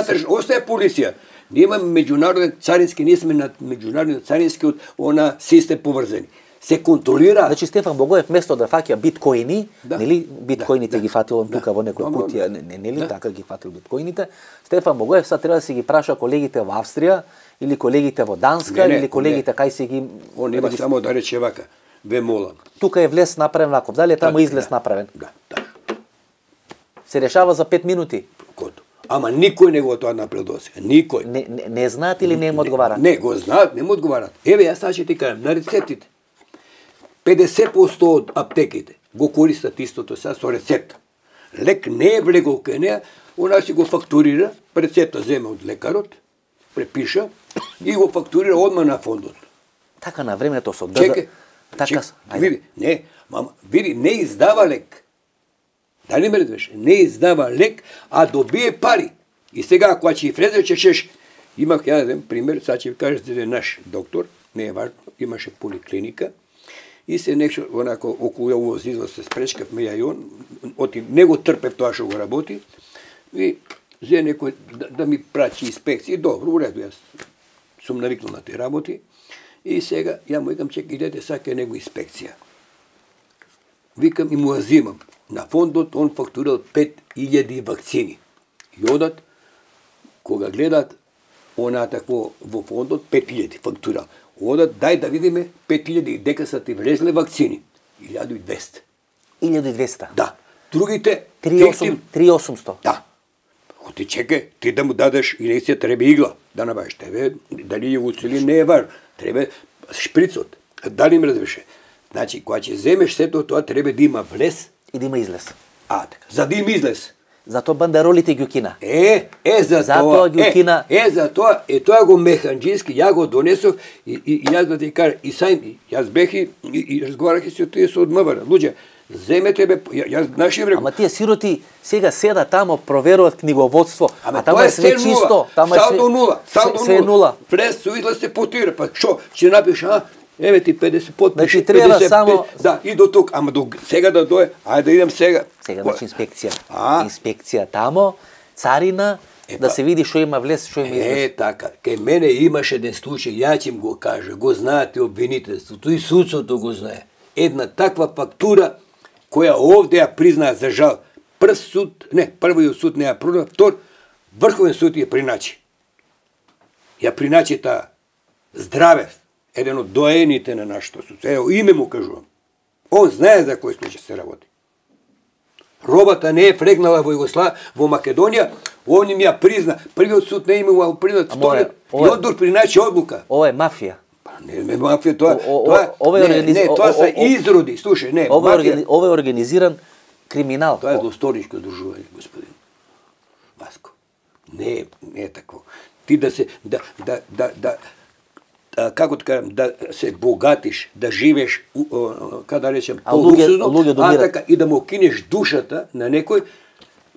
Speaker 2: се...
Speaker 3: Остаje полиција. Ние имаме меѓународен царински, ние сме на меѓународен царински од систем поврзани. Се контролира.
Speaker 2: Значи, Стефан Богоев место да фаќа биткоини, нели, биткоините ги фатил он тука во некој кутија, нели, така ги фатил биткоините. Стефан Богоев сега треба да си ги праша колегите во Австрија, или колегите во Данска, или колегите кај си ги...
Speaker 3: Он нема само да рече вака, ве молам.
Speaker 2: Тука е влез направен ваков, дали е таму излез направен?
Speaker 3: Да.
Speaker 2: Се решава за 5 минути.
Speaker 3: Ама никој не го тоа направил досега. Никој.
Speaker 2: Не знаат или не им одговарат?
Speaker 3: Не, го знаат, не му одговарат. Еве, јас сега ќе ти кажам, на рецептите. 50% од аптеките го користат истото сега со рецепта. Лек не е влегол кај неа, она си го фактурира, рецепта земе од лекарот, препиша и го фактурира одма на фондот.
Speaker 2: Така на времето со
Speaker 3: Чекай,
Speaker 2: така,
Speaker 3: види, не издава лек. Дали ме разбираш? Не издава лек, а добие пари. И сега, ако ќе влезе, чеш, имах еден пример, сега ќе ви кажа за наш доктор, не е важно, имаше поликлиника, и се нешто, онако, околу ово излаз се спречкавме ја и он, оти, не го трпев тоа што го работи, и зе некој да ми прачи инспекции, добро, уреду, јас сум навикнал на те работи, и сега, ја му викам, чекай, идете, сака него инспекција. Викам и му ја зимам. На фондот он фактурал 5000 вакцини. И одат, кога гледат, она такво во фондот 5000 фактурал. Одат, дај да видиме 5000 дека са ти влезле вакцини. 1200.
Speaker 2: 1200.
Speaker 3: Да. Другите
Speaker 2: 3800.
Speaker 3: Да. Оти чекай, ти да му дадеш инекција, треба игла да набавиш. Тебе дали ја уцели не е важно. Треба шприцот. Дали ме разбираш? Значи, кога ќе земеш сето тоа, треба да има влез
Speaker 2: и да има излез.
Speaker 3: Така. За да има излез.
Speaker 2: Затоа бандеролите ги укина.
Speaker 3: Затоа ги укина. Тоа го механџиски, ја го донесов и јас да ти кажа, и сајм, јас бех и разговарах и со тие со од МВР. Луѓе, земете бе, јас наши рекол.
Speaker 2: Ама тие сироти сега седа тамо, проверуваат книговодство, а тамо е све чисто.
Speaker 3: Салдо нула.
Speaker 2: Све нула.
Speaker 3: Влез со излез се потира, па што, ќе напиш, еве ти 50 потпиши.
Speaker 2: Значи треба само
Speaker 3: да, и до тук, ама до сега да дое, ајде да идем сега.
Speaker 2: Сега значи инспекција. Инспекција тамо, царина, да се види што има влез, што има излез.
Speaker 3: Така. Кај мене имаше еден случај, ја ќе им го кажа, го знаете обвинителството и судството го знае. Една таква фактура која овде ја признаа за жал. Првиот суд не ја признаа, втор Врховен суд ја приначи. Ја приначи таа Здравев, еден од доените на нашето судство. Ево, име му кажувам. Он знае за кој случај се работи. Робата не е фрегнала во Македонија, он им ја призна. Првиот суд не имал признат вториот и одбор приначи одлука.
Speaker 2: Ова е мафија.
Speaker 3: Не е мафија, тоа се изроди. Слушај, не, мафија.
Speaker 2: Ова е организиран криминал.
Speaker 3: Тоа е злосторничко дружување, господин Васко. Не е такво. Ти да се како да кажам, да се богатиш, да живееш, како да речем, по-луксузно, така и да му кинеш душата на некој,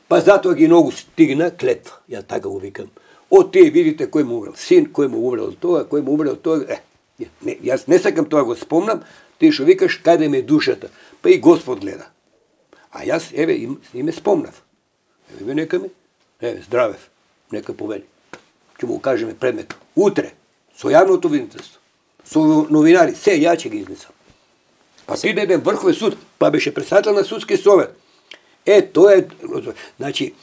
Speaker 3: па затоа ги многу стигна клетва. Ја така го викам. Од тие видите кој му умрел син, кој му умрел тоа, кој му умрел тоа. Јас не сакам тоа го спомнам, ти што викаш каде ме душата. Па и Господ гледа. А јас, еве, и ме спомнав. Еве, нека ми, еве, Здравев, нека повели. Ќе му кажеме предмет. Утре, со јавното обвинителство, со новинари, се ја ќе ги изнесам. Па си еден Врховен суд, па беше председател на судски совет. Тоа е, значи,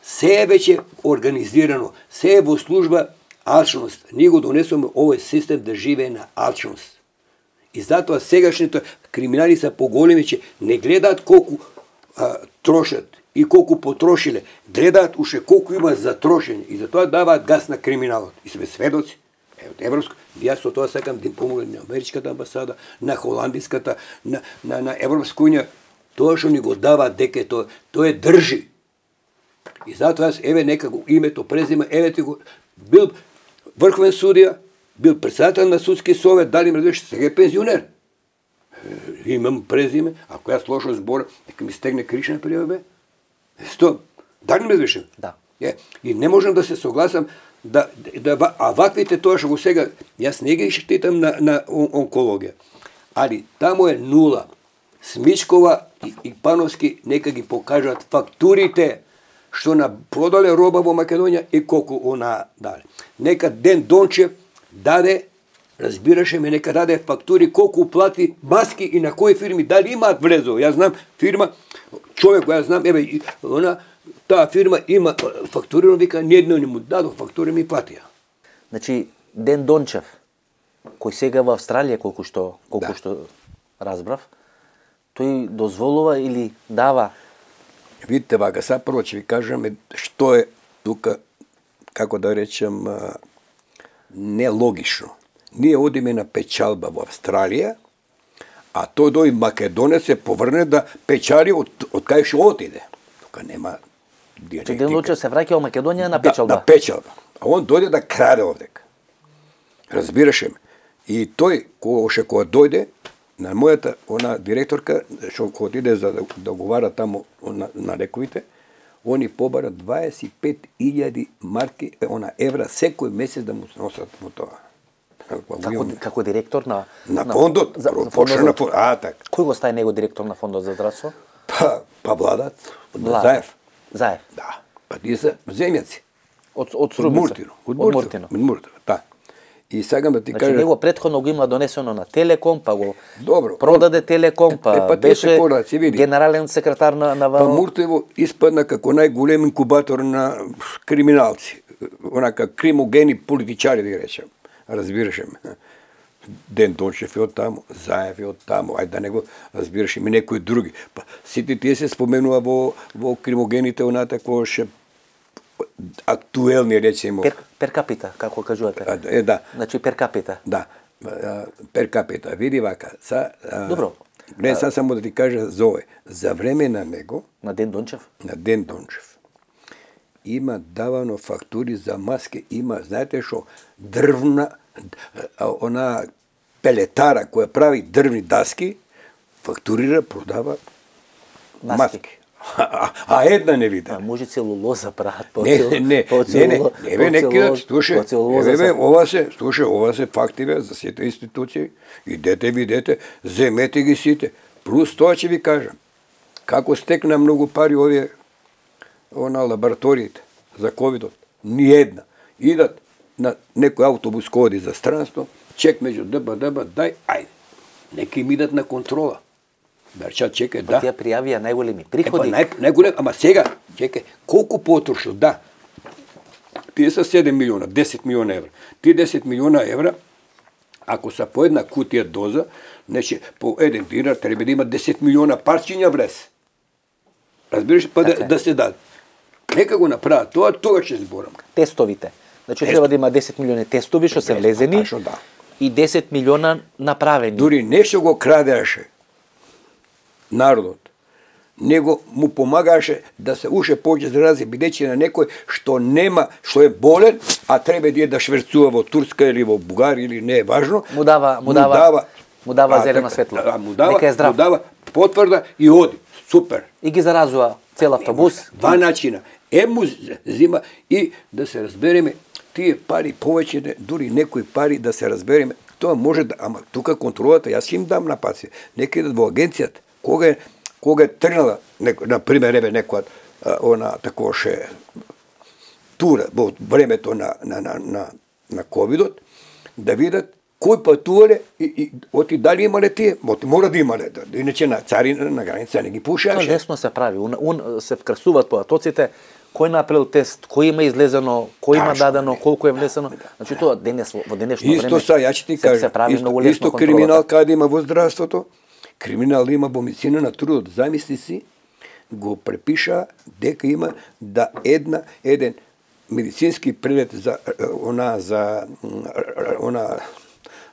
Speaker 3: се е веќе организирано, се е во служба алчност. Ние го донесоме овој систем да живее на алчност. И затоа сегашните криминали са поголеми, че не гледаат колку трошат и колку потрошиле, гледаат уште колку има за трошење и затоа даваат газ на криминалот. И сме сведоци. Европско, јас со тоа сакам да им помогнам на Америчката амбасада, на Холандиската, на Европска унија, тоа што ни го дава дека тоа е држи. И затоа јас, еве нека го името, презиме, еве ти го, бил Врховен судија, бил председател на судски совет, дали ме разбираш, сега е пензионер. Имам презиме, ако јас лошо збора, нека ми стегне кришна прија бе. Дали ме разбираш?
Speaker 2: Да.
Speaker 3: И не можам да се согласам а ваквите тоа што го сега, јас не ги штитам на онкологија. Али тамо е нула. Смичкова и Пановски нека ги покажат фактурите што на продале роба во Македонија и колку она даде. Нека Ден Дончев даде, разбираше ме, нека даде фактури колку плати маски и на кои фирми, дали имаат влезо. Јас знам фирма, човек кој јас знам, еве, она таа фирма има фактурирано, вика, ниедно не му дадох фактури, ми платија.
Speaker 2: Значи, Ден Дончев, кој сега во Австралија, колку што разбрав, тој дозволува или дава?
Speaker 3: Видите, вака, сега прво ќе ви кажам што е тука, како да речем, нелогично. Ние одиме на печалба во Австралија, а тој Македонец се поврне да печали од кај што отиде. Тука нема директика.
Speaker 2: Ден Дончев се враќа во Македонија на печалба.
Speaker 3: На печалба. А он дојде да краде овдека. Разбираше ме. И тој, кога дојде, на мојата директорка, што отиде за да договара таму на лековите, они побара 25.000 марки, евра секој месец да му носат му тоа.
Speaker 2: Како директор на
Speaker 3: фондот, така.
Speaker 2: Кој го стаи него директор на фондот за здравство?
Speaker 3: Па владат, Заев.
Speaker 2: Заев.
Speaker 3: Да. Па тие се земјаци.
Speaker 2: Од Срубица.
Speaker 3: Од Муртино. Да. И сакам да ти кажам.
Speaker 2: Него претходно го има донесено на Телеком, па го
Speaker 3: добро
Speaker 2: продаде Телеком, па беше генерален секретар на
Speaker 3: Па Муртево испадна како најголем инкубатор на криминалци. Онака кримогени политичари, да речем. Разбираше ме. Ден Дончев е од таму, Заев е од таму, ајде да не го разбираш и некои други. Па сите тие се споменува во кримогените тако ше актуелни, речемо.
Speaker 2: Пер капита, како кажувате.
Speaker 3: Да.
Speaker 2: Значи пер капита.
Speaker 3: Да. Пер капита. Види вака.
Speaker 2: Добро.
Speaker 3: Не, само да ти кажа за овој. За време на него,
Speaker 2: на Ден Дончев?
Speaker 3: На Ден Дончев. Има давано фактури за маски, има, знаете што, дрвна, она пелетара која прави дрвни даски, фактурира, продава маски. А една не вида.
Speaker 2: Може целулоза прават по
Speaker 3: Не, ова се фактиве за сите институции. Идете, видете, земете ги сите. Плюс тоа ќе ви кажам. Како стекна многу пари овие лабораториите за ковидот. Ни една. Идат на некој автобус коди за странство, чек меѓу ДБ, дај, ајде. Нека им идат на контрола. Берча, чекај, да.
Speaker 2: Тие пријавија најголеми приходи.
Speaker 3: Најголем, ама сега, чекај, колку потрошил, да. Тие са 7 милиона, 10 милиона евра. Тие 10 милиона евра, ако са по една кутија доза, значи по еден динар треба да има 10 милиона парчиња врез. Разбираш, па да се даде. Нека го направат тоа, тога ќе зборам.
Speaker 2: Тестовите. Значи треба да има 10 милиони тестови што се влезени и 10 милиона направени.
Speaker 3: Дури нешто го крадеше народот. Него му помагаше да се уште повеќе зарази, бидејќи на некој што нема, што е болен, а треба да шверцува во Турска или во Бугарија или не е важно,
Speaker 2: му дава зелена светлина. Нека е здрав.
Speaker 3: Му дава потврда и оди. Супер.
Speaker 2: И ги заразува цел автобус.
Speaker 3: Два начина. Му зима и да се разбереме, тие пари повеќе, дури некои пари да се разбереме, тоа може да, ама тука контролата, јас ќе им дам на паци, нека идат во агенцијата. Кога е тргнала, например, некоја такоше тура во времето на ковидот, да видат кој патувале и оти дали имале тие, мора да имале, иначе на царина, на граница не ги пушаше.
Speaker 2: Лесно се прави, се вкрасуваат по атоците, кој направил тест, кој има излезено, кој има дадено, колку е влесено. Значи тоа во денешно време.
Speaker 3: Исто са, ја ќе ти кажам, исто криминал каде има во здравството, криминал има во медицина на трудот. Замисли си, го препиша дека има да еден медицински прилет за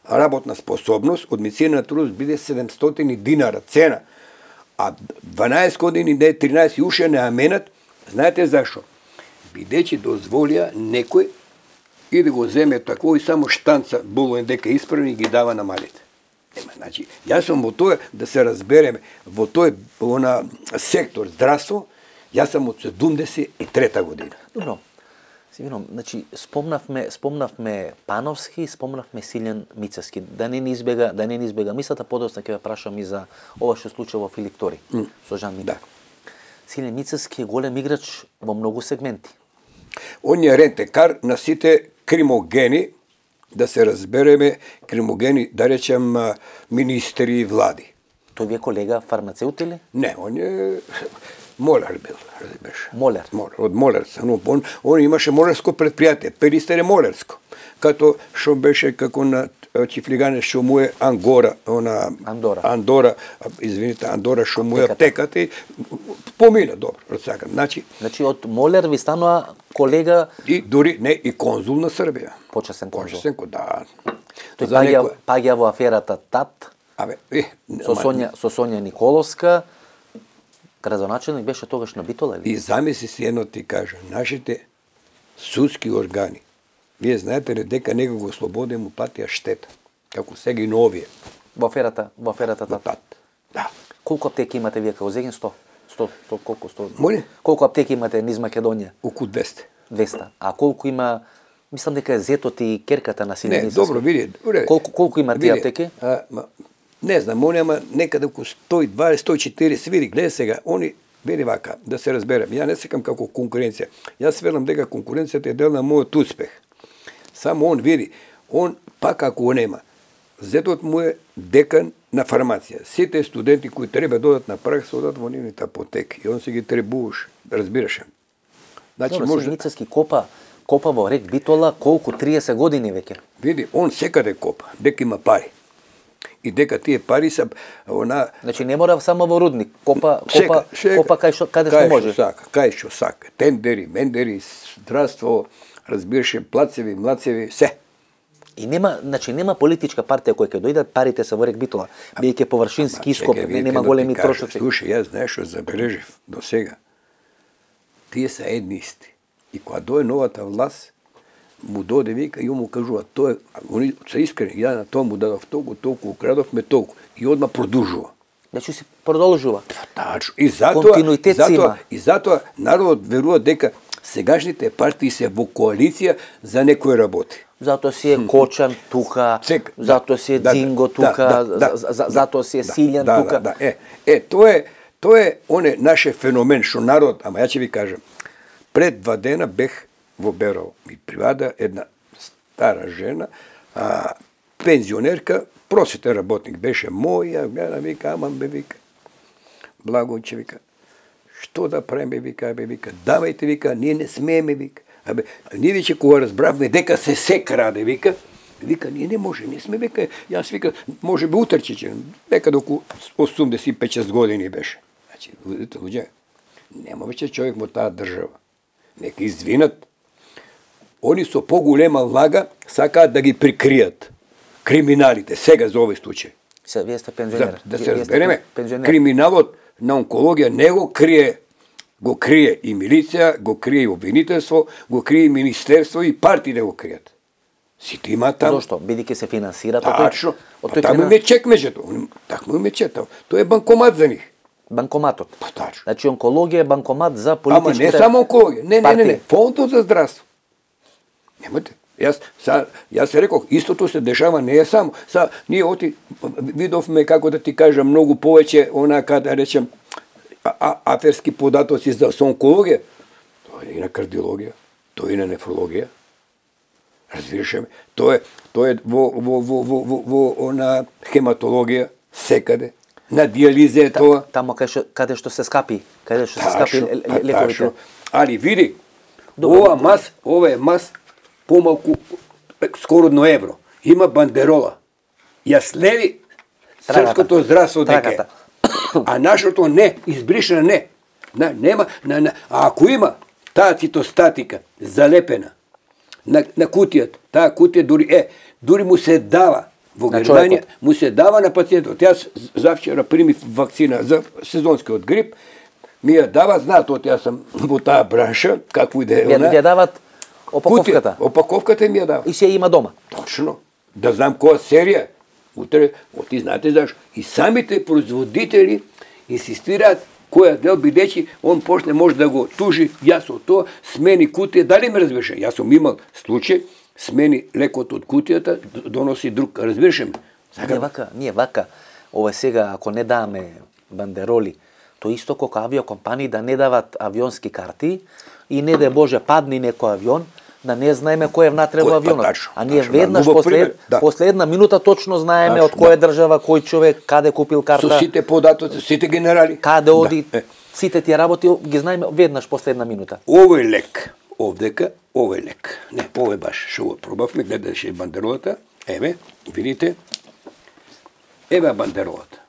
Speaker 3: работна способност од медицина на трудот биде 700 динара цена, а 12 години, не 13 уште не аменат. Знаете зашо? Бидејќи дозволија некој и да го земе тако и само штанца булоен дека исправни ги дава на малите. Значи, јас сум во тоа да се разбереме, во тој сектор здравство, јас сум од 73 година.
Speaker 2: Добро. Сигурно, значи спомнавме Пановски, спомнавме Силјан Мицевски. Да не ни избега мислата, подоцна ќе ве прашам и за ова што случи во Филип Тори со Жан Митев. Да. Силјан Мицевски е голем играч во многу сегменти.
Speaker 3: Он е рентекар на сите кримогени, да се разбереме, кримогени, да речем, министри и влади.
Speaker 2: Тој ви е колега фармацеут или?
Speaker 3: Не, он е моляр бил, разбираш.
Speaker 2: Моляр?
Speaker 3: Од молярца. Он имаше молярско предпријатие, Перистер е молярско. Като што беше како на Чифлигане што му е Андора, Андора што му е аптеката и помина добро, рацакам. Значи
Speaker 2: од моляр ви станува колега
Speaker 3: и дури не и конзул на Србија.
Speaker 2: Почесен конзул.
Speaker 3: Почесен, да.
Speaker 2: Тој паѓа во аферата ТАТ. Со Сонја Николовска, градоначелник беше тогаш на Битола или?
Speaker 3: И замисли си едно ти кажа, нашите судски органи Вие знаете ли дека него го ослободи му платија штета, како сега и на овие.
Speaker 2: Во аферата
Speaker 3: Тат. Да.
Speaker 2: Колку аптеки имате вие како Зегин? 100? Колку 100?
Speaker 3: Моли?
Speaker 2: Колку аптеки имате низ Македонија?
Speaker 3: Околу 200.
Speaker 2: 200. А колку има, мислам дека е Зетот и Керката на Синеди?
Speaker 3: Не, добро, види.
Speaker 2: Колку има тие аптеки?
Speaker 3: Не знам, они ама некаде околу 120, 140 види, гледа сега, они вели вака, да се разберем. Ја не секам како конкуренција. Јас велам дека конкуренцијата е дел на мојот успех. Само он види, он пак ако го нема. Зетот му е декан на фармација. Сите студенти кои треба додат на пракса одат во нивните апотеки и он се ги требуваш, разбираше.
Speaker 2: Значи може Ницевски копа во рек Битола колку 30 години веќе.
Speaker 3: Види, он секаде копа, дека има пари. И дека тие пари се
Speaker 2: Значи не мора само во рудник, копа каде што може.
Speaker 3: Кај што сака. Тендери, мендери, здравство, разбираше, плацеви, млацеви, се.
Speaker 2: И нема политичка партија која ќе дојдат, парите се во рек Битола, бидејќи површински ископ, нема големи трошоци.
Speaker 3: Слушај, јас знаеш што забележив до сега. Тие се едни исти. И кога дое новата власт, му доде вика и му кажува, тоа они се искрени, ја на тоа му дадов толку, украдовме толку и одма продолжува.
Speaker 2: Значи се продолжува.
Speaker 3: Тачно. И затоа
Speaker 2: континуитет има.
Speaker 3: И затоа народот верува дека сегашните партии се во коалиција за некој работи.
Speaker 2: Затоа си е Кочан тука, затоа си е Дзинго тука, затоа си е Силјан тука.
Speaker 3: Тоа е оне наше феномен што народ, ама ја ќе ви кажам. Пред 2 дена бех во Берово. Ми привада една стара жена, пензионерка, просветен работник беше моја, гледа, вика, ама бе вика. Благојче вика. Што да правиме, вика, давајте, вика, ние не смееме, вика. Ние веќе кога разбравме дека се краде, вика, ние не може, не сме, вика, јас вика, може би утрче, некаде околу 85-6 години беше. Значи, луѓе, нема веќе човек во таа држава. Нека извинат. Они со поголема влага сакаат да ги прикријат криминалите, сега за овој случај.
Speaker 2: Се, вие сте пензионер.
Speaker 3: Да се разбереме, криминалот на онкологија не го крие и милиција, го крие и обвинителство, го крие и министерство и партии да го кријат. Сите има таму.
Speaker 2: Зошто? Бидејќи се финансираат
Speaker 3: од тој. Таму име чек меѓето. Такмо име чек. Тоа е банкомат за нив.
Speaker 2: Банкоматот.
Speaker 3: Па тачно.
Speaker 2: Значи онкологија е банкомат за политичките.
Speaker 3: Ама не само онкологија. Не. Фондот за здравство. Немате. Јас се рекох, истото се дешава, не е само. Ние видовме, како да ти кажам, многу повеќе, да речем, аферски податоци за онкологија. Тоа е и на кардиологија, тоа е и на нефрологија. Разбираше ме. Тоа е во хематологија, секаде. На диализа е тоа.
Speaker 2: Тамо каде што се скапи лековите.
Speaker 3: Али види, ова е мас помалку, скоро едно евро. Има бандерола. Ја следи српското здравство дека. А нашото не, избришена не. Нема, а ако има таа цитостатика залепена на кутијата, таа кутија дури му се дава во Германија, му се дава на пациентот. Јас завчера примив вакцина за сезонскиот грип, ми ја дава, знаат, јас сум во таа бранша, какво и да е она.
Speaker 2: Ја дават опаковката.
Speaker 3: Опаковката ми ја дава.
Speaker 2: И се има дома.
Speaker 3: Точно. Да знам која серија. Утре, ти знаете зашто. И самите производители инсистираат која дел, бидејќи он почне може да го тужи, јас од тоа смени кутија, дали ме разбираш? Јас сум имал случај, смени лекот од кутијата, доноси друг, разбираш ме?
Speaker 2: Ние вака, ова сега, ако не даваме бандероли, то исто како авиокомпании да не дават авионски карти и не да Боже падни некој авион, да не знаеме кој е внатре во авионот. А ние веднаш после една минута точно знаеме од која држава, кој човек, каде купил карта.
Speaker 3: Со сите податоци, сите генерали.
Speaker 2: Каде оди, сите тие работи ги знаеме веднаш после една минута.
Speaker 3: Овој лек, овдека, овој лек. Не, овој баш, шо го пробавме, гледаше бандеролата. Еве, видите. Еве бандеролата.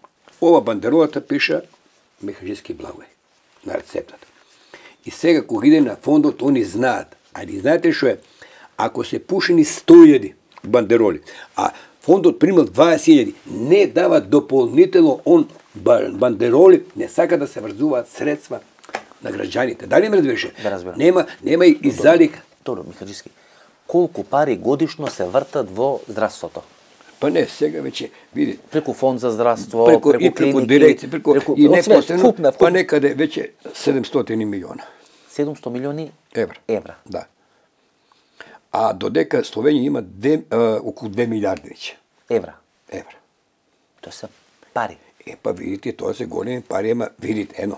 Speaker 3: Ова бандеролата пиша Механички Благој на рецептата. И сега кога иде на фондот, они знаат. Али знаете што е? Ако се пушени 100.000 бандероли, а фондот примал 20.000, не дава дополнително бандероли, не сака да се врзуваат средства на граѓаните. Дали ме разбираше?
Speaker 2: Да разбирам.
Speaker 3: Нема и залик.
Speaker 2: Добро, Михаджиски. колку пари годишно се вртат во здравството?
Speaker 3: Па не, сега веќе, види.
Speaker 2: Преку фонд за здравство,
Speaker 3: Преку
Speaker 2: клиники,
Speaker 3: дирекција, и непосредно,
Speaker 2: вкупна.
Speaker 3: па некаде веќе 700 милиона.
Speaker 2: 700 милиони евра.
Speaker 3: Да. А додека Словенија има околу 2 милиарди веќе.
Speaker 2: Евра.
Speaker 3: Евра.
Speaker 2: Тоа се пари.
Speaker 3: Па видите, тоа се големи пари, ама видите,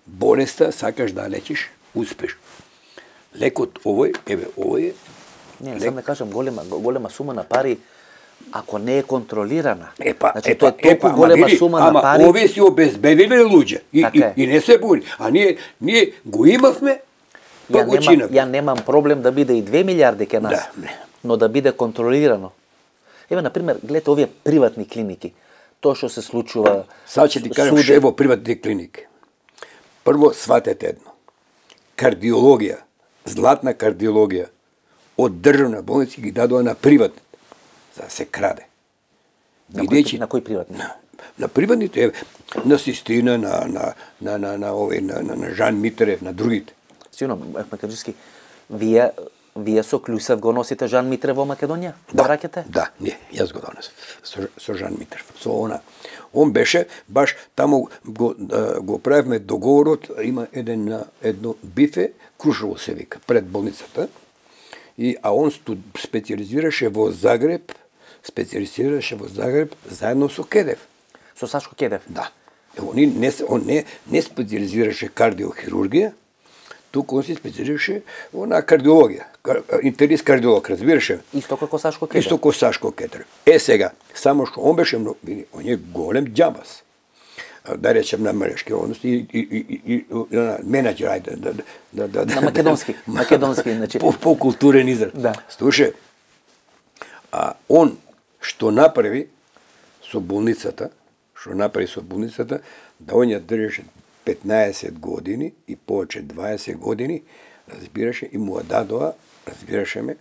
Speaker 3: болеста сакаш да лечиш, успеш. Лекот овој, овој е...
Speaker 2: Не, сам да кажам, голема сума на пари, ако не е контролирана.
Speaker 3: Значи,
Speaker 2: тоа е толку голема сума на пари.
Speaker 3: Ама овие си обезбедиле луѓе и не се буни. А ние го имавме, па го чинавме.
Speaker 2: Ја немам проблем да биде и 2 милиарди ке нас, но да биде контролирано. Еве, например, гледате овие приватни клиники. Тоа што се случува...
Speaker 3: Сад ќе ти кажам што е во приватни клиники. Прво, сватете едно. Кардиологија, златна кардиологија, од државна болница ги дадоа на приватни, за да се краде.
Speaker 2: На кој приватни?
Speaker 3: На приватните, на Систина, на Жан Митрев, на другите.
Speaker 2: Сигурно, Македжиски, вие со Клюсев го носите Жан Митрев во Македонија?
Speaker 3: Да,
Speaker 2: враќате?
Speaker 3: Да, не, јас го донесов со Жан Митрев. Со она. Он беше баш таму го правевме договорот, има едно бифе, Крушево се вика, пред болницата. А он специализираше во Загреб, заедно со Кедев.
Speaker 2: Со Сашко Кедев?
Speaker 3: Да. Он не специализираше кардиохирургија, туку он се специализираше на кардиологија. Интерист кардиолог, разбираше?
Speaker 2: Исто како Сашко Кедев.
Speaker 3: Исто како Сашко Кедев. Сега, само што он беше многу, види, он е голем џабас. Да речем на мрежки односи и менеджер, ајде,
Speaker 2: на македонски, значи
Speaker 3: по-културен израз.
Speaker 2: Да.
Speaker 3: Слушај, он што направи со болницата, да он ја држеше 15 години и повеќе 20 години, разбираше, и му дадоа, разбираше ме,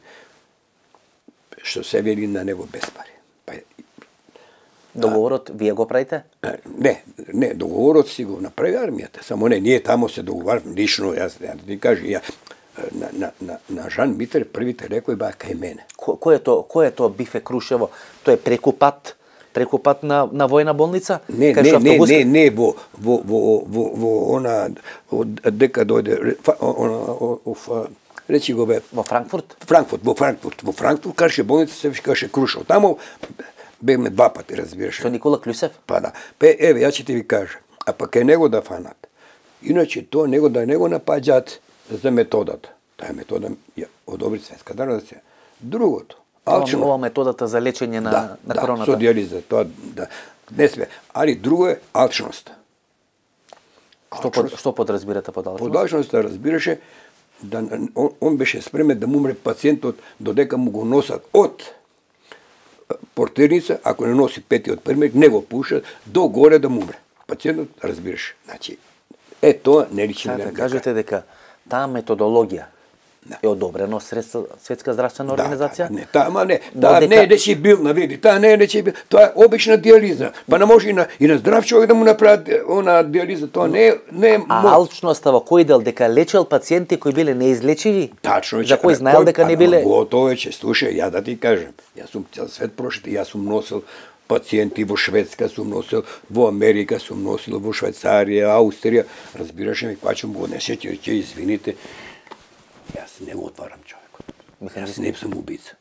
Speaker 3: што се вели на него без пари.
Speaker 2: Договорот вие го правите?
Speaker 3: Не, договорот си го направи армијата, само ние тамо се договарваме лично, јас да ти кажа, на Жан Митер првите лекови баа кај мене.
Speaker 2: Кој е тоа бифе Крушево? Тоа е преку пат на војна болница?
Speaker 3: Не, во она, дека дојде, речи го бе...
Speaker 2: Во Франкфурт?
Speaker 3: Во Франкфурт, каже болница се викаше Крушево. Тамо бевме 2 пати, разбираш.
Speaker 2: Со Никола Клюсев?
Speaker 3: Па да. Еве, ја ќе ти ви кажа. А па кај него да фанат. Иначе тоа него да не го напаѓаат за методата. Таа метода ја одобри Светска организација. Другото, алчност.
Speaker 2: Ова методата за лечење на короната.
Speaker 3: Да, со диализа, тоа да. Не све. Али друго е алчност.
Speaker 2: Што подразбирате под алчност?
Speaker 3: Под алчност разбираше да он беше спремен да му умре пациентот додека му го носат од портерница, ако не носи петиот пример, не го пушат до горе да му умре. Пациентот разбираш. Значи, тоа не личи на
Speaker 2: да кажете дека таа методологија е одобрено Светска здравствена организација?
Speaker 3: Таа не е нечи билна, види, таа не е нечи билна, тоа е обична диализа. Па не може и на здрав човек да му направат она диализа, тоа не е
Speaker 2: алчноста во кој дел, дека лечел пациенти кои биле неизлечиви?
Speaker 3: Тачно,
Speaker 2: за кој знаел дека не биле...
Speaker 3: Готово е, слушај, ја да ти кажем, јас сум цел свет прошет, јас сум носил пациенти во Шведска, сум носил во Америка, сум носил во Швајцарија, Аустрија, разбираш ми, квачам го несете, ќе извините, јас не го отварам човекот. Јас не сум убица.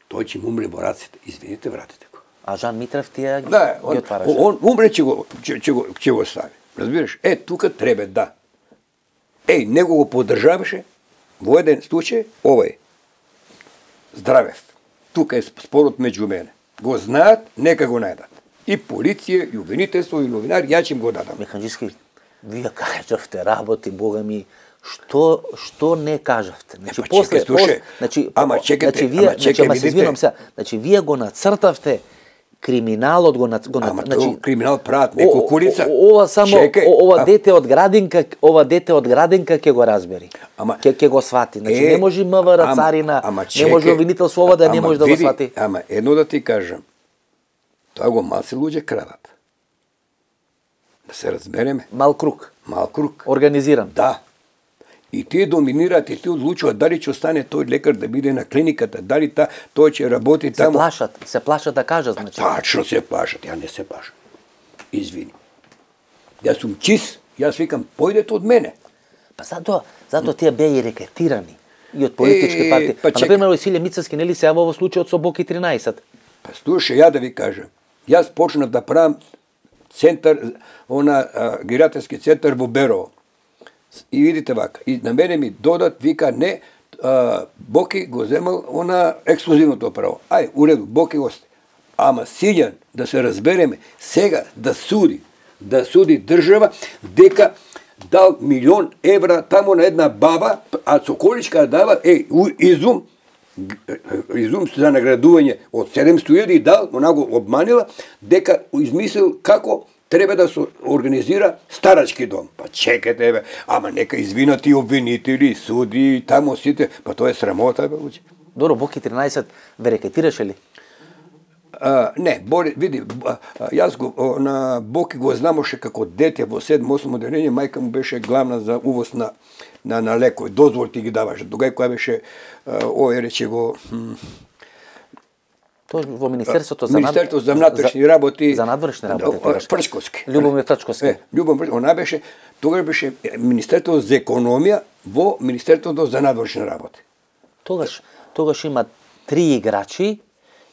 Speaker 3: Тој ќе му умре во раците. Извините, вратите го.
Speaker 2: А Жан Митрев тие ги отвараше?
Speaker 3: Он умре ќе го стави. Разбираш? Тука треба да. Него го поддржаваше во еден случај, овој. Здравев. Тука е спорот меѓу мене. Го знаат, нека го најдат. И полиција, и обвинителство, и новинари, ја ќе им го дадам.
Speaker 2: Механџиски, вие кажавте работи, Бога ми, што не кажавте? Значи после вие го нацртавте криминалот го
Speaker 3: значи криминал прават неколку лица.
Speaker 2: Ова само ова дете од градинка ќе го разбери. Ќе го свати. Значи не може МВР царина, не може обвинителство ова да не може да го свати.
Speaker 3: Едно да ти кажам. Тоа го малци луѓе крадат. Да се разбереме.
Speaker 2: Мал круг.
Speaker 3: Мал круг.
Speaker 2: Организиран.
Speaker 3: Да. И тие доминираат и тие одлучуваат дали ќе остане тој лекар да биде на клиниката, дали тој ќе работи таму.
Speaker 2: Се плашат да кажат, значи.
Speaker 3: Тачно се плашат, ја не се плашам. Извини. Јас сум чист, јас викам, појдете од мене.
Speaker 2: Па затоа тие беа и рекетирани и од политички партии. Па например, Василе Мицевски нели се јава во случајот со Боки 13.
Speaker 3: Па слушај, ја да ви кажам. Јас почнав да правам центар, гериатрски центар во Берово. И видите вака, и на мене ми додат, вика, не, Боки го земал ексклузивното право. Ај, уреду, Боки го сте. Ама Силјан, да се разбереме, сега да суди држава, дека дал 1.000.000 евра тамо на една баба, а Соколичка дава, изум за наградување од 700.000 и дал, она го обманила, дека измислил како треба да се организира старачки дом. Па чекате, бе, ама нека извинати обвинители, суди, тамо сите, па тоа е срамота, бе, учи.
Speaker 2: Добро, Боки 13 ве рекетираше ли?
Speaker 3: Не, види, јас на Боки го знамоше како дете во 7-8 одделение, мајка му беше главна за увоз на лекови, дозволи ти ги даваше. Тогај која беше, рече го...
Speaker 2: Тоа во Министерството
Speaker 3: за внатрешни работи.
Speaker 2: За надворешни работи.
Speaker 3: Фрчковски.
Speaker 2: Љубомир Фрчковски.
Speaker 3: Она беше, тогаш беше Министерството за економија во Министерството за надворешни работи.
Speaker 2: Тогаш има 3 играчи.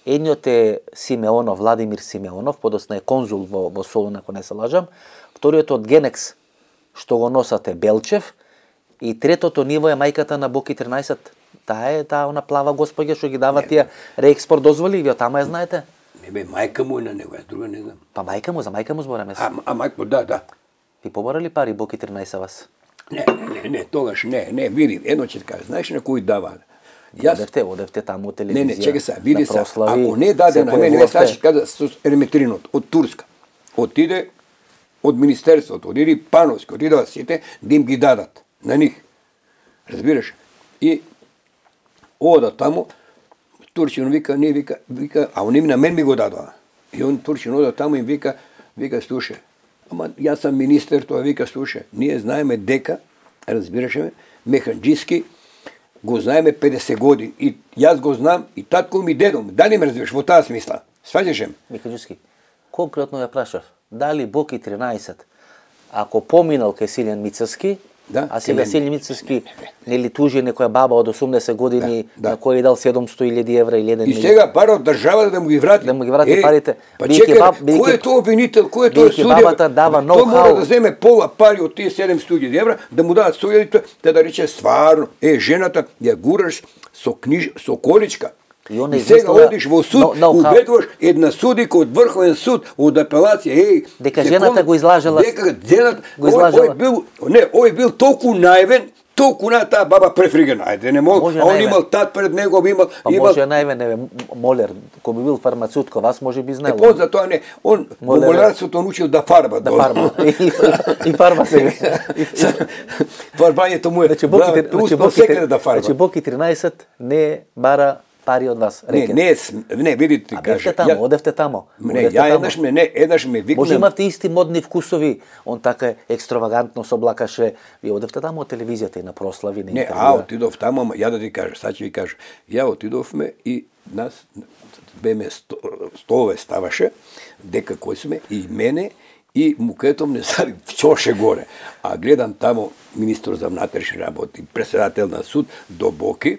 Speaker 2: Едниот е Симеонов, Владимир Симеонов, подосна е конзул во Солун, ако не се лажам. Вториот од Генекс, што го носате Белчев. И третото ниво е мајката на Боки 13. Таа она плава господја што ги дава тие реекспорт дозволи, вие тама ја знаете?
Speaker 3: Не бе, мајка му е на него, ја друга не знам.
Speaker 2: Па за мајка му збораме.
Speaker 3: А мајка, да.
Speaker 2: Ви поборали пари Боки 13 вас?
Speaker 3: Не, тогаш не, види, едно ќе кажа, знаеш на кој дава?
Speaker 2: Одевте таму телевизија.
Speaker 3: Не, чекай се, види се, ако не даде на мене, значи каза со Ерметринот од Турска. Отиде од Министерството, отиде Пановски, отиде сите, да им ги дадат на нив. Разбираш? И ода таму, Турчин вика, а они на мен ми го дадоа. И он Турчин ода таму и вика, слушај, ама јас сам министер, тоа вика, слушај, ние знаеме дека, разбираш ме, механџиски го знаеме 50 години и јас го знам и татко ми дедом. Дали ме разбираш во таа смисла? Сваќаш ме?
Speaker 2: Механџиски, конкретно ја прашав, дали Боки 13 ако поминал кај Силјан Мицевски, а сега Силјан Мицевски нели тужи некоја баба од 80 години на која дал 700.000 евра или 1 милион.
Speaker 3: И сега пара од државата да му ги врати.
Speaker 2: Да му ги врати парите.
Speaker 3: Па чекай, кој е тоа обвинител, кој е тоа судија?
Speaker 2: Бабата дава ноу-хау.
Speaker 3: Тој мора да земе пола пари од тие 700.000 евра, да му дадат судијата, да рече стварно, жената ја гураш со количка. И сега одиш во суд, убедуваш една судика од Врховен суд, од апелација,
Speaker 2: дека жената го излажала.
Speaker 3: Дека жената ој бил толку наивен, толку на таа баба префригена. Ајде не мол, а он имал тат пред него, имал.
Speaker 2: Може наивен молер, кој би бил фармацевт, вас може би знаел.
Speaker 3: Поза тоа не, он во молерството научил да фарба.
Speaker 2: Да фарба. И фарба се.
Speaker 3: Фарбањето му е. Успел секаде да фарба.
Speaker 2: Значи Боки 13 не бара пари од вас.
Speaker 3: Не, видите, кажа.
Speaker 2: Одевте тамо.
Speaker 3: Не, еднаш ме викнам.
Speaker 2: Може имавте исти модни вкусови, он така екстравагантно се облакаше. Вие одевте тамо од телевизијата и на прослави, на интервјуа.
Speaker 3: Отидов тамо, ама ја да ти кажа, сад ќе ви кажа. Ја отидовме и нас беме столове ставаше, дека кој сме, и мене, и мукетом не сади чоше горе. А гледам тамо министр за внатрешни работи, председател на суд до Боки,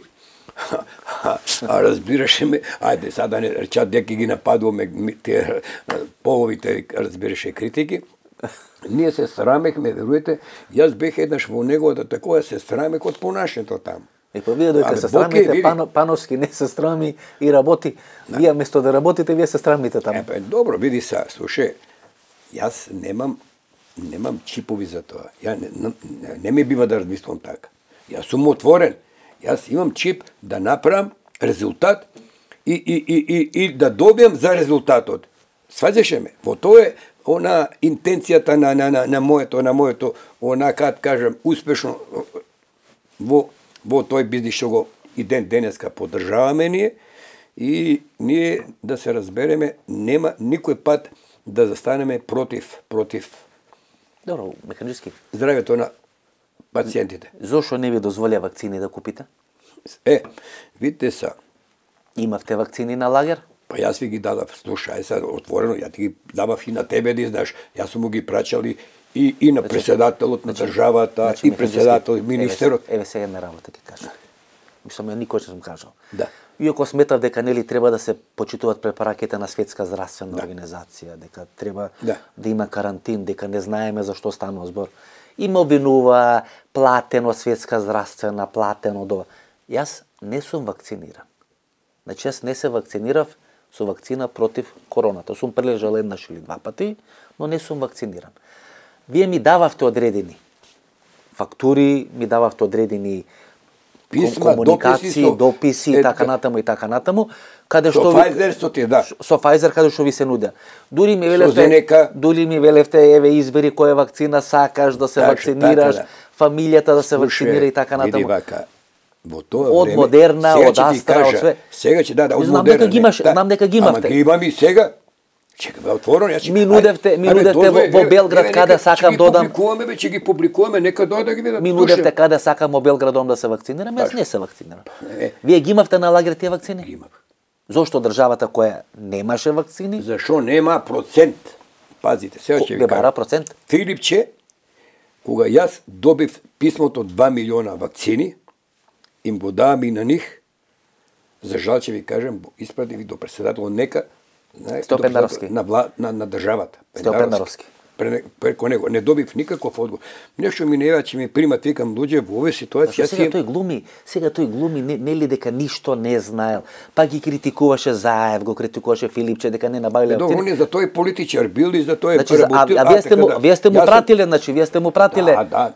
Speaker 3: а разбираше ме, ајде сада не речат дека ги нападуваме те половите, разбираше критики. Ние се срамехме, веруете, јас бех еднаш во неговата такова, се срамех од понашето таму.
Speaker 2: И па вие додека се срамите, Пановски не се срами и работи. Вие место да работите, вие се срамите таму.
Speaker 3: Добро, види са, слушај, јас немам чипови за тоа. Ја не ми бива да размислам така. Јас сум отворен. Јас имам чип да направам резултат и да добијам за резултатот. Сваѓаше ме. Во тоа е она интенцијата на моето, она кад кажам успешно во тој бизнис што го и денеска поддржаваме ние и ние да се разбереме, нема никој пат да застанеме против.
Speaker 2: Добро, Механџиски.
Speaker 3: Здравјето на пациентите.
Speaker 2: Зошто не ви дозволија вакцини да купите?
Speaker 3: Видите са.
Speaker 2: Имавте вакцини на лагер?
Speaker 3: Па јас ви ги дадав, слушај се отворено, ја ти ги давав и на тебе да знаеш. Јас сум му ги прачали и на председателот на државата, и председател, министерот.
Speaker 2: Еве сега една работа ќе кажам. Мислам, ја никој не сум кажал.
Speaker 3: Да.
Speaker 2: Иако сметав дека нели треба да се почитуваат препараките на Светска здравствена организација, дека треба да има карантин, дека не знаеме за што станува збор. Има обвинува платено Светска здравствена, платено дова. Јас не сум вакциниран. Значи јас не се вакцинирав со вакцина против короната. Сум прележал еднаш или два пати, но не сум вакциниран. Вие ми дававте одредени фактури, ми дававте одредени
Speaker 3: писма,
Speaker 2: комуникации, дописи и така натаму, каде што
Speaker 3: со Pfizer што ти да.
Speaker 2: Со Pfizer каде што ви се нудеа. Дури ми
Speaker 3: велевте,
Speaker 2: еве избери која вакцина сакаш да се вакцинираш, фамилијата да се вакцинира и така натаму.
Speaker 3: Во тоа
Speaker 2: од
Speaker 3: време,
Speaker 2: Модерна, од Астра, од све.
Speaker 3: Сега ќе од Модерна.
Speaker 2: Знам дека ги имавте.
Speaker 3: Ама ги имам и сега. Чека бе отворено, јас
Speaker 2: ми нудевте во Белград каде сакам додам.
Speaker 3: Ќе ги публикуваме, нека да ги видат.
Speaker 2: Ми нудевте каде сакам во Белградом да се вакцинирам, јас не се вакцинирам. Вие ги имавте на лагер тие вакцини?
Speaker 3: Ги имав.
Speaker 2: Зошто државата која немаше вакцини?
Speaker 3: Зашо нема процент? Пазите, сега ќе ви кажам.
Speaker 2: Процент?
Speaker 3: Филипче, кога јас добив писмото 2 милиона вакцини, им го давам и на нив, за жал ќе ви кажем, испратив и до председателот нека,
Speaker 2: Пендаровски.
Speaker 3: На државата.
Speaker 2: Пендаровски.
Speaker 3: Преко него. Не добив никаков одговор. Нешто ми не ева, че ми примат, викам, луѓе, во овој ситуација...
Speaker 2: Сега тој глуми, нели дека ништо не знаел. Па ги критикуваше Заев, го критикуваше Филипче, дека не набавиле вакцини.
Speaker 3: Он е за тој политичар бил и за тој
Speaker 2: преработил. Вие сте му пратиле, значи, вие сте му пратиле.
Speaker 3: Да,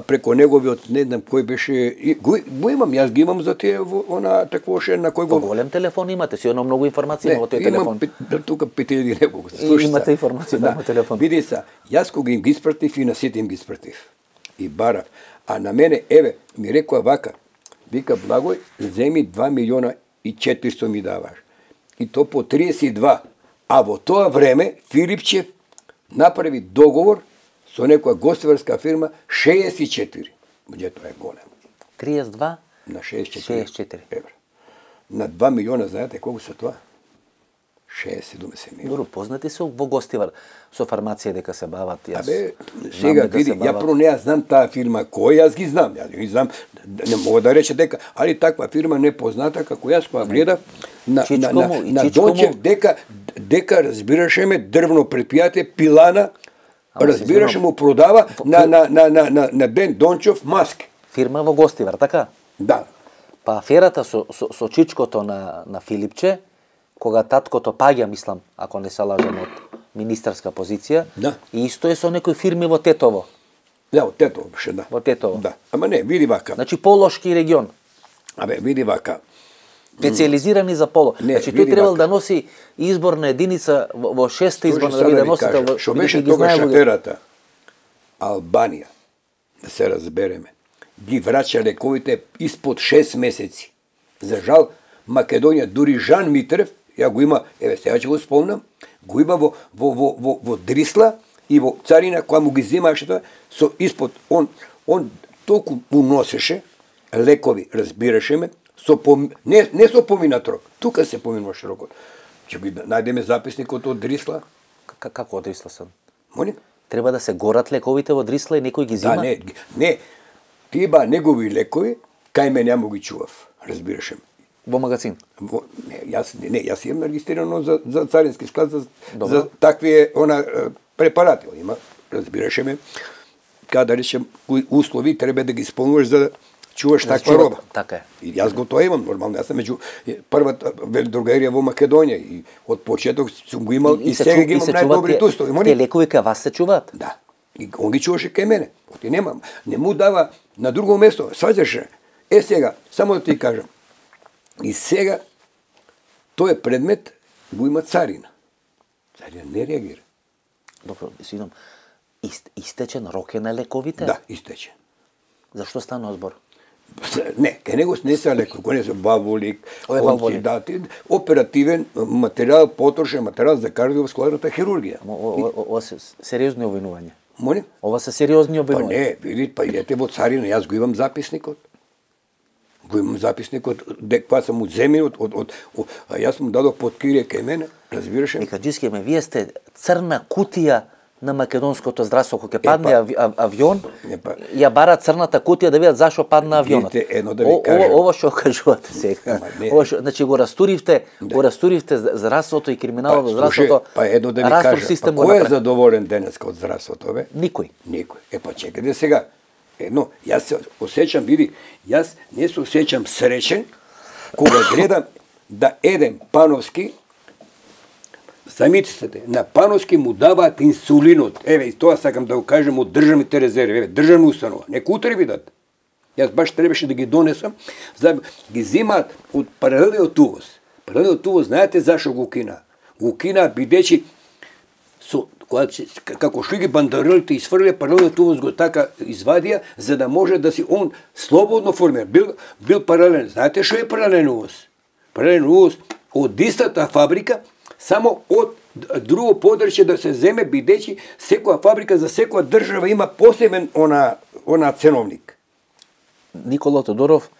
Speaker 3: преко неговиот, не знам кој беше... Го имам, јас ги имам за тие, она таквоше, на кој го...
Speaker 2: Голем телефон имате, си едно многу информации во тој телефон.
Speaker 3: Имам тука 5000 неколку.
Speaker 2: Имате информации на телефон.
Speaker 3: Види са, јас кога им ги испратив и на сите им ги испратив. И барав. А на мене, еве, ми рекоа вака, вика, Благој, земи 2 милиона и 400 ми даваш. И то по 32. А во тоа време, Филипчев направи договор со некоја гостиварска фирма 64. Буџе тоа е голем.
Speaker 2: 32
Speaker 3: на 64
Speaker 2: евра.
Speaker 3: На 2 милиона, знаете колку се тоа? 60-70 милиона.
Speaker 2: Добро, познати се во гостивар со фармација дека се бават.
Speaker 3: Сега види, ја прво не знам таа фирма кој, јас ги знам. Јас ги знам, не мога да рече дека, али таква фирма непозната како јас која гледа на Дончев дека разбирашеме дрвно предпријатие Пилана, разбираше му продава на Ден Дончев маски.
Speaker 2: Фирма во гостивар, така?
Speaker 3: Да.
Speaker 2: Па аферата со чичкото на Филипче, кога таткото паѓа, мислам, ако не се лажам, од министерска позиција, и исто е со некои фирми во Тетово.
Speaker 3: Да, од Тетово беше, да.
Speaker 2: Во Тетово.
Speaker 3: Да. Ама не, види вака.
Speaker 2: Значи полошки регион.
Speaker 3: Види вака.
Speaker 2: Специализирани за поло. Значи тој требал да носи изборна единица во 6-та изборна да биде носител.
Speaker 3: Што беше тогаш аферата? Албанија, да се разбереме, ги враќа лековите испод 6 месеци. За жал, Македонија, дури Жан Митрев, ја го има, еве сега ќе го спомнам, го има во Дрисла и во царина која му ги земаше тоа, со испод, он толку му носеше лекови, разбираше ме, не со поминат рок, тука се поминуваше рокот. Ќе ги најдеме записникот од Дрисла.
Speaker 2: Како од Дрисла сам?
Speaker 3: Моли?
Speaker 2: Треба да се горат лековите во Дрисла и некој ги зема?
Speaker 3: Да, не, тие негови лекови, кај мене ја му ги чував, разбираше ме.
Speaker 2: Во магазин?
Speaker 3: Јас имам регистрирано за царински склад за такви препарати. Има, разбираше ме, каде да речем, кои услови треба да ги исполнуваш за да чуваш таква роба.
Speaker 2: Така е.
Speaker 3: И јас го тоа имам, нормално. Јас сум меѓу првата велодрогарија во Македонија и од почеток сум го имал и сега ги имам најдобрите услови.
Speaker 2: Те лекови кај вас се чуваат?
Speaker 3: Да. И он ги чуваше кај мене. Оти немам. Не му дава на друго место. Сваќаше. Сега, само да ти кажам. И сега, тој предмет го има царина. Царина не реагира.
Speaker 2: Добро, сидам. Истечен рок е на лековите?
Speaker 3: Да, истечен.
Speaker 2: Зашто станува збор?
Speaker 3: Не, кај него не се лекови, кој не се баволик, оперативен материјал, потрошен материјал за кардиоваскуларната хирургија.
Speaker 2: Сериозно обвинување.
Speaker 3: Молим?
Speaker 2: Ова се сериозни
Speaker 3: Па
Speaker 2: обвинувања.
Speaker 3: не, видите, па идете во царина, јас го имам записникот. Го имам записникот, кога сам одземен а јас му дадох под кирие кај мене, разбираш?
Speaker 2: Микаџиски, вие сте црна кутија на македонското здравство, кога ќе падне авион, ја бара црната кутија да видат зашо падна авионот.
Speaker 3: Видите, едно да ви кажам.
Speaker 2: Ова што кажувате сега. Значи го растуривте здравството и криминалот во здравството.
Speaker 3: Па едно да ви кажам. Кој е задоволен денеска од здравството, бе?
Speaker 2: Никој.
Speaker 3: Никој. Па чекајте сега. Едно, јас се осеќам, види, јас не се осеќам среќен кога гледам да едем пановски. Замислете, на пановски му даваат инсулинот. Еве, и тоа сакам да го кажем од државните резерви, еве, државна установа. Нека утре видат. Јас баш требаше да ги донесам, за да ги земаат од паралелниот увоз. Паралелниот увоз, знаете зашо го кина? Го кина бидејќи како што ги бандеролите изфрлија, паралелниот увоз го така извадија, за да може да си он слободно формира. Бил паралелен. Знаете што е паралелен увоз? Паралелен увоз од истата фабрика, само од друго подрачје да се земе, бидејќи секоја фабрика за секоја држава има посебен она ценовник.
Speaker 2: Никола Тодоров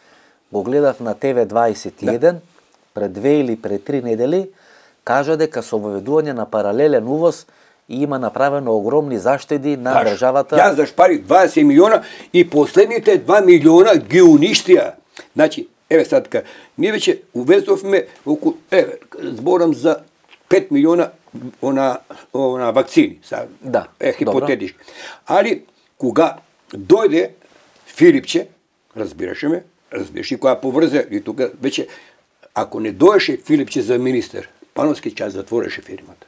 Speaker 2: го гледав на ТВ21 пред 2 или пред 3 недели, кажа дека со воведување на паралелен увоз има направено огромни заштеди на државата.
Speaker 3: Јас зашпарив 20 милиона и последните 2 милиона ги уништија. Значи, еве сад така, ние веќе увезовме околу, зборам за 5 милиона она вакцини,
Speaker 2: да,
Speaker 3: хипотетички. Али кога дојде Филипче, разбираше кога поврзе и тука веќе ако не доеше Филипче за министер, Пановски час затвореше фирмата.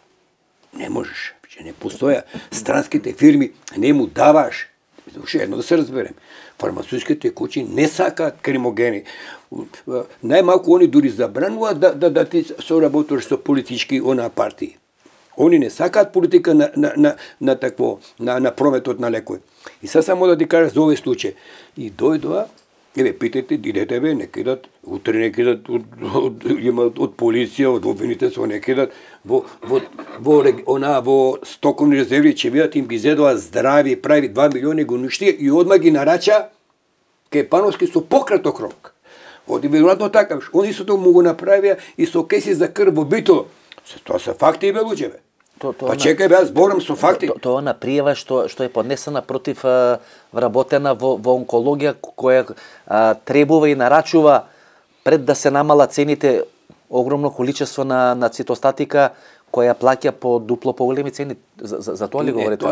Speaker 3: Не можеш, веќе не постоја. Странските фирми не му даваш. Уште едно да се разберем. Фармацевтските куќи не сакаат кримогени. Најмалку они дури забрануваат да ти соработуваш со политички партии. Они не сакаат политика на такво, на прометот на лекови. И сега само да ти кажа за овој случај. И дојдоа, еве, питајте, идете бе, не кидат, утре не кидат, од полиција, од обвинителство не кидат, во стоковни резерви, че видат им ги зедоа здрави, прави 2 милиони го уништија и одма ги нарача кај Пановски со пократок рок. Оди веројатно така, они истото му го направија и со кеси за крв во Битоло. Тоа се факти, бе, луѓе, бе. Па чекај, бе, јас зборам со факти.
Speaker 2: Тоа на пријава што е поднесена против вработена во онкологија, која требува и нарачува пред да се намала цените огромно количество на цитостатика, која плаќа по дупло поголеми цени. За тоа ли говорите?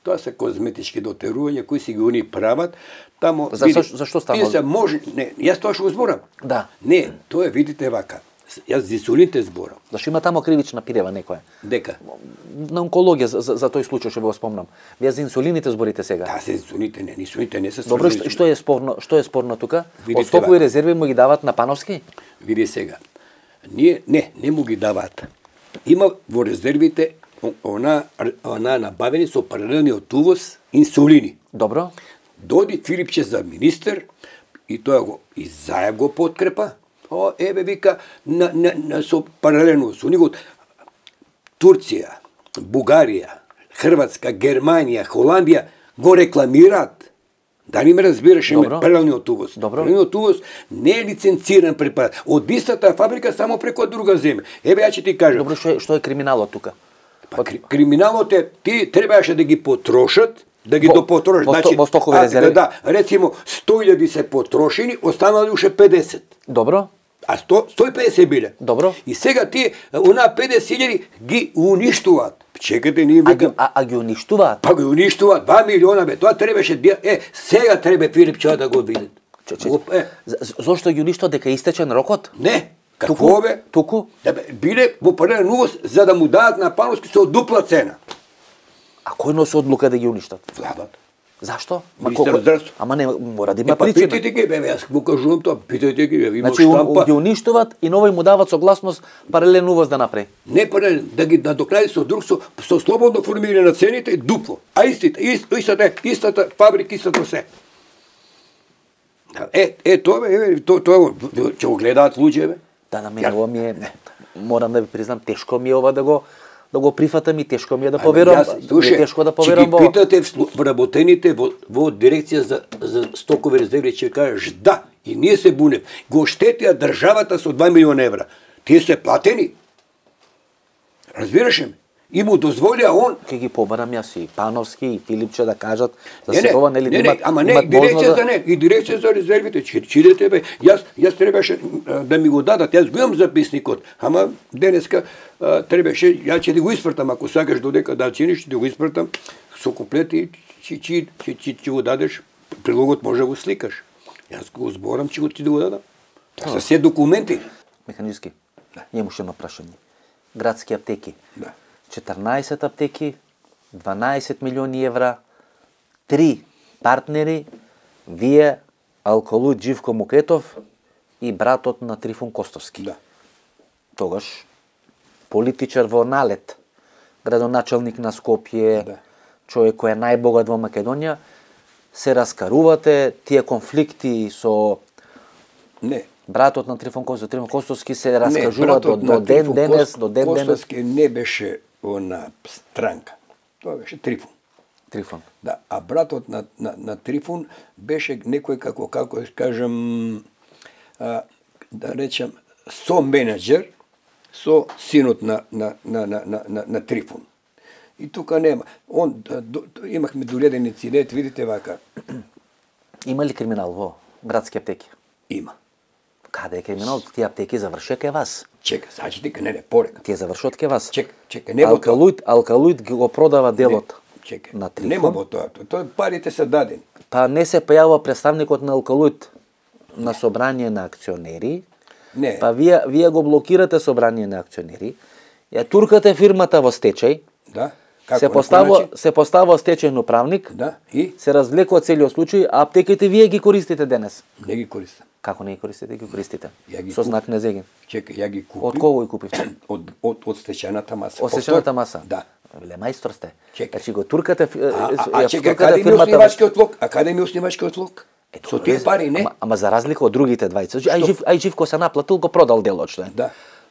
Speaker 3: Тоа се козметички дотерувања кои си ги они прават. Тамо
Speaker 2: Зашто става?
Speaker 3: Јас тоа што го зборам.
Speaker 2: Да.
Speaker 3: Не, тоа видите вака. Јас за инсулините зборам.
Speaker 2: Зашто има тамо кривична пријава некоја?
Speaker 3: Дека?
Speaker 2: На онкологија за тој случај што го спомнам. Вие за инсулините зборите сега?
Speaker 3: Да, за инсулините не се
Speaker 2: Добро, што е спорно тука? Од стокови резерви му ги дават на Пановски?
Speaker 3: Види сега. Не му ги даваат. Има во резервите она набавени со паралелниот увоз инсулини.
Speaker 2: Добро.
Speaker 3: Доди Филипче за министер и тоа го и Заев го подкрепа. Еве вика со паралелно со него Турција, Бугарија, Хрватска, Германија, Холандија го рекламираат. Дали ме разбираш, паралелниот увоз. Паралелниот увоз не е лиценциран препарат. Од истата фабрика само преку друга земја. Еве ја ќе ти кажам.
Speaker 2: Добро, што е криминалот тука?
Speaker 3: Криминалот е ти требаше да ги потрошат, да ги допотрошат.
Speaker 2: Значи, во стокови резерви?
Speaker 3: Да, рецимо 100.000 се потрошени, останали уште 50.
Speaker 2: Добро.
Speaker 3: А 150 биле.
Speaker 2: Добро.
Speaker 3: И сега тие, она 50.000 ги уништуваат. Чекате, ние викам...
Speaker 2: А ги уништуваат?
Speaker 3: Па ги уништуваат, 2 милиона, бе. Тоа требаше... сега треба Филипче да го видат.
Speaker 2: Зошто ги уништуваат, дека истечен рокот?
Speaker 3: Не. Какво, бе?
Speaker 2: Туку?
Speaker 3: Биле во паралелен увоз, за да му дадат на Пановски со дупла цена.
Speaker 2: А кој носи одлука да ги уништат?
Speaker 3: Владата.
Speaker 2: Зашто?
Speaker 3: Министер здравство.
Speaker 2: Ама не, мора да има причина.
Speaker 3: Питајте ги, бе, јас го кажувам тоа, питајте ги, бе, има
Speaker 2: значи,
Speaker 3: штампа.
Speaker 2: Ги уништуват и новој му дават согласност паралелен увоз да направи.
Speaker 3: Не паралелен, да ги надокнади со друг, со слободно формирање на цените и дупло. А истата фабрика, истото се. Тоа, бе, тоа ќе го гледаат луѓе, бе.
Speaker 2: Да, мене ова ми е, морам да ви признам, тешко ми е ова да да го прифатам и тешко ми е да поверувам. Тешко да поверувам во.
Speaker 3: Ќе ги питате вработените во дирекција за стокови резерви, ќе кажеш да, и ние се бунев. Го штетија државата со 2 милиона евра. Тие се платени. Разбираш ме? И му дозволија он.
Speaker 2: Ќе ги побарам јас и Пановски и Филипче да кажат за
Speaker 3: Не,
Speaker 2: се ова нели имат.
Speaker 3: ама не дирекција за не, и дирекција за резервите. Чидете бе. Јас требаше да ми го дадат. Јас го имам записникот, ама денеска требаше, ја ќе го испртам, ако сакаш додека да чиниш, ќе го испртам со комплети, ќе го дадеш, прилогот може да го сликаш. Јас го зборам, ќе ти го дадам. Тоа се се документи.
Speaker 2: Механички. Имаше едно прашање. Градски аптеки.
Speaker 3: Да.
Speaker 2: 14 аптеки, 12 милиони евра, 3 партнери, вие, алколуд Живко Мукетов и братот на Трифун Костовски.
Speaker 3: Да.
Speaker 2: Тогаш политичар во налет, градоначалник на Скопје,
Speaker 3: Да.
Speaker 2: човек кој е најбогат во Македонија, се раскарувате, тие конфликти со
Speaker 3: Не.
Speaker 2: братот на Трифун Костовски се раскажуваат до ден денес.
Speaker 3: Костовски не беше она странка. Тоа беше Трифун.
Speaker 2: Трифун.
Speaker 3: Да, а братот на Трифун беше некој како да кажам, да речем, со менеджер со синот на Трифун. И тука нема. Имахме дореден инцидент, видите вака.
Speaker 2: Има ли криминал во градски аптеки?
Speaker 3: Има.
Speaker 2: Каде е криминал? Тие аптеки завршија кај вас.
Speaker 3: Чека, сачите не порека.
Speaker 2: Тие завршуваат кај вас.
Speaker 3: Чека, не во тоа.
Speaker 2: Алкалуид го продава делот
Speaker 3: Чека,
Speaker 2: на Трифун.
Speaker 3: нема во тоа. Тоа парите се дадени.
Speaker 2: Па не се појавува представникот на Алкалуид на собрание на акционери.
Speaker 3: Не.
Speaker 2: Па вие го блокирате собрание на акционери. Ја туркате фирмата во стечај.
Speaker 3: Да.
Speaker 2: Се поставува стечајен управник.
Speaker 3: Да. И
Speaker 2: се развлекува целиот случај, а аптеките вие ги користите денес.
Speaker 3: не ги користам.
Speaker 2: Како не ги користите? Ги користите.
Speaker 3: Ја ги
Speaker 2: Со знак на зеген.
Speaker 3: Чека, ја ги купив.
Speaker 2: Од кого ги купивте?
Speaker 3: Од стечајната маса.
Speaker 2: Од стечајната маса?
Speaker 3: Да.
Speaker 2: Веле мајстор сте.
Speaker 3: Чека.
Speaker 2: Значи го туркате
Speaker 3: чека, каде ми оснивачкиот лог? А каде ми оснивачкиот лог? Со тие пари, не?
Speaker 2: Ама за разлика од другите двајца. Ај Живко се наплатил, го продал делот, што е.
Speaker 3: Да.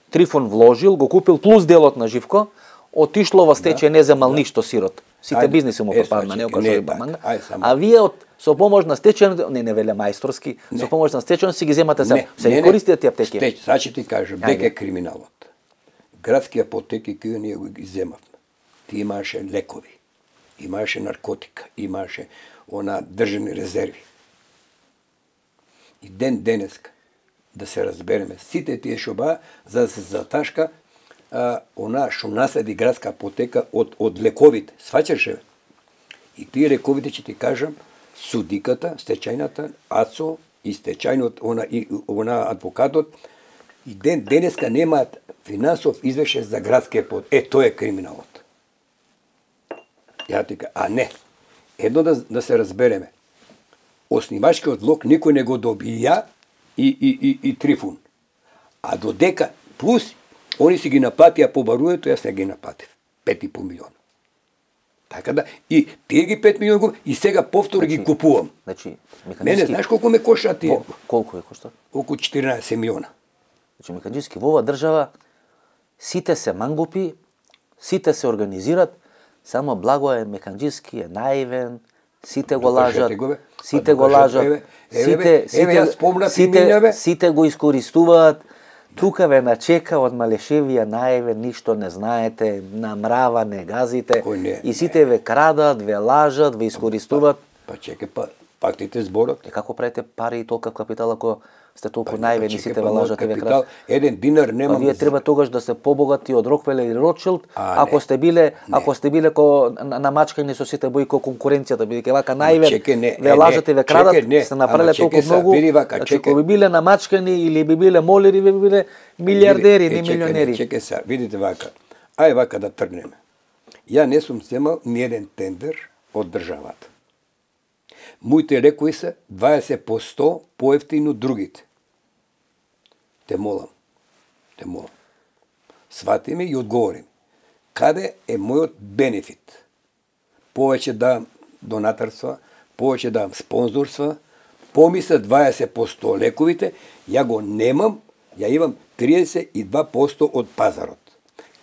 Speaker 2: Трифун вложил, го купил плюс делот на Живко, отишло во стечај, не земал ништо сирот. Сите бизниси му попадна, не окажува баманга. А вие со помош на стечајен, не веле мајсторски, со помош на стечајен си ги земате се ги користите тие аптеки.
Speaker 3: Сега ќе ти кажам, дека е криминалот. Градски апотеки кои ние ги земавме. Ти имаше лекови, имаше наркотика, имаше држани резерви. И денеска, да се разбереме, сите тие шоба, за да се заташка што наследи градска апотека од лековите. Сваќаш ли? И тие лековите ќе ти кажам, судиката, стечајната, АЦО и стечајниот, адвокатот, и денеска немаат финансов извешај за градски апотек. Тоа е криминалот. Ја ти кажам, а не. Едно да се разбереме. Оснивачкиот лог никој не го добија и Трифун. А додека плюс они си ги наплатија по баруето, јас не ги наплатив. 5,5 милиона. Така да, и тие ги 5 милиона и сега повтор ги купувам.
Speaker 2: Значи,
Speaker 3: Мене, знаеш колку ме кошта тие?
Speaker 2: Колку е кошта?
Speaker 3: Околу 14 милиона.
Speaker 2: Значи, механички во оваа држава сите се мангупи, сите се организират, само Благо е механички, е наивен, сите го лажат, сите го искористуваат. Тука ве начека од малешевија наивен, ништо не знаете, намрава, не газите, и сите ве крадат, ве лажат, ве искористуваат.
Speaker 3: Па чекай, фактите зборот.
Speaker 2: Како правите пари и толков капитал ако сте толку наивни, сите ве лажат и ве крадат?
Speaker 3: 1 динар нема.
Speaker 2: Вие треба тогаш да се побогати од Рокфелер и Ротшилд, ако сте биле ко намачкани со сите бои ко конкуренцијата, бидејќи вака наивен, ве лажат и ве крадат, сте направиле толку многу. Ако би биле намачкани или би биле молери, би биле милиардери, не милионери.
Speaker 3: Чекај се, видите вака. Ај вака да тргнеме. Ја не сум земал ни еден тендер од државата. Моите лекови се 20% поевтини од другите. Те молам. Свати ме и одговори ми. Каде е мојот бенефит? Повеќе давам донаторства, повеќе давам спонзорства, помисля 20% лековите, ја го немам, ја имам 32% од пазарот.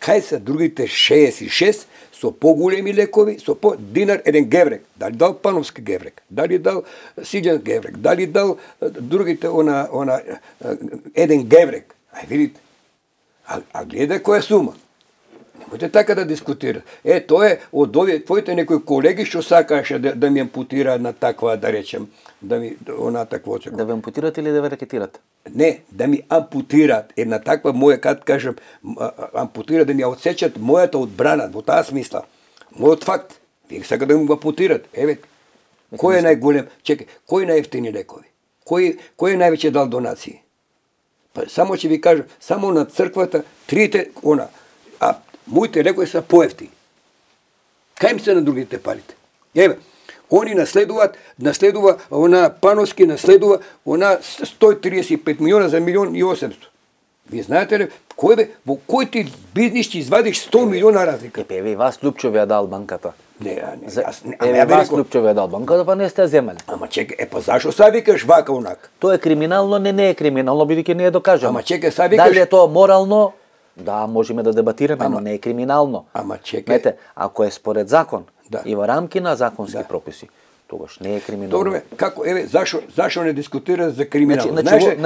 Speaker 3: кај се другите 66 со поголеми лекови, со по динар еден геврек, дали дал пановски геврек, дали дал сиѓан геврек, дали дал другите она еден геврек. Ај видите. А гледа која сума. Немојте така да дискутирате. Тоа е од овие твоите некои колеги што сакаше да ми ампутира на таква, да речем, да ми она такво.
Speaker 2: Да ве ампутират или да ве ракетират?
Speaker 3: Не, да ми ампутираат една таква моја, кад кажам, ампутира да ми ја отсечат мојата одбрана, во таа смисла. Мојот факт, вие сака да ми го ампутират. Еве, кој е најголем? Чекај, кој најефтини лекови? Кој е највеќе дал донации? Па само ќе ви кажам, само на црквата трите а моите лекови се поевтини. Кај им се на другите парите? Еве, они наследува она Пановски наследува она 135 милиона за 1.800.000. Вие знаете ли, во кој ти бизнис ќе извадиш 100 милиона разлика?
Speaker 2: Еве, вас Лупчов ја дал банката.
Speaker 3: Не,
Speaker 2: вас Лупчов ја дал банката, па не сте земале.
Speaker 3: Ама чекај, па зашо са викаш вака онак?
Speaker 2: Тоа е криминално, не е криминално, бидејќи не е докажано.
Speaker 3: Ама чекај, са викаш...
Speaker 2: Дали е тоа морално? Да, можеме да дебатираме, но не е криминално.
Speaker 3: Ама чекај...
Speaker 2: Знаете, ако е според закон
Speaker 3: да.
Speaker 2: И во рамки на законски прописи, тогаш не е криминално.
Speaker 3: Добро, како, еве, зашо не дискутира за криминално?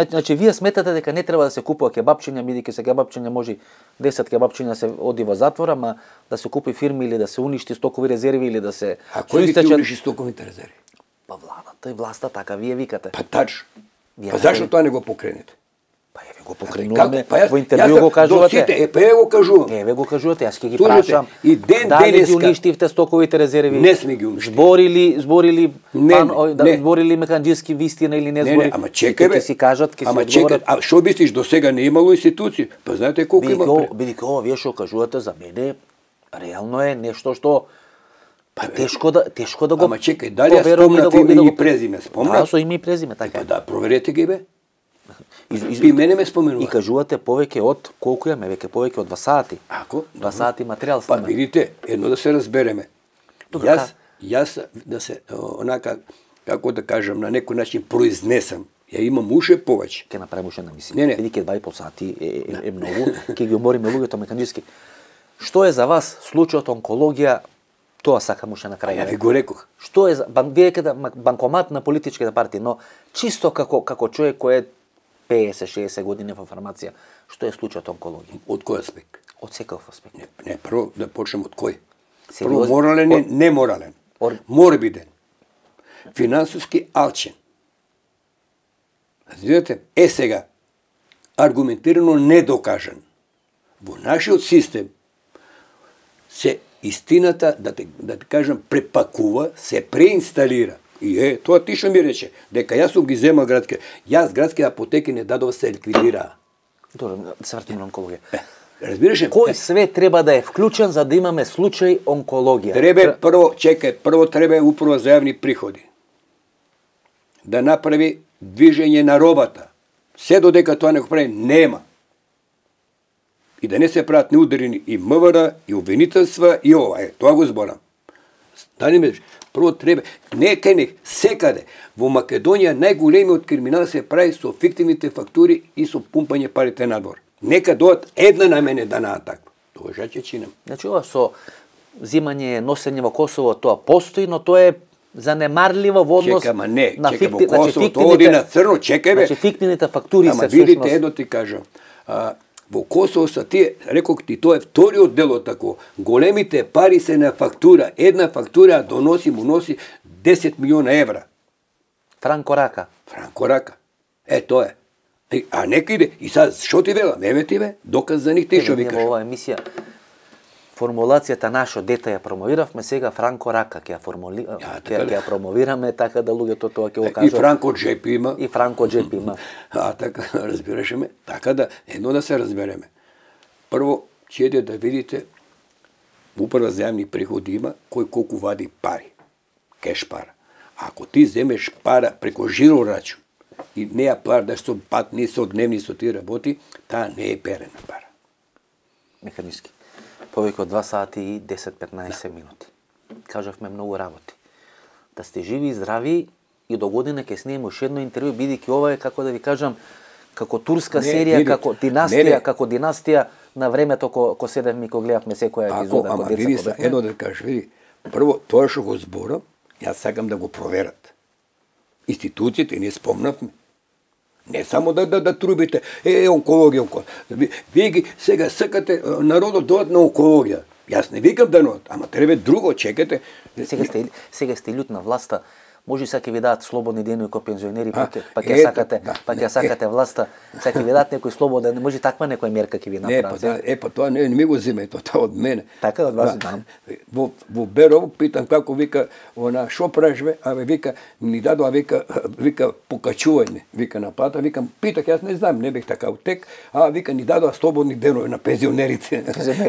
Speaker 2: Значи, вие сметате дека не треба да се купува кебапчиња, бидејќи се кебапчиња може 10 кебапчиња се оди во затвор, ама да се купи фирми или да се уништи стокови резерви или да се...
Speaker 3: А кој ги ти уништи стоковите резерви?
Speaker 2: Па владата и власта, така вие викате.
Speaker 3: Па тачно. Па зашо тоа не го покренете?
Speaker 2: Па еве го покренуваме, во интервју го кажувате.
Speaker 3: Еве го кажувам.
Speaker 2: Еве го кажувате, јас ќе ги прашам.
Speaker 3: И
Speaker 2: дали ги уништивте стоковите резерви?
Speaker 3: Не сме ги уништили.
Speaker 2: Зборили меканџиски вистина или не зборили?
Speaker 3: Ама чекај бе.
Speaker 2: Ќе си кажат, ќе се
Speaker 3: одговорат. Ама чекај, а што мислиш, до сега не имало институции? Па знаете колку има?
Speaker 2: Бидејќи ова вие што кажувате за мене, реално е нешто што тешко да го...
Speaker 3: Ама чекај, дали ја спомнав име и презиме? Спомнав?
Speaker 2: Да, со име и презиме, така.
Speaker 3: Па да, проверете ги бе. И мене ме споменува.
Speaker 2: И кажувате повеќе од колку имаме, веќе повеќе од 2 сати.
Speaker 3: Ако?
Speaker 2: 2 сати материјал
Speaker 3: Па
Speaker 2: снима.
Speaker 3: видите, едно да се разбереме. Јас да се онака, како да кажам, на некој начин произнесам. Ја имам уше повеќе.
Speaker 2: Ќе направиме уште намисли.
Speaker 3: Не.
Speaker 2: Бидејќи 2,5 сати е многу, ќе ги умориме луѓето меканџиски. Што е за вас случајот онкологија? Тоа сакам уште на крај.
Speaker 3: Ја ви го рекох.
Speaker 2: Што е за банкомат на политичките партии, но чисто како човек кој е 50-60 години во фармација, што е случајот онкологија?
Speaker 3: Од кој аспект?
Speaker 2: Од секој аспект.
Speaker 3: Не, прво да почнем од кој? Прво морален и неморален. Морбиден. Финансиски алчен. Видите? Сега, аргументирано недокажан. Во нашиот систем се истината, да ти кажам, препакува, се преинсталира. И тоа ти што ми рече, дека јас сум ги земал градски. Јас градски апотеки не дадов, се ликвидираа.
Speaker 2: Добро, да се вратиме на онкологија.
Speaker 3: Разбираш ли?
Speaker 2: Кој све треба да е вклучен за да имаме случај онкологија?
Speaker 3: Прво треба управа за јавни приходи. Да направи движење на робата. Се додека тоа не го прави, нема. И да не се прават неударени и МВР, и обвинителства, и ова. Тоа го зборам. Дали ме прво треба, не кај не, секаде. Во Македонија најголемиот криминал се прави со фиктивните фактури и со пумпање парите надвор. Нека доат една на мене данаа таква. Тоа ќе чинам.
Speaker 2: Значи ова со зимање, носење во Косово, тоа постои, но тоа е занемарливо во однос
Speaker 3: на
Speaker 2: фиктивните.
Speaker 3: Во Косово, тоа оди на црно, чекај бе.
Speaker 2: Значи фиктивните фактури се
Speaker 3: всушност. Ама видите, едно ти кажам. Во Косово са тие, рекох ти, тоа е вториот дел од тако. Големите пари се на фактура. Една фактура му носи 10 милиона евра.
Speaker 2: Франко Рака.
Speaker 3: Тоа е. А нека иде. И сад, шо ти велам? Еве ти бе, доказ за них ти шо викаш.
Speaker 2: Во оваа емисија формулацијата нашо дете ја промовиравме, сега Франко Рака ќе ја промовираме, така да луѓето тоа ќе го кажат.
Speaker 3: И Франко Джепи има.
Speaker 2: И Франко Джепи има.
Speaker 3: Така, разбираше ме. Така да, едно да се разбереме. Прво, ќе да видите, управа за јавни приходи има, кој колку вади пари. Кеш пара. Ако ти земеш пара преко жиро рачун и не ја платиш со патни, со дневни, со тие работи, таа не е перена пара.
Speaker 2: Механички. Повеќе од 2 сати и 10-15 минути. Кажавме многу работи. Да сте живи и здрави и до година ќе снимаме уште едно интервју, бидејќи ова е, како да ви кажам, како турска серија, како династија на времето ко седевме и ко гледавме секоја епизода
Speaker 3: ама види се, едно да кажеш, види, прво тоа што го зборам, јас сакам да го проверат. Институциите не спомнавме. Не само да трубите, онкологија. Вие ги сега сакате народот дојат на онкологија. Јас не викам да нот, ама треба друго, чекате.
Speaker 2: Сега сте лют на власта. Може сега ќе ви дадат слободни денови ко пензионери, пак ја сакате власта, сега ќе ви дадат некој слободен, може таква некоја мерка ќе ви направат.
Speaker 3: Па тоа не ми го земе, тоа од мене.
Speaker 2: Така од вас знам.
Speaker 3: Во Берово питам како вика, шо правиш бе? Абе вика ни дадоа вика покачување, вика на плата, викам питах, јас не знам, не бех така утек, вика ни дадоа слободни денови на пензионерите.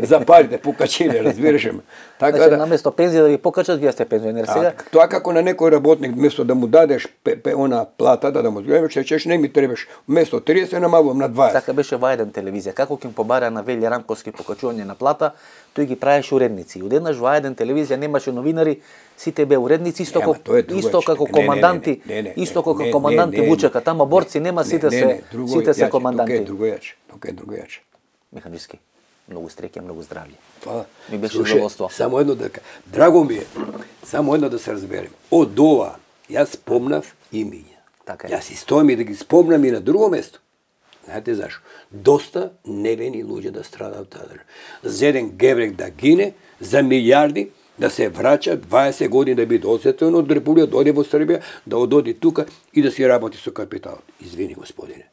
Speaker 3: За парите покачиле, разбираш ме.
Speaker 2: Така да наместо пензија да ви покачат, вие сте пензионер сега.
Speaker 3: Тоа како на некој работник место да му дадеш она плата да му згледаш, чеш не ми требаш место 30 намалувам на 20.
Speaker 2: Така беше во еден телевизија. Како ќе им побара на Вели Рамковски покачување на плата, тој ги правеше уредници. Одеднаш во еден телевизија немаше новинари, сите бе уредници, исто како команданти, исто како команданти Вучека, тама борци нема, сите се команданти.
Speaker 3: Тука е другојаче.
Speaker 2: Механички. Многу среќа, многу здравје.
Speaker 3: Ми беше задоволство. Само едно да кажам. Драго ми е. Само едно да се разберем. Од ова јас спомнав имиња.
Speaker 2: Така е.
Speaker 3: Јас и стојам и да ги спомнам и на друго место. Знаете зашо? Доста невини луѓе да страдаат таа држава. За еден гебрек да гине, за милиарди да се враќа 20 години да биде осетено од Република, дојде во Србија, да ододи тука и да си работи со капиталот. Извини, господине.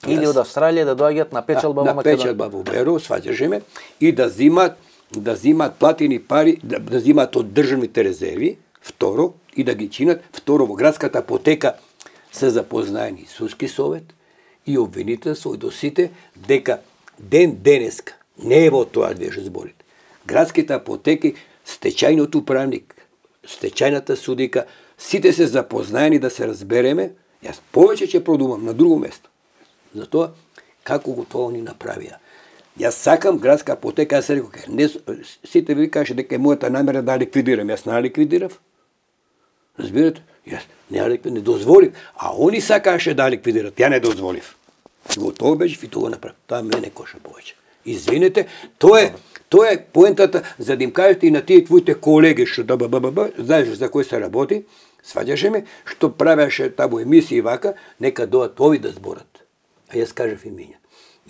Speaker 2: Или од Австралија да доаѓаат на печалба во Македонија.
Speaker 3: На печалба во Берово, сваќаше ме, и да зимат платени пари, да зимат од државните резерви, второ, и да ги чинат, второ, во градската апотека се запознаени Судски совет и обвинителство до сите дека денеска, не е во тоа беше зборите. Градските апотеки, стечајниот управник, стечајната судика, сите се запознаени да се разбереме, јас повеќе ќе продумам на друго место. Затоа, како го тоа ни направија. Јас сакам градска апотека, јас реков, сите ви каже дека е мојата намера да ликвидирам, јас не ликвидирав. Разбирате? Јас не дозволив, а они сакаше да ликвидират, ја не дозволив. И го тоа беше и тоа направи. Тоа мене коша повеќе. Извинете, тоа е поентата за да им кажете и на тие твоите колеги што знаеш за кој се работи, сваѓаше ме, што правеше табу емисии вака, нека доат ови да зборат. А јас кажав имиња.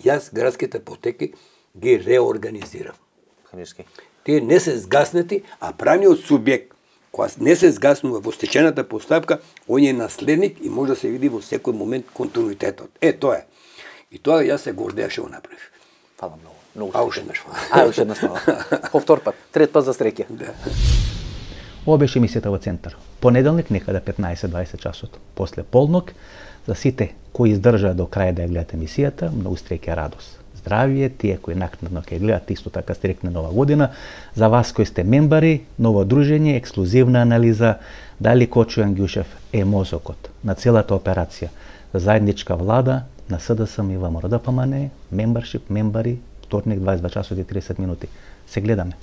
Speaker 3: Јас градските апотеки ги реорганизирав. Тие не се згаснати, а правниот субјект која не се згаснува во стечената постапка, он е наследник и може да се види во секој момент континуитетот. Тоа е. И тоа јас се гордеа што го направив.
Speaker 2: Фала многу.
Speaker 3: Уште една
Speaker 2: фала. Повтор пат, трет пат за среќа.
Speaker 3: Да.
Speaker 1: Ова беше емисијата во Центар. Понеделник некаде 15-20 часот. После полнок, за сите кои издржаа до крај да ја гледат емисијата, многу среќа, радост. Здравје, тие кои накнадно ќе гледат, исто така стрекне нова година. За вас кои сте мембари, ново дружење, ексклузивна анализа, дали Кочо Јангјушев е мозокот на целата операција за заедничка влада на СДСМ и ВМРО ДПМНЕ, мембаршип, мембари, вторник 22 часот и 30 минути. Се гледаме.